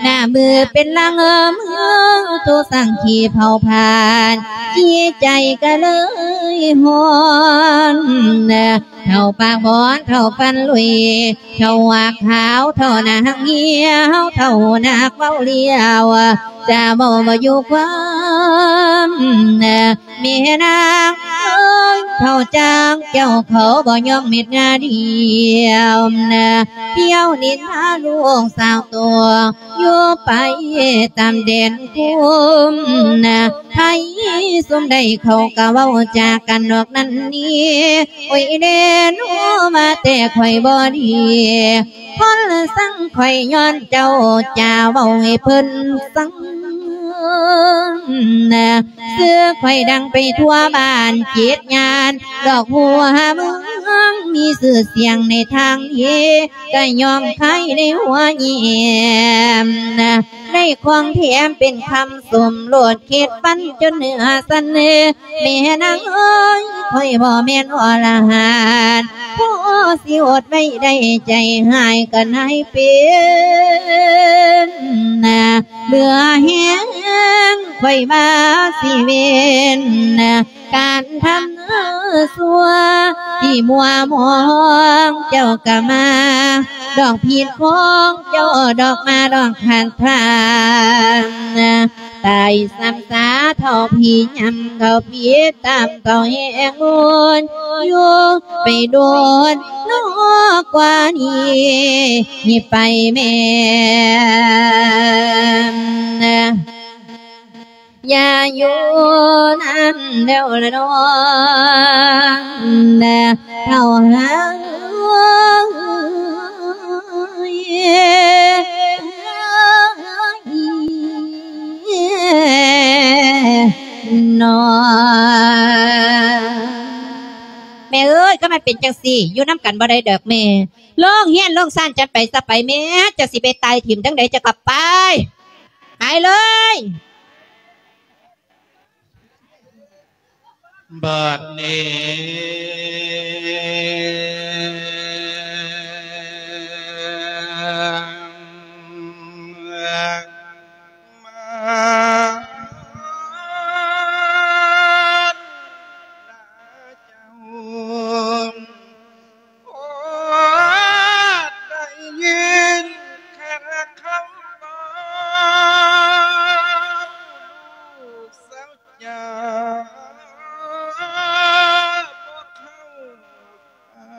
ໜ້າມືເປັນລັງເອີມເຮືອງ ຖືກສັງຄີເຜົາຜານ ຈິດໃຈກໍເລີຍຮ້ອນ ເຖົ້າປາກບອນ ເຖົ້າຟັນຫຼຸຍ ເຖົ້າຫວາກຂາວ ເຖົ້າໜ້າຮັກຮຽວ ເຖົ້ານັກເວົ້າລຽວ ຈະເວົ້າບໍ່ຢູ່ຄວາມ ແມ່ນາງເອີຍ ເຖົ້າຈາງເຈົ້າເຂົາບໍ່ຍອມເມັດງາດຽວ ທ່ຽວນິນທາລູກສາວຕົວ ຢູ່ໄປຕາມແດນຄຸ້ມນະ ໃຜຊຸມໃດເຂົາກໍເວົ້າຈາກັນນອກນັ້ນນີ້ ໂອ້ຍແດ່ນອມາແຕ່ຂ້ອຍບໍ່ດີ ຄົນລະສັງຂ້ອຍຍ້ອນເຈົ້າຈາເວົ້າໃຫ້ເພິ່ນສັງນະ ຊື່ຂ້ອຍດັງໄປທົ່ວບ້ານເຈັດຍ່ານ ດອກຫົວເມືອງມີຊື່ສຽງໃນທາງດີ ກະຍ້ອນໃຄໃນຫົວແຍ້ມນະ ໄດ້ຂອງແຖມເປັນຄຳສົມໂລດ ເຂດປັນຈົນເນື້ອສັນເນ ແມ່ນາງເອີຍ ຂ້ອຍບໍ່ແມ່ນອໍລະຫັນ ພໍຊິອົດໄວ້ໄດ້ ໃຈຮ້າຍກໍນາຍເປັນນະ ເບື່ອແຮງ ຂ້ອຍວ່າຊິເວັ້ນນະ ການທຳຊົ່ວທີ່ມົວມອງ ເຈົ້າກໍມາດອກຜິດຂອງເຈົ້າດອກ ມາດອກຂັດຂານ ຕາຍຊ້ຳຊາເທົ່າຜີຍຳ ເທົ່າຜີຕາມເທົ່າແຮງໂຫຍ ຢູ່ໄປໂດນນອກກວ່ານີ້ ນີ້ໄປແມ່ນ ຢ່າຢູ່ນຳແລ້ວລະນ້ອງ ເຖົ້າເອີຍ ນ້ອງ ແມ່ເອີຍ ກໍມັນເປັນຈັ່ງຊີ້ ຢູ່ນຳກັນບໍ່ໄດ້ດອກແມ່ ໂລງເຮືອນໂລງຊານຈະໄປຊະໄປແມ່ ຈະຊິໄປຕາຍຖິ້ມທາງໃດ ຈະກໍໄປ ຫາຍເລີຍ ບາດນີ້ມາ ໂອ້ ໄດ້ຍິນແຄ່ຄຳເວົ້າ ລູກສາວຈາບໍ່ເຂົ້າປາ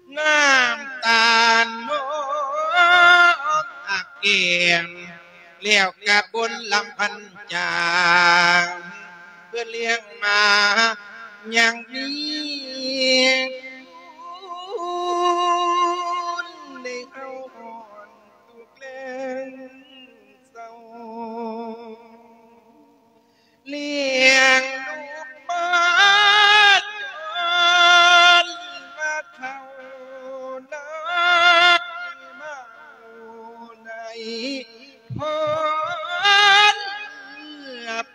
ກ ນ້ຳຕານນອກອາກແກ້ມ ແລ້ວກະບົນລຳພັນຈາງ ເພື່ອລ້ຽງມາຍັງມີບຸນໃນເຮົາ ທຸກແລງເສົ້າ ລ້ຽງລູກມາຈົນວ່າເຖົ້ານາຍມາໃນພົບ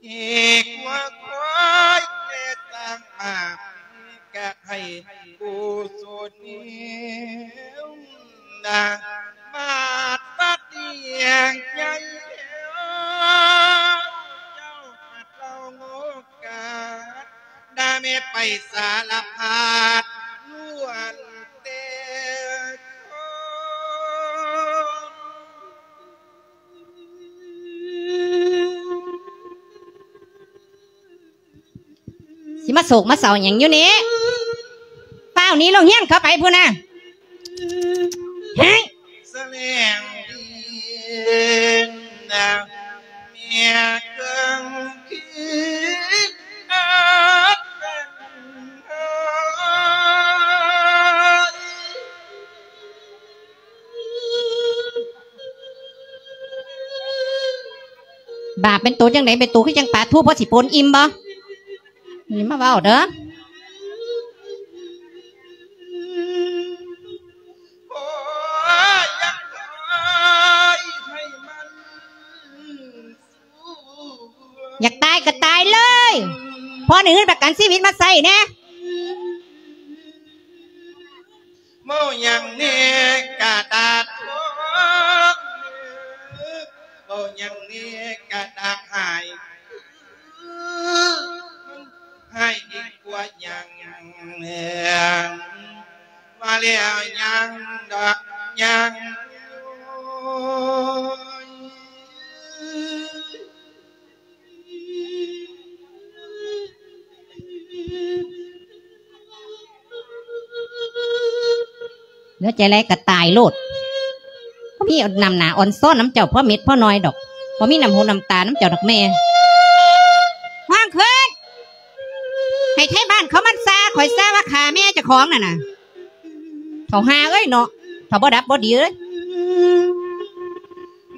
ອີກວ່າຄວາຍແຕ່ຕ່າງມາກະໃຫ້ກຸສົນນາ ມາດຕັດດຽງໃຫຍ່ແລ້ວ ເຈົ້າມາເລົ່າໂງກາ ດາແມ່ໄປສາລະພັດລ້ວນແຕ່ຂອງ ຊິມາໂສກມາເສົ້າຫຍັງຢູ່ນີ້? ຟ້າວໜີໂລງຮຽນເຂົ້າໄປພຸ້ນນະ. ສະແດງດີນະ ເມຍເຄື່ອງຄິດ ຕາເປັນໂຕຈັ່ງໃດ ເປັນໂຕຄືຈັ່ງປາທູ ພໍຊິປົນອີ່ມບໍ່? ຢ່າມາເວົ້າເດີ. ຢາກຕາຍກໍຕາຍເລີຍ ພໍໄດ້ເງິນປະກັນຊີວິດມາໃຊ້ແດ່. ເວົ້າຫຍັງແດ່ກະດາດທອງ ເວົ້າຫຍັງແດ່ກະດາດຫາຍ ມັນຫາຍດີກວ່າຫຍັງ ວ່າແລ້ວຫຍັງດອກຫຍັງ. ເໜືອໃຈຫຼາຍກໍຕາຍໂລດ ບໍ່ມີນ້ຳໜ້າອ່ອນຊ້ອນນຳເຈົ້າພໍເມັດພໍໜ້ອຍດອກ ບໍ່ມີນ້ຳຫູນ້ຳຕານຳເຈົ້າດອກແມ່. ຮ້ອງຂຶ້ນ ໃຫ້ໄທບ້ານເຂົາມັນຊາ ຂ້ອຍຊາວ່າຂ້າແມ່ເຈົ້າຂອງນັ້ນນະ. ເຖົ້າຫ່າເອີຍເນາະ ຖ້າບໍ່ດັບບໍ່ດີເອີຍ.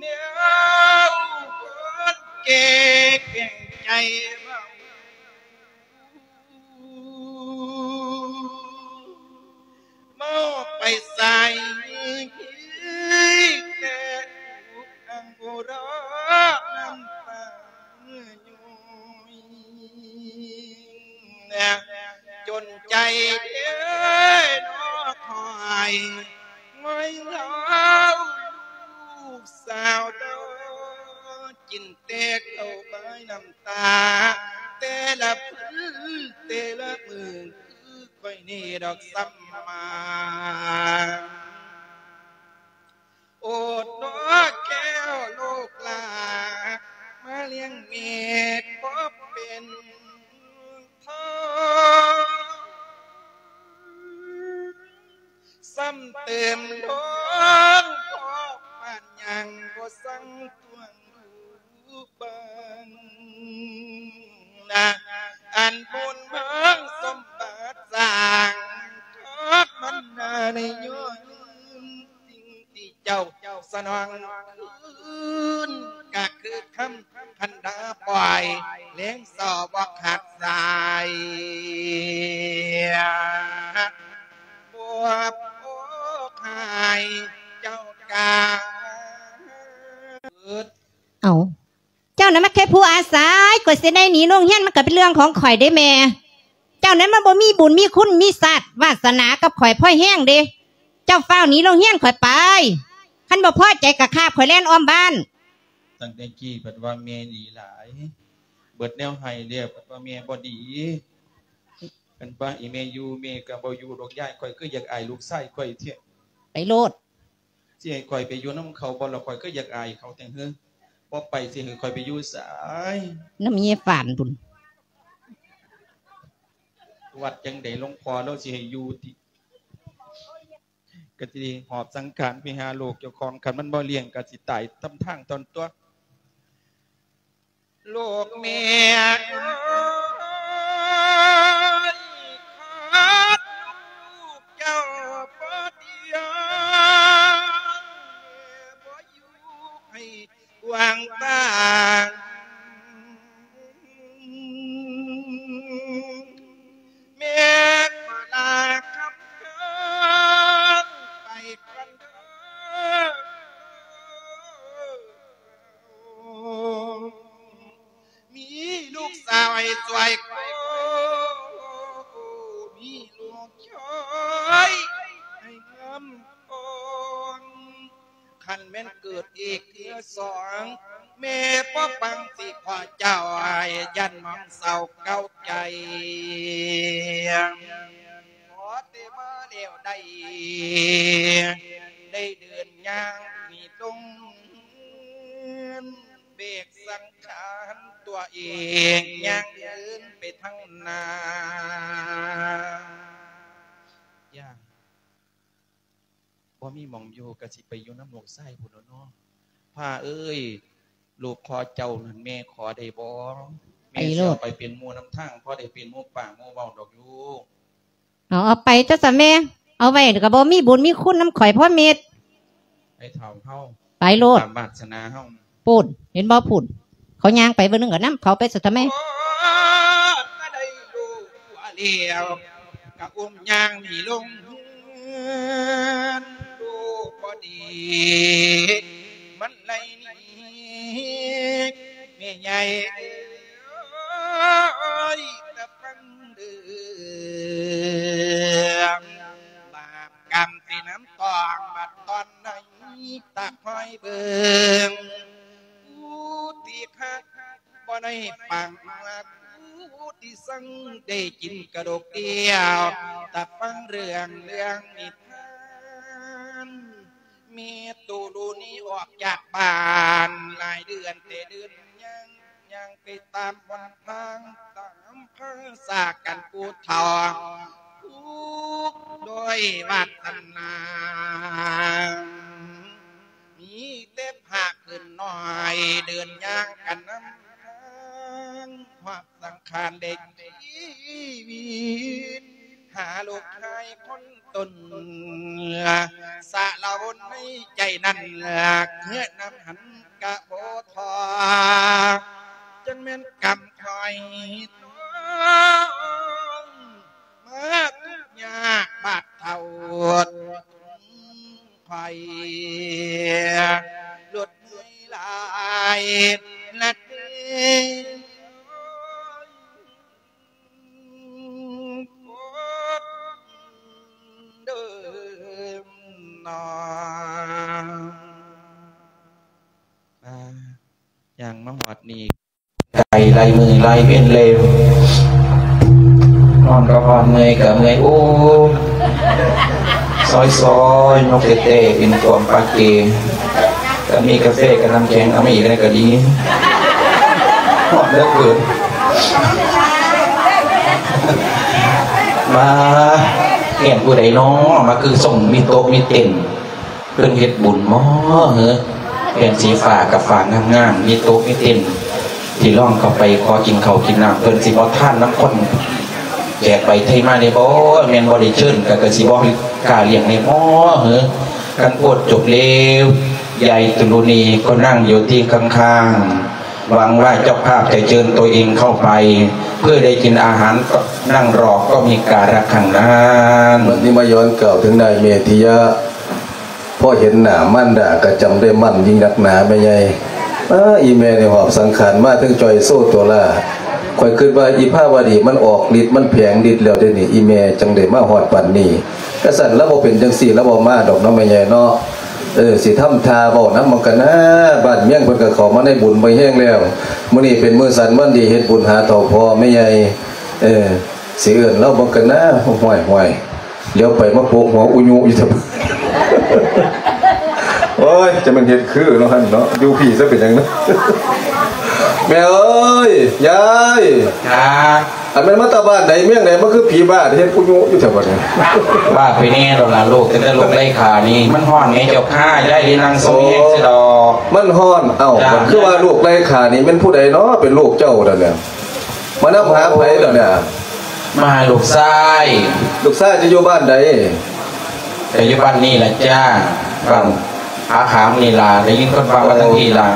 ແນວຄົນແກ່ແຂງໃຈເວົ້າ ເວົ້າໄປໃສແຕ່ທຸກອັງໂອລະນ້ຳຕາ ຈົນໃຈເດ້ນອຄອຍ ງອຍເລົ່າລູກສາວດອກ ກິນແຕ່ເຂົ້າບາຍນ້ຳຕາ ແຕ່ລະມື້ແຕ່ລະມື້ ຄືຂ້ອຍນີ້ດອກສ່ຳມາ. ໂອດເນາະແກ້ວລູກຫຼານ ມາລ້ຽງແມ່ພໍເປັນເທົ່າ ຊ້ຳເຕີມດອງພໍ່ປານຫຍັງບໍ່ສັ່ງຕວງ ເບິ່ງນະ ອັນບຸນເມືອງສົມບັດສ້າງ ທອກມັນນາໃນຍ້ອນສິ່ງທີ່ເຈົ້າສະໜອງຄືນ ກະຄືຄຳຄັນດາປ່ອຍ ແລງສອບບໍ່ຂາດສາຍ ບວບໂອກຫາຍເຈົ້າກາ ເອົາ ເຈົ້ານັ້ນມັນແຄ່ຜູ້ອາໄສ ກວ່າຊິໄດ້ໜີໂຮງຮຽນ ມັນກໍເປັນເລື່ອງຂອງຂ້ອຍເດ້ແມ່. ເຈົ້ານັ້ນມັນບໍ່ມີບຸນມີຄຸນມີຊາດວາດສະໜາກັບຂ້ອຍພໍແຮງເດ້. ເຈົ້າຟ້າວໜີໂຮງຮຽນຂ້ອຍໄປ. ຄັນບໍ່ພໍໃຈກໍຄາບຂ້ອຍແລ່ນອ້ອມບ້ານ. ຕັ້ງແຕ່ກີ້ພັດວ່າແມ່ດີຫຼາຍ ເບິດແນວໃຫ້ແລ້ວ ພັດວ່າແມ່ບໍ່ດີ. ຄັນວ່າອີແມ່ຢູ່ ແມ່ກໍບໍ່ຢູ່ດອກຍາຍ. ຂ້ອຍຄືຢາກອາຍລູກຊາຍຂ້ອຍແທ້. ໄປໂລດ. ຊິໃຫ້ຂ້ອຍໄປຢູ່ນຳເຂົາບໍ່ລະ? ຂ້ອຍຄືຢາກອາຍເຂົາແທ້ເຮີ. ບໍ່ໄປຊິໃຫ້ຂ້ອຍໄປຢູ່ໃສ? ນຳເມຍຝານພຸ້ນ. ວັດຈັ່ງໃດ ຫຼວງພໍ່ລາວຊິໃຫ້ຢູ່ຕິ? ກໍຊິໄດ້ຫອບສັງຂານໄປຫາລູກເຈົ້າຂອງ. ຄັນມັນບໍ່ລ້ຽງກໍຊິຕາຍຕາມທາງຕອນຕົວະ. ລູກແມ່ເອີຍ ຂາດລູກເຈົ້າບໍ່ດຽວ ແມ່ບໍ່ຢູ່ໃຫ້ກວ້າງຕາງ. ແມ່ຂໍລາຄຳເຄີງໄປກ່ອນເດີ. ມີລູກສາວໃຫ້ຊ່ວຍໂກ ມີລູກເຂີຍໃຫ້ງາມອ່ອນ. ຄັນແມ່ນເກີດອີກເທື່ອສອງ ແມ່ບໍ່ປັງຊິຂໍເຈົ້າ ຢ້ານໝອງເສົ້າເກົ້າໃຈ. ຂໍແຕ່ມາແລ້ວໄດ້ ໄດ້ເດີນຍ່າງໜີລົງ ເບກສັງຂານຕົວເອງ ຍ່າງເດີນໄປທາງໜ້າ. ຢ່າ ບໍ່ມີໝ່ອງຢູ່ ກະຊິໄປຢູ່ນຳລູກຊາຍພຸ້ນແລ້ວເນາະ. ພ້າເອີຍ ລູກຂໍເຈົ້ານັ້ນ ແມ່ຂໍໄດ້ບໍ່? ແມ່ຊິເອົາໄປເປັນໝູ່ນຳທາງ ພໍໄດ້ເປັນໝູ່ປາກໝູ່ເວົ້າດອກລູກ. ເອົາ ເອົາໄປຊະຊັ້ນແມ່. ເອົາໄວ້ກໍບໍ່ມີບຸນມີຄຸນນຳຂ້ອຍພໍເມັດ. ໄປເຖົ້າເຮົາ ໄປໂລດ ຕາມວາດສະໜາເຮົາ. ພຸ້ນ ເຫັນບໍ່ພຸ້ນ? ເຂົາຍ່າງໄປເບິ່ງໜຶ່ງກໍນຳເຂົາໄປ ສຸດທ້າຍແມ່ ກໍໄດ້ລູກແລ້ວ ກໍອຸ້ມຍ່າງໜີລົງເຮືອນ ລູກບໍ່ດີມັນໄລ່ໜີ ແມ່ໃຫຍ່ເອີຍ ຕະຟັງເດີ ບາບກຳທີ່ນ້ຳຕອງ ບັດຕອນໃນຕາຄອຍເບິ່ງ ຜູ້ທີ່ຄັກບໍ່ໄດ້ປັງ ຜູ້ທີ່ສັງໄດ້ກິນກະດູກດຽວ ຕາຟັງເລື່ອງ ເລື່ອງນິທານ ແມ່ຕູລູນີອອກຈາກບ້ານຫຼາຍເດືອນແຕ່ເດີນຍັງ ຍ່າງໄປຕາມຫົນທາງ ຕາມພາສາກັນຜູ້ເຖົ້າ ຜູ້ດ້ອຍວາດສະໜາ ມີແຕ່ພາກພື້ນນ້ອຍ ເດີນຍ່າງກັນນຳທາງ ຮອດສັງຂານເດັກຊີວິດ ຫາລູກຊາຍຄົນຕົນ ສາລະວົນໃນໃຈນັ້ນ ເຄືອນຳຫັນກະບໍ່ທໍ້ ຈັ່ງແມ່ນກຳຄອຍຕ້ອງ ມາທຸກຍາກບາດເທົ້າ ໄພ ລົດເມື່ອຍຫຼາຍລະເດ ເດີມນອ ອ່າ ຍ່າງມາຮອດນີ້ ໄກຫຼາຍມື້ຫຼາຍເວັນແລ້ວ ຮ້ອນກໍຮ້ອນ ເມື່ອຍກໍເມື່ອຍ ໂອ້ ຊອຍໆ ຍົກແຕ່ໆ ເປັນຂວມປາເກ ກໍມີກາເຟກັບນ້ຳແຂງ ເອົາມາອີກແດ່ກໍດີ ຮ້ອນເຫຼືອເກີນ ມາ ແມ່ນຜູ້ໃດນໍ ມາຄືຊົງມີໂຕະມີເຕັນ ເພິ່ນເຮັດບຸນບໍເຫີ ແຜ່ນສີຟ້າກັບຝາງາມໆ ມີໂຕະມີເຕັນ ທີ່ລອງເຂົ້າໄປຂໍກິນເຂົ້າກິນນ້ຳ ເພິ່ນຊິບໍ່ທານນຳຄົນແຂກໄປໄທມາແດ່ບໍ ແມ່ນບໍ່ໄດ້ເຊີນ ກະ ກະຊິບໍ່ກ້າລ້ຽງແດ່ບໍເຫີ ຄັນໂພດຈົບແລ້ວ ຍາຍຕຸລຸນີກໍນັ່ງຢູ່ທີ່ຂ້າງໆ ຫວັງວ່າເຈົ້າພາບຈະເຊີນຕົວເອງເຂົ້າໄປ ເພື່ອໄດ້ກິນອາຫານ ນັ່ງລໍກໍມີກາລະຄັ້ງນັ້ນ ບັດນີ້ມາຍ້ອນກ່າວເຖິງນາຍເມທິຍະ ພໍເຫັນໜ້າມານດາກໍຈຳໄດ້ໝັ້ນຍິ່ງນັກໜາແມ່ໃຫຍ່. ອ້າ ອີ່ແມ່ນີ້ຫອບສັງຂານມາເຖິງຈ່ອຍໂຊໂຕລາ. ຂ້ອຍຄິດວ່າອີ່ພາວະດີມັນອອກລິດ ມັນແຜງລິດແລ້ວເດ້ນີ້ ອີ່ແມ່ຈັ່ງໄດ້ມາຮອດປານນີ້. ກະຊັ້ນລາວບໍ່ເປັນຈັ່ງຊີ້ ລາວບໍ່ມາດອກເນາະແມ່ໃຫຍ່ເນາະ. ເອີ ຊິທຳທ່າເວົ້ານຳມັນກັນນາ. ບ້ານເມືອງເພິ່ນກໍເຂົ້າມາໃນບຸນໄປແຮງແລ້ວ. ມື້ນີ້ເປັນມື້ສັນວັນດີເຮັດບຸນຫາເຖົ້າພໍ່ແມ່ໃຫຍ່. ເອີ ຊິເອີ້ນລາວເບິ່ງກັນນາ. ຫ້ວຍໆ ຫຼຽວໄປມາໂປະຫົວອຸຍຸຢູ່ແທ້. ໂອ້ຍ ຈະແມ່ນເຮັດຄືເນາະຫັ້ນເນາະ. ຢູ່ພີ້ຊະເປັນຫຍັງນະ. ແມ່ເອີຍ ຍາຍ. ຈ້າ. ອັນແມ່ນມາແຕ່ບ້ານໃດເມືອງໃດ ມາຄືຜີບ້າເຮັດອຸຍຸຢູ່ແທ້ບັດນີ້? ວ່າໄປແນ່ດອກລະລູກ, ຕັ້ງແຕ່ລູກໄລ່ຂ້ານີ້ ມັນຮ້ອນແໝ່ເຈົ້າຂ້າ, ຍາຍໄດ້ນັ່ງຊົມແຮງຊະດອກ. ມັນຮ້ອນ. ເອົ້າ ຈ້າ. ມັນຄືວ່າລູກໄລ່ຂ້ານີ້ແມ່ນຜູ້ໃດເນາະ ເປັນລູກເຈົ້ານັ້ນນະ? ມານຳຫາໃຜດອກນະ? ມາຫາລູກຊາຍ. ລູກຊາຍຈະຢູ່ບ້ານໃດ? ກະຢູ່ບ້ານນີ້ລະຈ້າ, ບ້ານຜາຂາມນີ້ລະ. ໄດ້ຍິນຄົນເວົ້າມາທາງພີ້ລະ.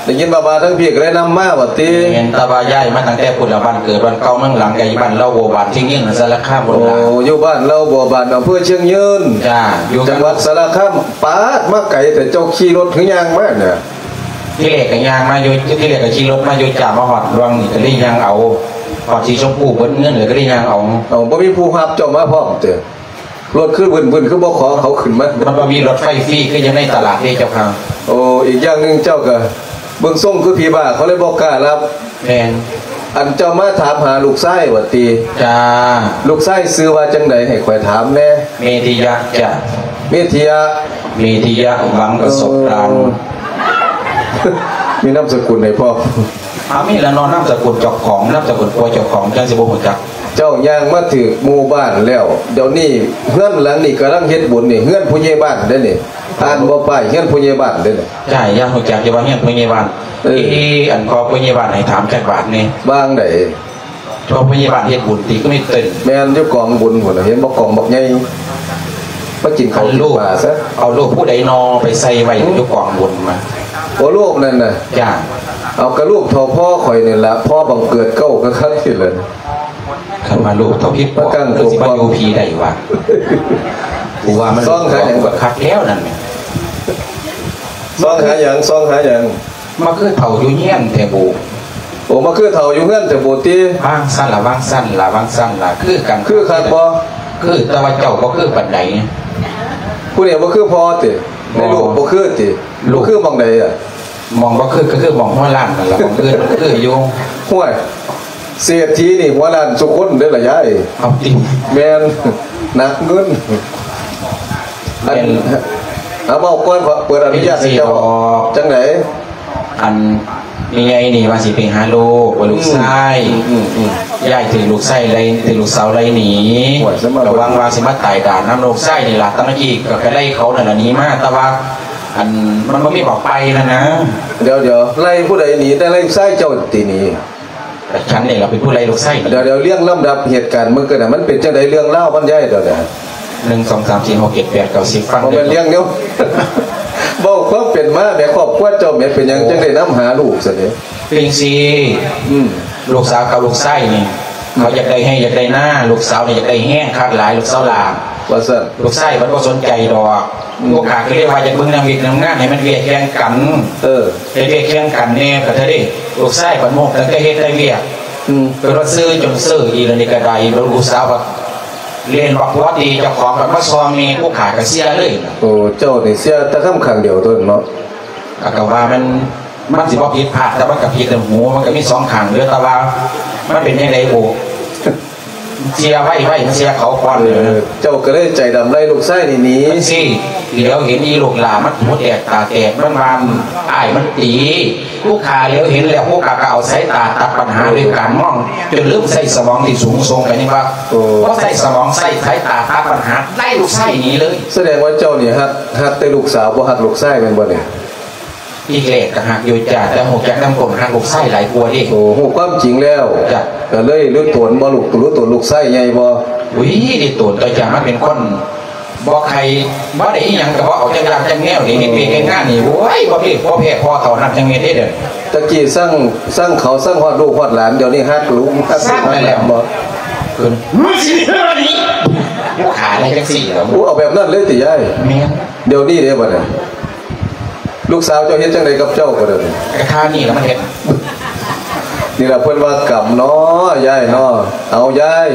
ໄດ້ຍິນວ່າມາທາງພີ້ກະເລີຍນຳມາວ່າຕິ? ແມ່ນ, ແຕ່ວ່າຍ້າຍມາຕັ້ງແຕ່ພຸ້ນລະ, ບ້ານເກີດບ້ານເກົ່າເມືອງຫຼັງ ກະຢູ່ບ້ານເລົ່າ ບົວບານ ທີ່ຍືນ ສາລະຄາມພຸ້ນລະ. ໂອ້ ຢູ່ບ້ານເລົ່າ ບົວບານ ອຳເພີຊຽງຍືນ. ຈ້າ, ຢູ່ ຈັງຫວັດສາລະຄາມ. ປາດ ມາໄກແທ້, ເຈົ້າຂີ່ລົດ ຫຼື ຍ່າງມານະ? ທີແລກກະຍ່າງມາຢູ່, ທີແລກກະຂີ່ລົດມາຢູ່ ຈ້າ, ມາຮອດລວງນີ້ກະໄດ້ຍ່າງເອົາ, ຮອດສີຊົມພູເບິດເງິນ ແລ້ວກະໄດ້ຍ່າງເອົາ. ເອົ້າ ບໍ່ມີຜູ້ຮັບເຈົ້າມາພ້ອມຕິ? ລົດຄືວຶ່ນໆ ຄືບໍ່ຂໍເຂົາຂຶ້ນມາ? ມັນບໍ່ມີລົດໄຟຟຣີຄືຢູ່ໃນຕະຫຼາດເດ້ເຈົ້າຄ່ະ. ໂອ້ ອີກຢ່າງໜຶ່ງເຈົ້າກະເບິ່ງຊົງຄືຜີບ້າ ເຂົາເລີຍບໍ່ກ້າຮັບ. ແມ່ນ. ອັນເຈົ້າມາຖາມຫາລູກຊາຍວ່າຕິ? ຈ້າ. ລູກຊາຍຊື່ວ່າຈັ່ງໃດ ໃຫ້ຂ້ອຍຖາມແດ່? ເມທິຍະຈ້າ. ເມທິຍະ. ເມທິຍະ ຫວັງປະສົບການ. ເອີ ມີນາມສະກຸນໃຫ້ພ້ອມ. ອາ ມີລະເນາະ, ນາມສະກຸນເຈົ້າຂອງ, ນາມສະກຸນຜົວເຈົ້າຂອງ ຈັ່ງຊິບໍ່ຮູ້ຈັກ. ເຈົ້າຍ່າງມາຖືກໝູ່ບ້ານແລ້ວ. ດຽວນີ້ເຮືອນຫຼັງນີ້ກຳລັງເຮັດບຸນນີ້, ເຮືອນຜູ້ໃຫຍ່ບ້ານເດ້ນີ້. ອ່ານບໍ່ ປ້າຍເຮືອນຜູ້ໃຫຍ່ບ້ານເດ້ນີ້. ໃຊ່, ຢາກຮູ້ຈັກຢູ່ວ່າເຮືອນຜູ້ໃຫຍ່ບ້ານ. ເອີ ເອ ອັນພໍ່ຜູ້ໃຫຍ່ບ້ານໃຫ້ຖາມຈັກບາດແດ່. ວ່າຈັ່ງໃດ? ພໍ່ຜູ້ໃຫຍ່ບ້ານເຮັດບຸນຕິ ຄືມີເຕັ້ນ? ແມ່ນ, ຢູ່ກອງບຸນພຸ້ນ ເຫັນບໍ່ ກອງບັກໃຫຍ່. ມາກິນເຂົ້າກິນປາຊະ. ເອົາຮູບຜູ້ໃດນໍ ໄປໃສ່ໄວ້ຢູ່ກອງບຸນມາ? ໂອ ຮູບນັ້ນນະ. ຈ້າ. ເ ເອົາກະລູກເທົ່າພໍ່ຂ້ອຍນີ້ລະ ພໍ່ບັງເກີດເກົ້າກໍຄັກທີ່ລະ. ຄັນວ່າລູກເທົ່າພິດພໍ່ ມາກັ້ງ ຄືຊິມາຢູ່ພີໃດວະ? ກູວ່າມັນ ຊອງຫາຫຍັງ ກໍຄັກແລ້ວນັ້ນແຫຼະ. ຊອງຫາຫຍັງ? ຊອງຫາຫຍັງ? ມາຄືເຖົ້າຢູ່ເຮືອນແທ້ບູ. ໂອ້ ມາຄືເຖົ້າຢູ່ເຮືອນແທ້ບູຕິ? ວາງຊັ້ນລະ ວາງຊັ້ນລະ ວາງຊັ້ນລະ ຄືກັນ. ຄືຄັກບໍ່? ຄື ແຕ່ວ່າເຈົ້າບໍ່ຄືປານໃດ. ຜູ້ນີ້ບໍ່ຄືພໍ່ຕິ? ໃນລູກບໍ່ຄືຕິ? ລູກ ບໍ່ຄືໝ່ອງໃດອະ? ໝ່ອງບໍ່ຄືກໍຄືໝ່ອງຫົວລ້ານນັ້ນລະ ໝ່ອງອື່ນມັນຄືຢູ່. ຫ້ວຍ ເສດຖີນີ້ຫົວລ້ານສູ່ຄົນເດີ້ລະຍາຍ. ເອົາຕິ. ແມ່ນ ໜັກເງິນ. ອັນ ແມ່ນ ເອົາເວົ້າກ່ອນ ເປີດອະນຸຍາດໃຫ້ເຈົ້າ. ຈັ່ງໃດ? ອັນ ແມ່ໃຫຍ່ນີ້ວ່າຊິໄປຫາລູກ ວ່າລູກຊາຍ. ອືມ ອືມ ອືມ ຍາຍຖືກລູກຊາຍໄລ່ ຖືກລູກສາວໄລ່ໜີ. ໂອ້ຍ ສະມາ ກໍຫວັງວ່າຊິມາຕາຍດ່ານຳລູກຊາຍນີ້ລະ. ຕະມະກີ້ກໍໄປໄລ່ເຂົານັ້ນລະ ໜີມາ ແຕ່ວ່າ ອັນ ມັນບໍ່ມີໝ່ອງໄປຫັ້ນນະ. ດຽວໆ ໄລ່ຜູ້ໃດໜີ? ໄດ້ໄລ່ລູກຊາຍເຈົ້າຕິໜີ? ກະສັນນີ້ລະເປັນຜູ້ໄລ່ລູກຊາຍໜີ. ດຽວໆ ລຽງລຳດັບເຫດການເບິ່ງກັນນະ ມັນເປັນຈັ່ງໃດເລື່ອງລາວມັນ ຍາຍ ດຽວໆ. ໜຶ່ງ ສອງ ສາມ ສີ່ ຫົກ ເຈັດ ແປດ ເກົ້າ ສິບ ຟັງ ບໍ່ແມ່ນລຽງແນວ ເວົ້າຄວາມເປັນມາແໝ ຄອບຄົວເຈົ້າແໝ ເປັນຫຍັງຈັ່ງໄດ້ນຳຫາລູກຊັ້ນເດ? ເປັນຈັ່ງຊີ້ ອືມ ລູກສາວກັບລູກຊາຍນີ້ ເຂົາຢາກໄດ້ໄຮ່ຢາກໄດ້ນາ ລູກສາວນີ້ຢາກໄດ້ແຮງຄັກຫຼາຍ ລູກສາວຫຼ້າ ວ່າຊັ້ນ. ລູກຊາຍມັນບໍ່ສົນໃຈດອກ. ອືມ ພວກຂ້າກໍເລີຍວ່າຢາກເບິ່ງນຳວຽກນຳງານໃຫ້ມັນວຽກແຂ່ງກັນ. ເອີ ເຮັດວຽກແຂ່ງກັນແດ່ກໍເທື່ອເດ້. ລູກຊາຍບັດໂມກຕັ້ງແຕ່ເຮັດແຕ່ວຽກ ອືມ ກໍລະຊື່ຈົນເຊີອີ່ລະນີ້ກໍໄດ້. ລູກສາວບັດເລ່ນບັກຫົວຕີເຈົ້າຂອງ ບັດມາຊອງແມ່ ພວກຂ້າກໍເສຍເລີຍ. ໂອ້ ເຈົ້ານີ້ເສຍແຕ່ຄຳຂ້າງດຽວໂຕນັ້ນເນາະ. ກໍ ກໍວ່າມັນ ມັນຊິບໍ່ຜິດພາດ ແຕ່ມັນກໍຜິດແຕ່ຫູ ມັນກໍມີສອງຂ້າງເດີ້ ແຕ່ວ່າມັນເປັນຈັ່ງໃດໂອ ເສຍໄວໆ ມັນເສຍເຂົາກ່ອນ. ເອີ ເຈົ້າກໍເລີຍໃຈດຳໄລ່ລູກຊາຍນີ້ໜີ. ມັນຊິ ຫຼຽວເຫັນອີລູກຫຼ້າມັນຫູແຕກຕາແຕກ ມັນວ່າອ້າຍມັນຕີ. ລູກຂ້າຫຼຽວເຫັນແລ້ວ ພວກຂ້າກໍເອົາສາຍຕາຕັດບັນຫາດ້ວຍການມອງ ຈົນລືມໃຊ້ສະໝອງທີ່ສູງສົ່ງ ກໍຍັງວ່າ ໂອ້ ບໍ່ໃຊ້ສະໝອງ ໃຊ້ສາຍຕາຕັດບັນຫາ ໄລ່ລູກຊາຍໜີເລີຍ. ສະແດງວ່າເຈົ້ານີ້ຮັກ ຮັກແຕ່ລູກສາວ ບໍ່ຮັກລູກຊາຍແມ່ນບໍ່ນີ້? ທີແລກກໍຮັກຢູ່ຈ້າ ແຕ່ຮູ້ຈັກນຳກົ້ນຮັກລູກຊາຍຫຼາຍກວ່າເດ້. ໂອ້ ຮູ້ຄວາມຈິງແລ້ວ. ຈ້ະ. ກໍເລີຍຮູ້ຕົນບໍ່ລູກ ຮູ້ຕົນລູກຊາຍໃຫຍ່ບໍ່? ອຸ້ຍ ໄດ້ຕົນຕົວະຈ້າ ມັນເປັນຄົນບໍ່ໃຄ່ ບໍ່ໄດ້ອີ່ຫຍັງກໍບໍ່ເອົາຈັກຢ່າງຈັກແນວນີ້ ເຮັດວຽກເຮັດງານນີ້ ໂອ້ຍ ບໍ່ເພ ບໍ່ແພ້ພໍ່ເຖົ້ານັບຈັກເມັດເດ້. ຕະກີ້ຊັງ ຊັງເຂົາ ຊັງຮອດລູກຮອດຫຼານ ດຽວນີ້ຮັກລູກ ຮັກລູກ ຊັງແລ້ວ ຮັກຫຼານບໍ່? ຄື ມຶງຊິເຮັດແນວນີ້ ຂາຍໄດ້ຈັ່ງຊີ້ແລ້ວ. ໂອ້ ເອົາແບບນັ້ນເລີຍຕິຍາຍ? ແມ່ນ. ດຽວນີ້ເດ້ບັດນີ້ ລູກສາວເຈົ້າເຮັດຈັ່ງໃດກັບເຈົ້າກໍດຽວນີ້? ກະທ່ານີ້ລະມັນເຮັດ. ນີ້ລະເພິ່ນວ່າກຳເນາະ ຍາຍເນາະ. ເອົາ ຍາຍ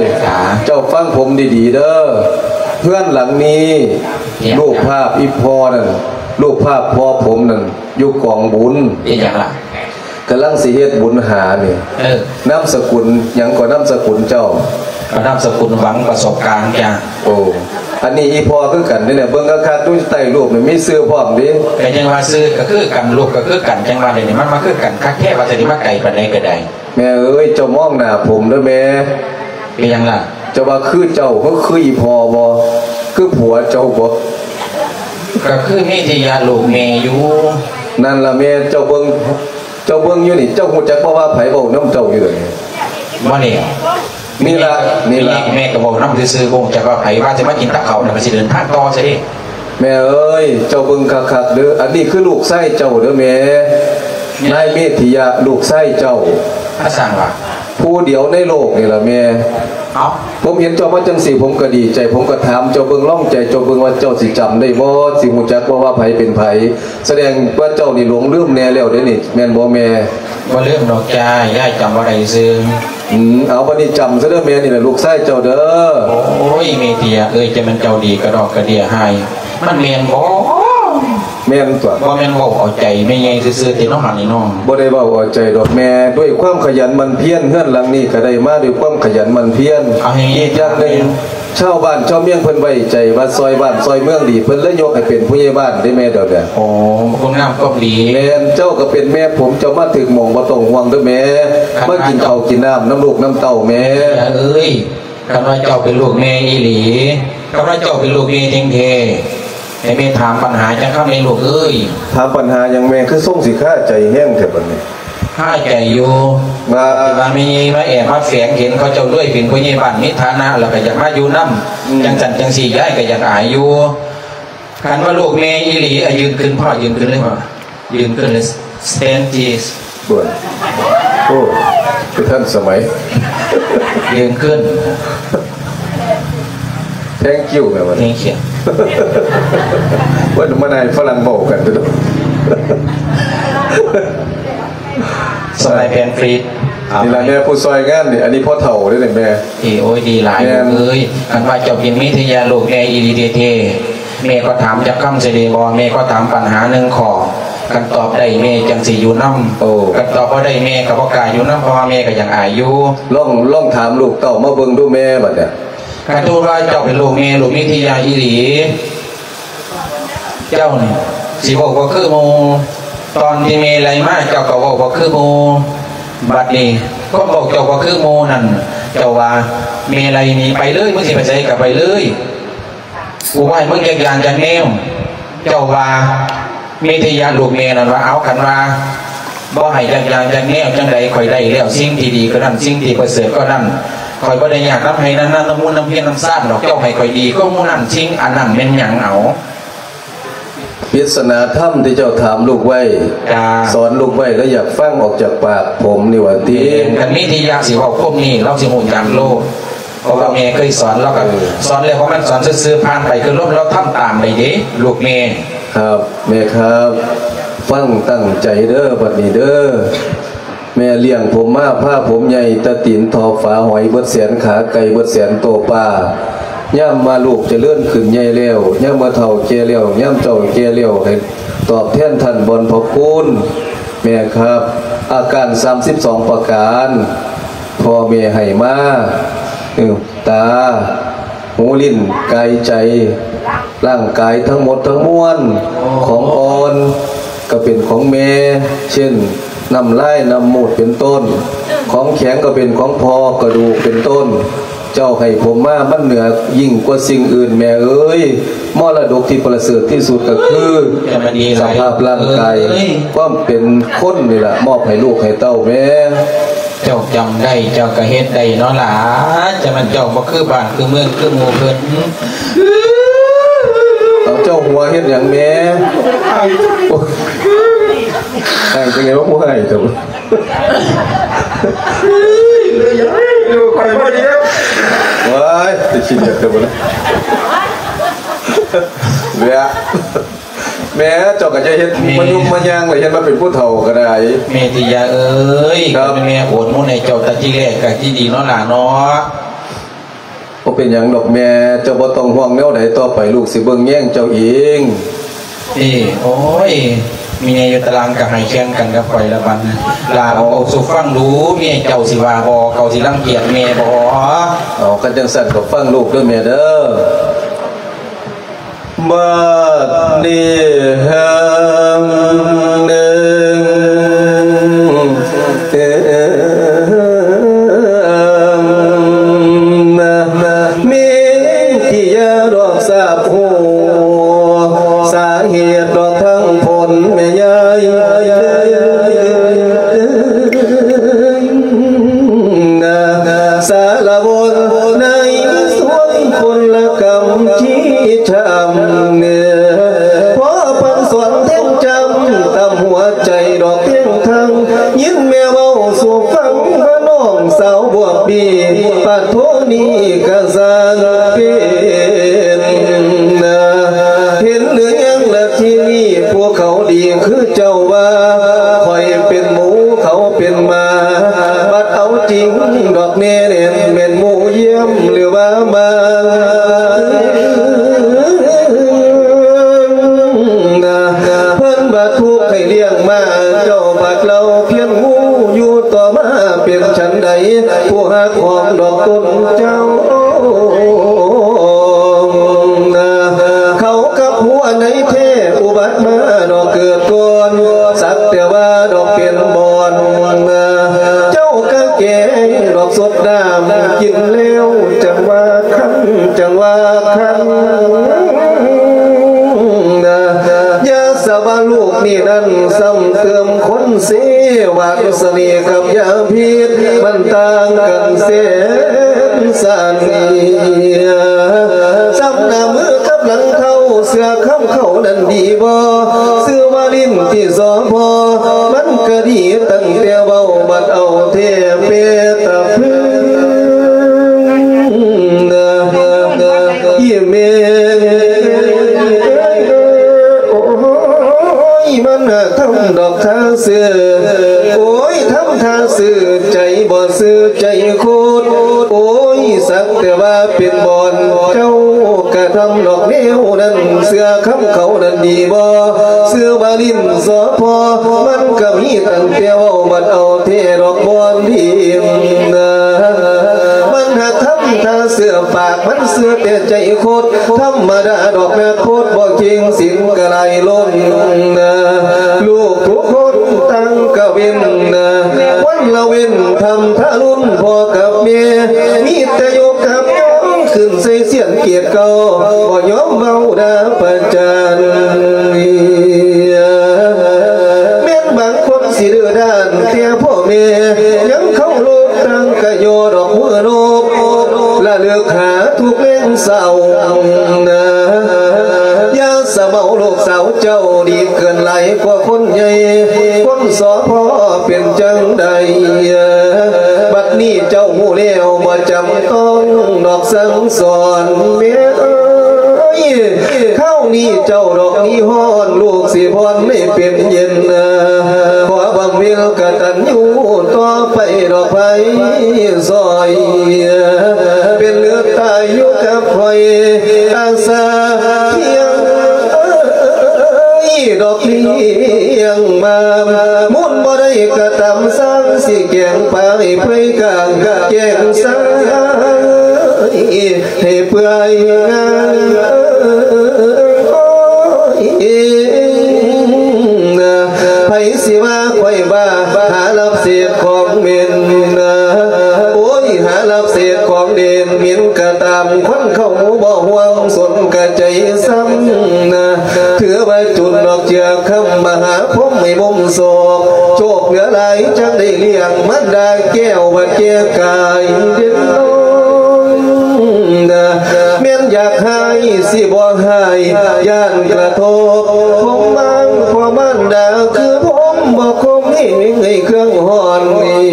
ເຈົ້າຟັງຜົມດີໆເດີ້. ເຮືອນຫຼັງນີ້ ເຮັດຫຍັງ? ຮູບພາບອີ່ພໍ່ນັ້ນ ຮູບພາບພໍ່ຜົມນັ້ນ ຢູ່ກອງບຸນ. ເຮັດຫຍັງລະ? ກຳລັງຊິເຮັດບຸນຫານີ້. ເອີ ນາມສະກຸນຫຍັງກໍນາມສະກຸນເຈົ້າ? ກໍນາມສະກຸນຫວັງປະສົບການຈ້າ. ໂອ້ ອັນນີ້ອີ່ພໍ່ຄືກັນເດ້ ເບິ່ງຄັກໆ ຢູ່ໃຕ້ຮູບນີ້ມີຊື່ພ້ອມເດ້. ກໍຍັງວ່າຊື່ກໍຄືກັນ ຮູບກໍຄືກັນ ຈັ່ງວ່າດຽວນີ້ມັນມາຄືກັນຄັກແທ້ ວ່າຈະໄດ້ມາໄກປານໃດກໍໄດ້. ແມ່ເອີຍ ເຈົ້າມອງໜ້າຜົມເດີ້ແມ່. ເປັນຫຍັງລະ? ເຈົ້າວ່າຄືເຈົ້າ ຄື ຄືອີ່ພໍ່ບໍ່? ຄືຜົວເຈົ້າບໍ່? ກໍຄືເມທິຍະລູກແມ່ຢູ່. ນັ້ນລະແມ່ ເຈົ້າເບິ່ງ ເຈົ້າເບິ່ງຢູ່ນີ້ ເຈົ້າຮູ້ຈັກບໍ່ວ່າໃຜເວົ້ານຳເຈົ້າຢູ່ດຽວນີ້? ບໍ່ແນ່. ນີ້ລະ ນີ້ລະ ແມ່ກໍເວົ້ານຳຊື່ໆ ບໍ່ຮູ້ຈັກວ່າໃຜ ວ່າຊິມາກິນກັບເຂົາ ແລ້ວກໍຊິເດີນທາງຕໍ່ຊະເດ້. ແມ່ເອີຍ ເຈົ້າເບິ່ງຄັກໆເດີ້ ອັນນີ້ຄືລູກຊາຍເຈົ້າເດີ້ແມ່. ນາຍເມທິຍະ ລູກຊາຍເຈົ້າ ມາສ້າງວ່າ ຜູ້ດຽວໃນໂລກນີ້ລະແມ່. ເອົ້າ ຜົມເຫັນເຈົ້າມາຈັ່ງຊີ້ ຜົມກໍດີໃຈ ຜົມກໍຖາມເຈົ້າເບິ່ງ ລອງໃຈເຈົ້າເບິ່ງວ່າເຈົ້າຊິຈຳໄດ້ບໍ່ ຊິຮູ້ຈັກບໍ່ວ່າໃຜເປັນໃຜ. ສະແດງວ່າເຈົ້ານີ້ຫຼົງລືມແດ່ແລ້ວເດ້ນີ້ ແມ່ນບໍ່ແມ່? ບໍ່ລືມດອກຈ້າ ຍາຍຈຳບໍ່ໄດ້ຊື່. ອືມ ເອົາ ບັດນີ້ຈຳຊະເດີ້ແມ່ ນີ້ລະລູກຊາຍເຈົ້າເດີ້. ໂອ້ຍ ເມທິຍະເອີຍ ຈະແມ່ນເຈົ້າດີກະດອກກະເດຍໃຫ້ ມັນແມ່ນບໍ່? ແມ່ນຕົວະ. ບໍ່ແມ່ນເວົ້າເອົາໃຈແມ່ໃຫຍ່ຊື່ໆຕິເນາະ ຫັ້ນນີ້ເນາະ. ບໍ່ໄດ້ເວົ້າເອົາໃຈດອກແມ່ ດ້ວຍຄວາມຂະຫຍັນໝັ່ນພຽນ ເຮືອນຫຼັງນີ້ກະໄດ້ມາດ້ວຍຄວາມຂະຫຍັນໝັ່ນພຽນ. ອີກຢ່າງໜຶ່ງ ຊາວບ້ານຊາວເມືອງເພິ່ນໄວ້ໃຈວ່າຊ່ອຍບ້ານຊ່ອຍເມືອງດີ ເພິ່ນເລີຍຍົກໃຫ້ເປັນຜູ້ໃຫຍ່ບ້ານເດ້ແມ່ດຽວນີ້. ໂອ້ ຄຸນງາມຄວາມດີ. ແມ່ນ ເຈົ້າກໍເປັນແມ່ຜົມ ເຈົ້າມາຖືກໝ່ອງ ບໍ່ຕ້ອງຫ່ວງເດີ້ແມ່. ມາກິນເຂົ້າກິນນ້ຳນຳລູກນຳເຕົ້າແມ່. ເອີຍ ຄັນວ່າເຈົ້າເປັນລູກແມ່ອີ່ຫຼີ ຄັນວ່າເຈົ້າເປັນລູກແມ່ແທ້ໆ ໃຫ້ແມ່ຖາມບັນຫາຈັກຄຳແດ່ລູກເອີຍ. ຖາມບັນຫາຫຍັງແມ່ ຄືຊົງຊິຄາໃຈແຮງແທ້ບັດນີ້? ຄາໃຈຢູ່ ວ່າ ທີ່ວ່າແມ່ໃຫຍ່ມາແອບມາແຝງ ເຫັນເຂົາເຈົ້າລວຍ ເປັນຜູ້ໃຫຍ່ບ້ານ ມີຖານະ ແລ້ວກໍຢາກມາຢູ່ນຳ. ອືມ ຈັ່ງຊັ້ນຈັ່ງຊີ້ ຍາຍກໍຢາກອາຍຢູ່. ຄັນວ່າລູກແມ່ອີ່ຫຼີ ອາ ຢືນຂຶ້ນ ພໍ່ຢືນຂຶ້ນເລີຍ ພໍ່ຢືນຂຶ້ນເລີຍ Stand please. ໂອ້ ຄືທັນສະໄໝ. ເລື່ອງຂຶ້ນ Thank you ແມ່ນບໍ່? Thank you. ເພິ່ນມານາຍຝຣັ່ງເວົ້າກັນເດີ້. ສະໄໝແພງຟຣີດ ນີ້ລະແມ່ຜູ້ຊ່ອຍງານນີ້. ອັນນີ້ພໍ່ເຖົ້າເດ້ນີ້ແມ່. ເອີ ໂອ້ຍ ດີຫຼາຍ ແມ່ນ ເອີຍ. ຄັນວ່າເຈົ້າເປັນມິດທະຍາລູກແມ່ອີ່ຫຼີແທ້ໆ ແມ່ກໍຖາມຈັກຄຳຊິໄດ້ບໍ່? ແມ່ກໍຖາມປັນຫາໜຶ່ງຂໍ້ ຄັນຕອບໄດ້ແມ່ຈັ່ງຊິຢູ່ນຳ. ໂອ້ ຄັນຕອບບໍ່ໄດ້ແມ່ກໍບໍ່ກ້າຢູ່ນຳ ເພາະວ່າແມ່ກໍຍັງອາຍຢູ່. ລອງ ລອງຖາມລູກເຕົ້າມາເບິ່ງດູແມ່ ບັດນີ້. ຄັນສົມມຸດວ່າເຈົ້າເປັນລູກແມ່ ລູກມີວິທະຍາອີ່ຫຼີ ເຈົ້ານີ້ຊິເວົ້າບໍ່ຄືໝູ່. ຕອນທີ່ແມ່ໄລ່ມາ ເຈົ້າກໍເວົ້າບໍ່ຄືໝູ່. ບັດນີ້ຄວາມເວົ້າເຈົ້າບໍ່ຄືໝູ່ນັ້ນ ເຈົ້າວ່າ ແມ່ໄລ່ໜີໄປເລີຍ ມຶງຊິໄປໃສກໍໄປເລີຍ ກູບໍ່ໃຫ້ມຶງຈັກຢ່າງຈັກແນວ. ເຈົ້າວ່າ ມີທະຍາລູກແມ່ນັ້ນວ່າ ເອົາ ຄັນວ່າບໍ່ໃຫ້ຈັກຢ່າງຈັກແນວ ຈັ່ງໃດຂ້ອຍໄດ້ແລ້ວ ສິ່ງທີ່ດີກໍນັ້ນ ສິ່ງທີ່ປະເສີດກໍນັ້ນ. ຂ້ອຍບໍ່ໄດ້ຍາກນຳໄຮ່ນຳນາ ນຳມູນນຳຮຽນນຳຊານດອກ. ເຈົ້າໃຫ້ຂ້ອຍດີກວ່າໝູ່ນັ້ນ ສິ່ງອັນນັ້ນແມ່ນຫຍັງເອົາ? ປຣິດສະໜາທຳທີ່ເຈົ້າຖາມລູກໄວ້ ຈ້າ ສອນລູກໄວ້ ແລະ ຢາກຟັງອອກຈາກປາກຜົມນີ້ວ່າຕິ. ແມ່ນ ຄັນມີທະຍາຊິເວົ້າຄົມນີ້ ລາວຊິຮູ້ຈັກໂລດ. ເພາະວ່າແມ່ເຄີຍສອນ ລາວກໍ ເອີ ສອນແລ້ວ ເພາະມັນສອນຊື່ໆ ຜ່ານໄປຄືລົມ ລາວທຳຕາມໄດ້ເດ້ ລູກແມ່. ຄັບ ແມ່ຄັບ ຟັງຕັ້ງໃຈເດີ້ ບັດນີ້ເດີ້. ແມ່ລ້ຽງຜົມມາ ພາຜົມໃຫຍ່ ແຕ່ຕີນເທົ້າຝາຫອຍ ເບິດແສນຂາໄກ່ ເບິດແສນໂຕປາ. ຍາມວ່າລູກຈະເລີນຂຶ້ນໃຫຍ່ແລ້ວ ຍາມວ່າເຖົ້າແກ່ແລ້ວ ຍາມເຈົ້າແກ່ແລ້ວ ໃຫ້ຕອບແທນທ່ານບຸນພະຄຸນ. ແມ່ຄັບ ອາການສາມສິບສອງປະການ ພໍ່ແມ່ໃຫ້ມາ ເອີ ຕາ ຫູ ລີ້ນ ກາຍ ໃຈ ຮ່າງກາຍທັງໝົດທັງມວນ ຂອງອ່ອນກໍເປັນຂອງແມ່ ເຊັ່ນ ນ້ຳລາຍ ນ້ຳມູດ ເປັນຕົ້ນ. ຂອງແຂງກໍເປັນຂອງພໍ່ ກະດູກ ເປັນຕົ້ນ. ເຈົ້າໃຫ້ຜົມມາ ມັນເໜືອຍິ່ງກວ່າສິ່ງອື່ນ ແມ່ເອີຍ. ມໍລະດົກທີ່ປະເສີດທີ່ສຸດກໍຄື ຈະມັນດີຫຼາຍ ສະພາບຮ່າງກາຍ ເອີຍ ຄວາມເປັນຄົນນີ້ລະ ມອບໃຫ້ລູກໃຫ້ເຕົ້າແມ່. ເຈົ້າຈຳໄດ້ ເຈົ້າກໍເຮັດໄດ້ເນາະຫຼາ. ຈະມັນເຈົ້າບໍ່ຄືບ້ານຄືເມືອງຄືໝູ່ເພິ່ນ. ເອົາ ເຈົ້າຫົວເຮັດຫຍັງແມ່? ໄຫ້ ໄຫ້ຈັ່ງໃດວ່າຜູ້ໄຫ້ເຈົ້າ? ເອີຍ ເລີຍຢາກໃຫ້ລູກຂ້ອຍບໍ່ດີແລ້ວ. ວ້າຍ ໄປຂີ້ດຽດເຈົ້າບໍ່ນະ. ເວະ ແມ່ ເຈົ້າກໍຈະເຮັດ ແມ່ ມາຍຸມມາຍ່າງ ແລ້ວເຮັດມາເປັນຜູ້ເຖົ້າກໍໄດ້. ແມ່ຕິຍາເອີຍ ຄັບ ແມ່ໂອນໝູນໃຫ້ເຈົ້າແຕ່ທີແລກກໍຊິດີເນາະຫຼາເນາະ. ບໍ່ເປັນຫຍັງດອກແມ່ ເຈົ້າບໍ່ຕ້ອງຫ່ວງແນວໃດ ຕໍ່ໄປລູກຊິເບິ່ງແຍງເຈົ້າເອງ. ເອີ ໂອ້ຍ ແມ່ຢູ່ຕາລາງກໍໃຫ້ແຂ່ງກັນກັບຂ້ອຍລະບັດ. ຫຼາເອົາສູ່ຟັງດູ ເມຍເຈົ້າຊິວ່າບໍ່ ເຂົາຊິລັງກຽດແມ່ບໍ່? ເອົາ ຄັນຈັ່ງຊັ້ນກໍຟັງລູກເດີ້ແມ່ເດີ້. ບາດນີ້ຫາງໜຶ່ງ ເອີ ນະ ເມທິຍາດອກຊາບຮູ້ ສາເຫດດອກທັງຜົນແມ່ຍາຍ ນະ ສາລະວົນໃນສວນຄົນລະກຳທີ່ ທຳເນີ ພໍ່ພຳສອນແທງຈຳ ຕຳຫົວໃຈດອກພຽງທັງ ຍິນແມ່ເວົ້າສູ່ຟັງວ່ານ້ອງສາວບວບບີ ປາດໂທນີ້ກະຊ່າງເປັນນາ ເຫັນຫຼືຍັງລະທີນີ້ ພວກເຂົາດີຄືເຈົ້າວ່າ ຂ້ອຍເປັນໝູ ເຂົາເປັນໝາ ບັດເອົາຈິງດອກແນ່ແມ່ນ ແມ່ນໝູ ຢ້ຽມ ຫຼືວ່າມາ ເພິ່ນບັດທຸກໃຫ້ລ້ຽງມາ ເຈົ້າບັດເລົ່າພຽງໝູ ຢູ່ຕໍ່ມາເປັນສັນໃດ ຜູ້ຮັກຂອງດອກຕົນເຈົ້າ ເຂົາກັບຫົວໃນແທ້ ອຸບັດມາດອກເກີດກ່ອນ ສັກແຕ່ວ່າດອກເປັນບອນ ເຈົ້າກະແກງດອກສົດນ້ຳ ກິນແລ້ວຈັ່ງວ່າຄັນ ຈັ່ງວ່າຄັນ ຢ່າສະວ່າລູກນີ້ນັ້ນ ຊ້ຳເຕີມຄົນເສ ວາດສະເໜ່ກັບຢາພິດ ມັນຕ່າງກັນແສນສານເໜືອ ຊ້ຳໜ້າມືກັບຫຼັງເທົ້າ ເສື້ອຄຳເຂົານັ້ນດີບໍ່ ຊື່ວ່າ ຫຼິ້ນທີ່ສອພ ມັນກະດີຕັ້ງແຕ່ເວົ້າ ບັດເອົາແທ້ເປຕະພຶງນະ ອີແມ່ ໂອ້ຍ ມັນຫາກທຳດອກທ່າຊື່ ໂອ້ຍ ທຳທ່າຊື່ ໃຈບໍ່ຊື່ໃຈໂຄດ ໂອ້ຍ ສັກແຕ່ວ່າເປັນບ່ອນ ເຈົ້າກະທຳດອກແນວນັ້ນ ເຊື່ອຄຳເຂົານັ້ນດີບໍ່? ເຊື່ອວ່າຫຼິ້ນສອພ ມັນກະມີຕັ້ງແຕ່ເວົ້າ ບັດເອົາແທ້ດອກບ່ອນດີນະ ມັນຫາກທຳທ່າເຊື່ອປາກ ມັນເຊື່ອແຕ່ໃຈໂຄດ ທຳມະດາດອກນັກໂພດ ບໍ່ເຄັ່ງສິນກະຫຼາຍລົ້ນນະ ລູກທຸກຄົນຕ່າງກະເວັ້ນນະ ວັນລະເວັ້ນທຳທາລຸນພໍ່ກັບແມ່ ມີແຕ່ຍົກກັບຍອງຂຶ້ນໃສ່ສຽງເກດເກົ່າ ບໍ່ຍອມເວົ້າດ່າປະຈານ ແມ່ນບາງຄົນຊິດື້ດ້ານແຕ່ພໍ່ແມ່ ຍັງເຄົາລົບ ຕ່າງກະຍໍດອກເມືອນົບ ລະເລີກຫາທຸກແລງເຊົ້ານະ ຢ່າສະເມົາລູກສາວເຈົ້າ ດີເກີນຫຼາຍກວ່າຄົນໃຫຍ່ ຄົນສອພ ເປັນຈັ່ງໃດ ບັດນີ້ເຈົ້າຮູ້ແລ້ວ ບໍ່ຈຳຕ້ອງດອກສັ່ງສອນ ແມ່ເອີຍ ຄາວນີ້ເຈົ້າດອກມີຮ້ອນ ລູກຊິຜ່ອນໃຫ້ເປັນເຢັນ ຂໍບຳເພັນກະຕັນຍູຕໍ່ໄປດອກໄພ ຊອຍ ເປັນເລືອດຕາຍຢູ່ກັບຂ້ອຍ ອາສາພຽງດອກລ້ຽງມາ ມູນບໍ່ໄດ້ກະຕຳ ສ້າງຊິແກງປາໃຫ້ເປື່ອຍກາງ ແກງຊາຍ ໃຫ້ເປື່ອຍງາມ ໂອ້ຍ ໃຜຊິວ່າຂ້ອຍບ້າ ຫາຮັບເສບຂອງເໝັນ ໂອ້ຍ ຫາຮັບເສບຂອງເດນ ເໝັນກະຕາມ ຄົນເຂົາບໍ່ຫ່ວງ ສົນກະໃຈຊ້ຳນະ ຖືວ່າຈຸນດອກເຈື່ອຄຳ ມະຫາພົມໃຫ້ມຸມໂສກ ໂຊກເຫຼືອຫຼາຍ ຈັ່ງໄດ້ລ້ຽງ ມານດາແກ້ວ ວ່າແກ່ກາຍເດັ່ນລົງນະ ແມ່ນຢາກຮ້າຍຊິບໍ່ຮ້າຍ ຢ້ານກະທົບ ຜົມມາງພໍ່ມານດາ ຄືຜົມບໍ່ຄົມເອງໃຫ້ເຄື່ອງຮ້ອນນີ້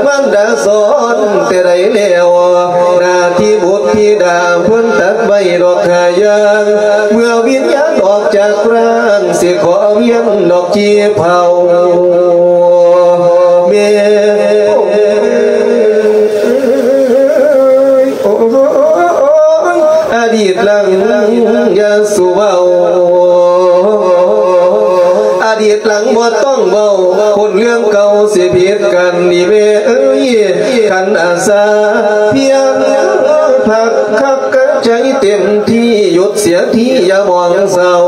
ມານດາສອນແຕ່ໃດແລ້ວ ໜ້າທີ່ບຸດທິດາ ເພິ່ນຕັດໄວ້ດອກຫ້າຢ່າງ ເມື່ອວິນຍານອອກຈາກຮ່າງ ຊິຂໍວຽນດອກຈີ່ເຜົາ ແມ່ເອີຍ ອະດີດຫຼັງຢ່າສູ່ເວົ້າ ອະດີດຫຼັງບໍ່ຕ້ອງເວົ້າ ຄົນເລື່ອງເກົ່າຊິຜິດກັນນີ້ແມ່ເອີຍ ຄັນອາສາພຽງພັກຄັກກະໃຈເຕັມທີ່ ຢຸດເສຍທີຢ່າມອງເສົ້າ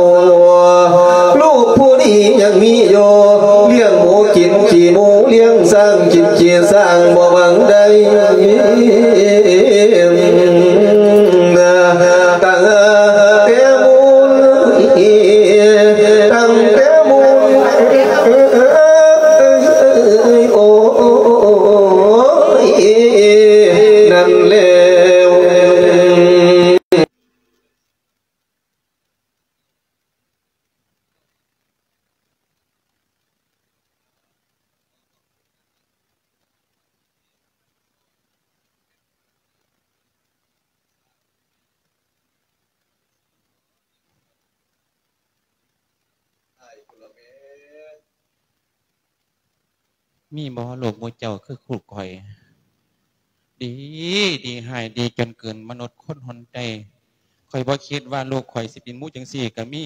ລູກຜູ້ນີ້ຍັງມີຢູ່ ລ້ຽງໝູກິນຂີ້ໝູ ລ້ຽງຊ້າງກິນຂີ້ຊ້າງ ບໍ່ຫວັງໄດ້ ຕັ້ງແຕ່ມູນ ຕັ້ງແຕ່ມູນ ໂອ້ຍ ນັ້ນແລ້ວ. ມີບໍ່ໂລກໝູ່ເຈົ້າຄືລູກຂ້ອຍ ດີ ດີຮ້າຍ ດີຈົນເກີນມະນຸດຄົນຫົນໃຈ. ຂ້ອຍບໍ່ຄິດວ່າລູກຂ້ອຍຊິເປັນໝູ່ຈັ່ງຊີ້ກະມີ.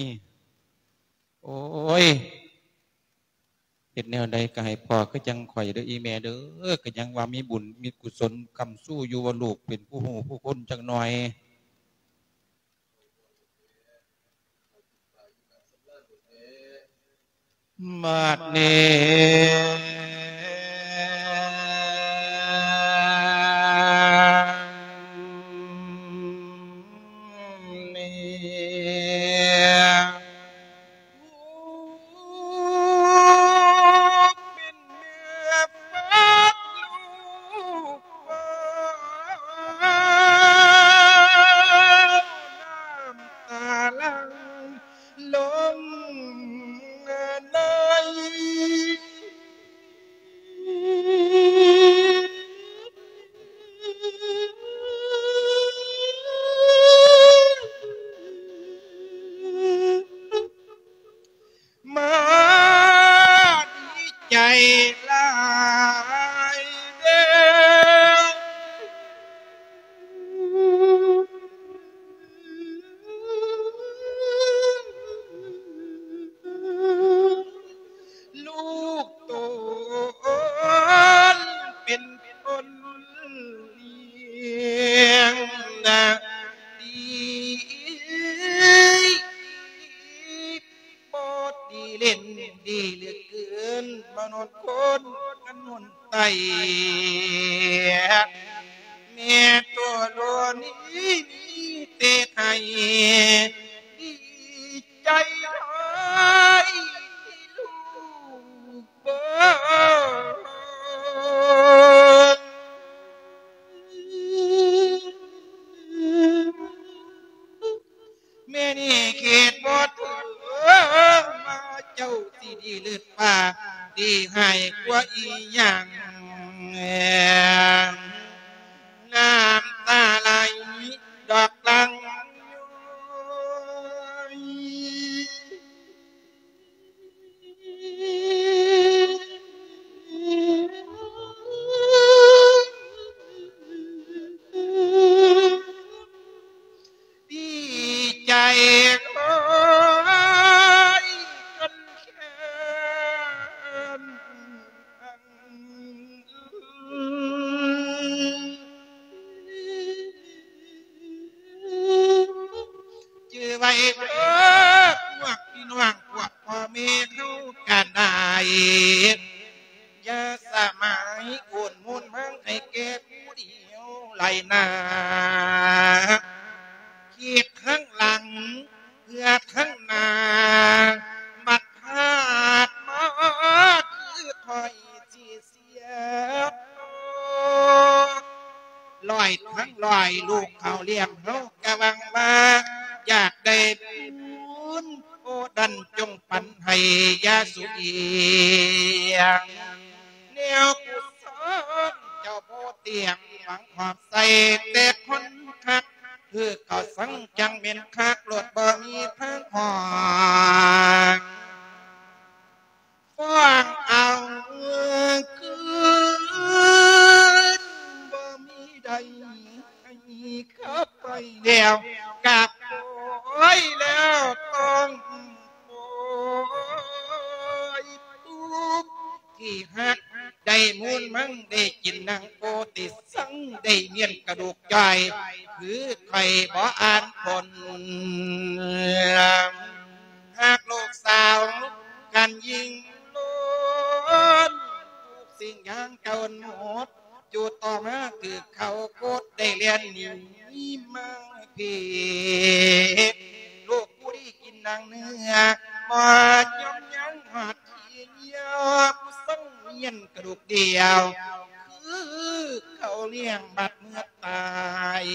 ໂອ້ຍ ເຮັດແນວໃດກະໃຫ້ພໍຄືຈັ່ງຂ້ອຍເດີອີແມ່ເດີ. ກະຍັງວ່າມີບຸນມີກຸສົນຄ້ຳຊູຢູ່ວ່າລູກເປັນຜູ້ຮູ້ຜູ້ຄົນຈັກໜ່ອຍ. ບາດນີ້ ແມ່ໂຕໂລນີ້ມີແຕ່ໃຫ້ ດີໃຈຫຼາຍທີ່ລູກເບິ່ງ ແມ່ນີ້ຄິດບໍ່ເຖິງວ່າເຈົ້າຊິດີເລີດກວ່າ ດີຮ້າຍກວ່າອີ່ຫຍັງ ນ້ຳຕາໄຫຼດອກຫຼັ່ງຍ້ອຍ. ດີໃຈຫຼາຍຈົນແຂນ ຈື່ໄວ້ເດີພວກພີ່ນ້ອງ ພວກພໍ່ແມ່ເຮົາກະໄດ້ ຢ່າສະໝາຍໂອນມູນມັນໃຫ້ແກ່ຜູ້ດຽວຫຼາຍນາ ຄິດຄັ້ງຫຼັງເພື່ອຄັ້ງໜ້າ ບັດພາດມາຄືຂ້ອຍຊິ ເສຍໂຕ ຮ້ອຍທັງຮ້ອຍລູກເຂົາລ້ຽງເຮົາກະຫວັງວ່າຢາກໄດ້ບຸນ ໂອ ນັ້ນຈົ່ງປັນໃຫ້ຢ່າສຸອີງ ແນວກຸສົນເຈົ້າບໍ່ຕຽງ ຫວັງຂອບໃສ່ແຕ່ຄົນຄັກ ຄືເຂົາສັງຈັ່ງແມ່ນຄັກໂລດບໍ່ມີທາງຫອກ ຟ້ອງເອົາຄືນ ບໍ່ມີໃດໃຫ້ເຂົາໄປແລ້ວ ກະປ່ອຍແລ້ວຕ້ອງປ່ອຍ ຜູ້ທີ່ຮັກໄດ້ມູນມັນ ໄດ້ກິນໜັງໂປຕິ ສັງໄດ້ມ້ຽນກະດູກຈ່ອຍ ຄືຂ້ອຍບໍ່ອ່ານຄົນ ຫາກລູກສາວກັນຍິ່ງລົ້ນ ທຸກສິ່ງຢ່າງເກົ່າໝົດ ຢູ່ຕໍ່ມາຖືກເຂົາກົດ ໄດ້ແລ່ນໜີມາເພ ລູກຜູ້ດີກິນໜັງເນື້ອ ບໍ່ຍອມຍັງຮອດທີ່ ຍາມສັງວຽນກະດູກດຽວ ຄືເຂົາລ້ຽງບັດເມື່ອຕາຍ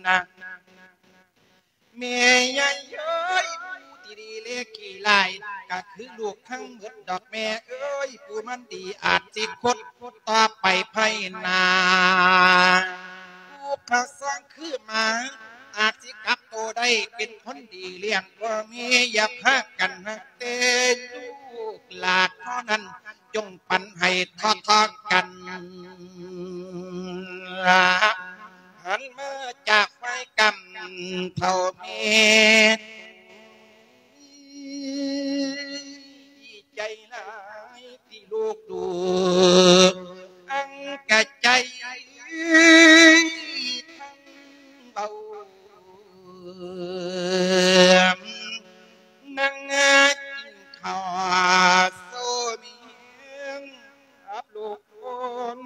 ນະ ແມ່ຍາຍເອີຍ ຜູ້ທີ່ດີແລຂີ້ລ້າຍ ກະຄືລູກທັງໝົດດອກແມ່ເອີຍ ຜູ້ມັນດີອາດຊິຄົດ ຕໍ່ໄປພາຍໜ້າ ລູກເຂົາສ້າງຄືໝາ ອາດຊິກັບໂຕໄດ້ເປັນຄົນດີລ້ຽງພໍ່ແມ່ ຢ່າພາກັນຮັກແຕ່ລູກຫຼານເທົ່ານັ້ນ ຈົ່ງປັນໃຫ້ເທົ່າໆກັນ ຫັນມາຈາກຝ່າຍກຳເຖົ້າແມ່ ດີໃຈຫຼາຍ ທີ່ລູກດູ ອັງກະໃຈທັງເບົາ ນັ່ງກິນເຂົ້າໂຊມຽງ ອັບລູກຄົນ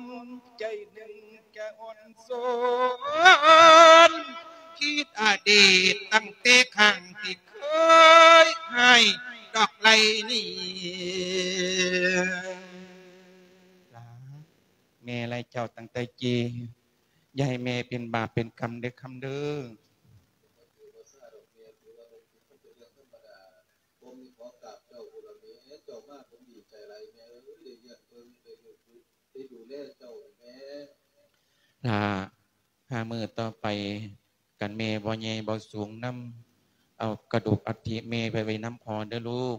ໃຈໜຶ່ງກະອ່ອນໂຊນ ຄິດອະດີດຕັ້ງແຕ່ຄັ້ງທີ່ເຄີຍໃຫ້ດອກໄຫຼນີ້ ຫຼາ ແມ່ໄລ່ເຈົ້າຕັ້ງແຕ່ກີ້ ຢ່າໃຫ້ແມ່ເປັນບາບເປັນກຳເດີ້ຄຳເດີ້. ຫຼ້າ ຫ້າມື້ຕໍ່ໄປ ຄັນແມ່ບໍ່ໃຫຍ່ບໍ່ສູງນຳ ເອົາກະດູກອັດຖິແມ່ໄປໄວ້ນຳພໍ່ເດີ້ລູກ.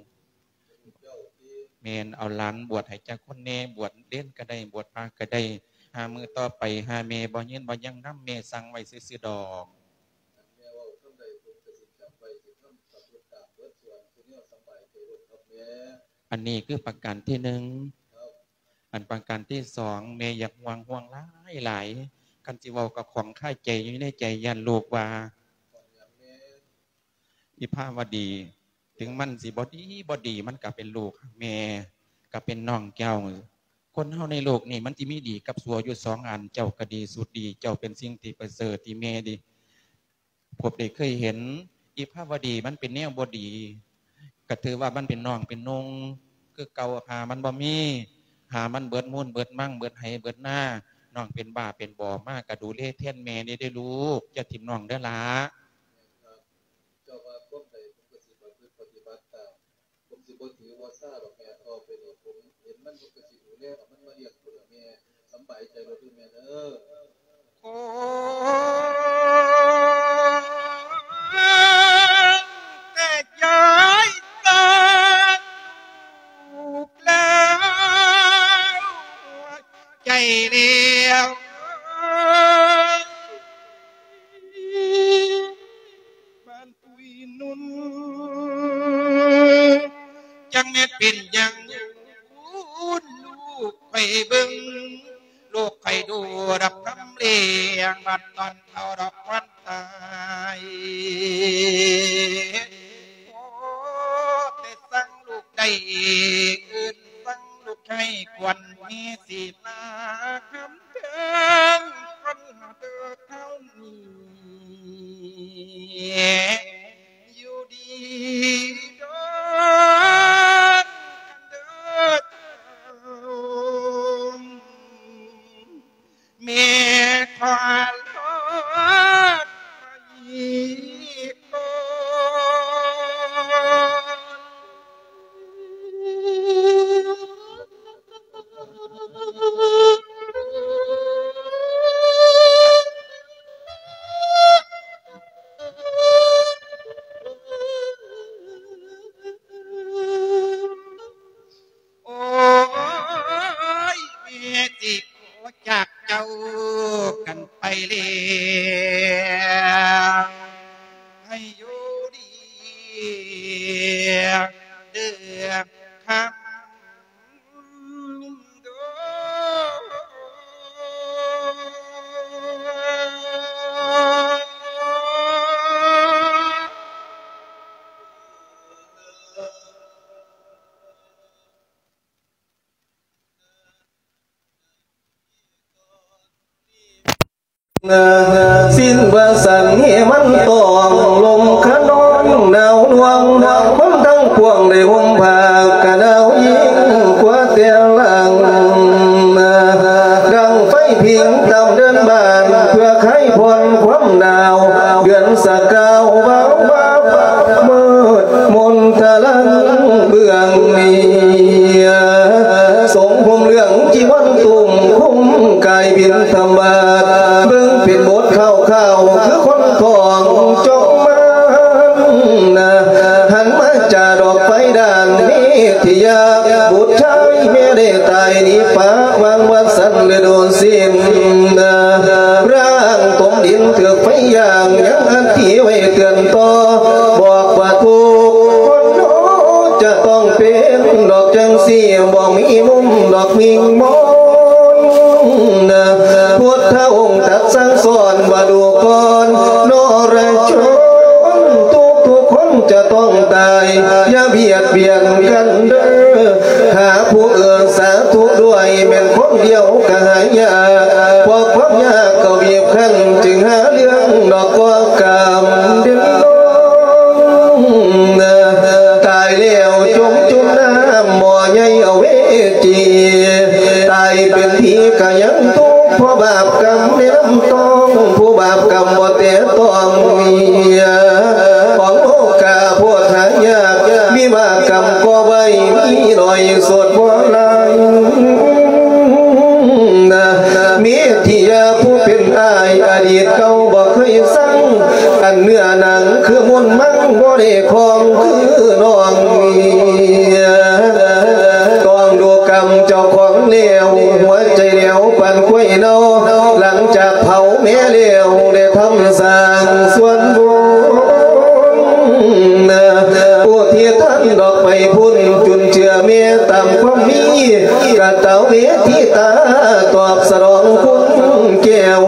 ແມ່ນ ເອົາຫຼານບວດໃຫ້ຈັກຄົນແດ່ ບວດເນນກະໄດ້ ບວດພະກະໄດ້. ຫ້າມື້ຕໍ່ໄປ ຖ້າແມ່ບໍ່ຍືນບໍ່ຍັງນຳ ແມ່ສັ່ງໄວ້ຊື່ໆດອກ. ອັນນີ້ຄືປະການທີໜຶ່ງ. ອັນປະການທີສອງ ແມ່ຢາກຫ່ວງ ຫ່ວງຫຼາຍໆ ຄັນຊິເວົ້າກະຂ້ອງຄາໃຈຢູ່ໃນໃຈ ຢ້ານລູກວ່າ ວິພາວະດີ ເຖິງມັນຊິບໍ່ດີບໍ່ດີ ມັນກະເປັນລູກແມ່ ກະເປັນນ້ອງເຈົ້າ. ຄົນເຮົາໃນໂລກນີ້ມັນຊິມີດີກັບຊົ່ວຢູ່ສອງອັນ, ເຈົ້າກໍດີສຸດດີ, ເຈົ້າເປັນສິ່ງທີ່ປະເສີດທີ່ແມ່ດີ ພວກໄດ້ເຄີຍເຫັນ ອີພາວະດີມັນເປັນແນວບໍ່ດີ, ກໍຖືວ່າມັນເປັນນ້ອງເປັນນຸ່ງຄືເກົ່າ, ຫາມັນບໍ່ມີ, ຫາມັນເບິດມູນເບິດມັງ ເບິດໄຮ່ເບິດນາ, ນ້ອງເປັນບ້າເປັນບອມາ ກໍດູແລແທນແມ່ແດ່ເດີ້ລູກ, ຢ່າຖິ້ມນ້ອງເດີ້ຫຼ້າ. ເຈົ້າວ່າຄວາມໃດ ຜົມກໍຊິປະພຶດປະຕິບັດຕາມ. ຜົມຊິບໍ່ຖືບໍ່ຊາດອກແມ່. ຕໍ່ໄປນີ້ ຜົມເຫັນມັນ ຜົມກໍຊິດູແລເອົາມັນມາລ້ຽງພຸ້ນລະແມ່. ສຳບາຍໃຈໂລດເດີ້ແມ່ເດີ້. ໂອ້ ແຕກຍ້າຍກັນລູກແລ້ວ ໃຈແລ້ວ ບ້ານປຸຍນຸ່ນ ຈັກແມ່ນເປັນຫຍັງ ລູກຂ້ອຍເບິ່ງ ລູກຂ້ອຍດູດອກຄຳແລງ ບັດຕອນເຖົ້າດອກຄວັນຕາຍ. ໂອ້ ແຕ່ສັ່ງລູກໄດ້ ເອີ້ນສັ່ງລູກໃຫ້ຄວນມີສີລາຄຳເຖິງຄົນເດີເທົ່ານີ້ ຢູ່ດີດອນເດີເຖົ້າ ແມ່ຂໍລາໄປກ່ອນ. ໂອ້ຍ ແມ່ຊິຂໍຈາກເຈົ້າກັນໄປແລ້ວ ໃຫ້ຢູ່ດີເດີຄຳ. ສິ້ນວ່າສັນເຫມັນຕ້ອງ ລົມຂະນອງໜາວໜ່ວງ ຄົນທັງປວງໄດ້ຫົ່ມຜ້າກະໜາວຍິ່ງກວ່າແຕ່ຫຼັງ ດັງໄຟຜິງຕາມເດີ່ນບ້ານ ເພື່ອຄາຍຜ່ອນຄວາມໜາວ ເດືອນສະກາວວາວວາບມືດ ມົນຕະລັງເບື້ອງນີ້ ຊົງຫົ່ມເຫຼືອງຈີວອນຕຸ້ມ ຄຸມກາຍບິນທະບາດ ເບິ່ງເປັນບົດຄ້າວໆ ຄືຄົນທ້ອງຈອງມານ ຫັນມາຈາດອກໄຟດ້ານເມທິຍາ ບຸດຊາຍແມ່ໄດ້ຕາຍໜີປະ ວາງວັດສັນລະດູສິນ ຮ່າງຕົມດິນຖືກໄຟຢ່າງ ຍັງອັດຖິໄວ້ເຕືອນຕໍ່ ບອກວ່າທຸກຄົນເນາະ ຈະຕ້ອງເປັນດອກຈັ່ງຊີ້ ບໍ່ມີມຸມດອກມິ່ງມອນ ພຸດທະອົງຕັດສັ່ງສອນວ່າ ດູກ່ອນ ນອລະຊົນ ທຸກໆຄົນຈະຕ້ອງຕາຍ ຢ່າບຽດບຽນກັນເດີ ຫາຜູ້ເອື້ອສາທຸດ້ວຍ ແມ່ນຄົນດຽວກະຫາຍາກ ເພາະຄວາມຍາກກໍບີບຄັ້ນ ຈຶ່ງຫາເລື່ອງດອກກໍກຳເດັ່ນນອງ ຕາຍແລ້ວຈົມຈຸ່ມນ້ຳໝໍ້ໃຫຍ່ເອົາເວຈີ ຕາຍເປັນຜີກະຍັງທຸກ ເພາະບາບກຳໃນນ້ຳຕອງ ຜູ້ບາບກຳບໍ່ແຕະຕ້ອງເມຍ ຂອງໂລກາໂພດຫາຍາກ ມີບາບກຳກໍໄວ ມີໜ້ອຍສວດບໍ່ຫຼາຍ ເມທິຍາຜູ້ເປັນອ້າຍ ອະດີດເກົ່າບໍ່ເຄີຍສັງ ອັນເນື້ອໜັງຄືມົນມັງ ບໍ່ໄດ້ຄອງຄືນ້ອງເມຍ ຕ້ອງດູກຳເຈົ້າຂອງແລ້ວ ຫົວໃຈແຫຼວປານຄວາຍເນົ່າ ຫຼັງຈາກເຜົາແມ່ແລ້ວ ໄດ້ທຳສ້າງສ່ວນບຸນ ຜູ້ທີ່ທ່ານດອກໄປພຸ້ນ ຈຸນເຈືອແມ່ຕາມຄວາມມີ ກະຕະເວທິຕາ ຕອບສະໜອງຄຸນແກ້ວ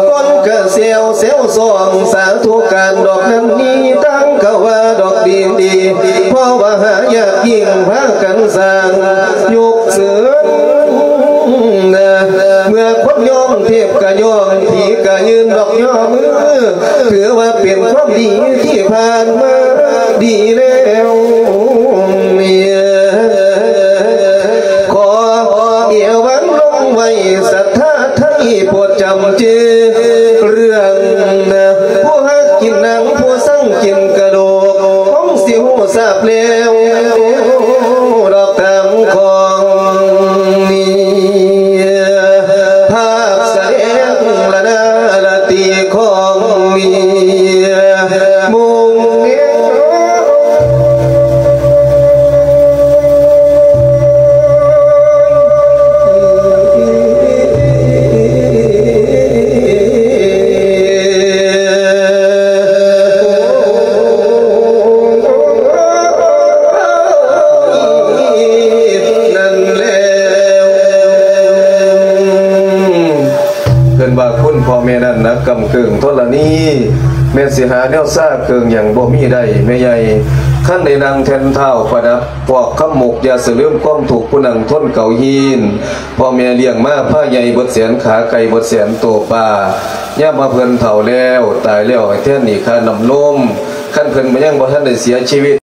ຄົນກະແຊວແຊວສອງ ສາທຸການດອກນັ້ນນີ້ ຕັ້ງກະວ່າດອກດີດີ ເພາະວ່າຫາຍາກຍິ່ງ ພາກັນສ້າງ ຍຸກ ເມື່ອຄົນຍ້ອງເທບກະຍ້ອງ ຜີກະຢືນດອກຍໍມື ຖືວ່າເປັນຄວາມດີທີ່ຜ່ານມາດີແລ້ວ. ຂໍເອວັງລົງໄວ້ ສັດທາໄທໂປດຈຳຈື່ ເລື່ອງຜູ້ຮັກກິນໜັງ ຜູ້ຊັງກິນກະດູກ ຄົງຊິຮູ້ຊາບແລ້ວ ດອກຕາມຂອງເມຍ ພາບສະແດງລະນາລະຕີຂອງເມຍ ມຸງເມຍ ນັ້ນແລ້ວ ເພິ່ນວ່າຄຸນພໍ່ແມ່ນັ້ນໜັກກຳເກີງທໍລະນີ ແມ່ນຊິຫາແນວຊາເຄື່ອງຫຍັງບໍ່ມີໄດ້ແມ່ໃຫຍ່ ຄັນໄດ້ນັ່ງແທ່ນທ້າວປະດັບ ພວກຄຳໝົກ ຢ່າສະເຫຼີມຄວາມທຸກ ຜູ້ນັ່ງທົນເກົາຮີນ ພໍ່ແມ່ລ້ຽງມາພາໃຫຍ່ເບິດແສນ ຂາໄກ່ເບິດແສນໂຕປາ ຍາມວ່າເພິ່ນເຖົ້າແລ້ວ ຕາຍແລ້ວ ໃຫ້ແທນໜີ້ຄ່ານ້ຳນົມ ຄັນເພິ່ນຍັງບໍ່ທັນໄດ້ເສຍຊີວິດ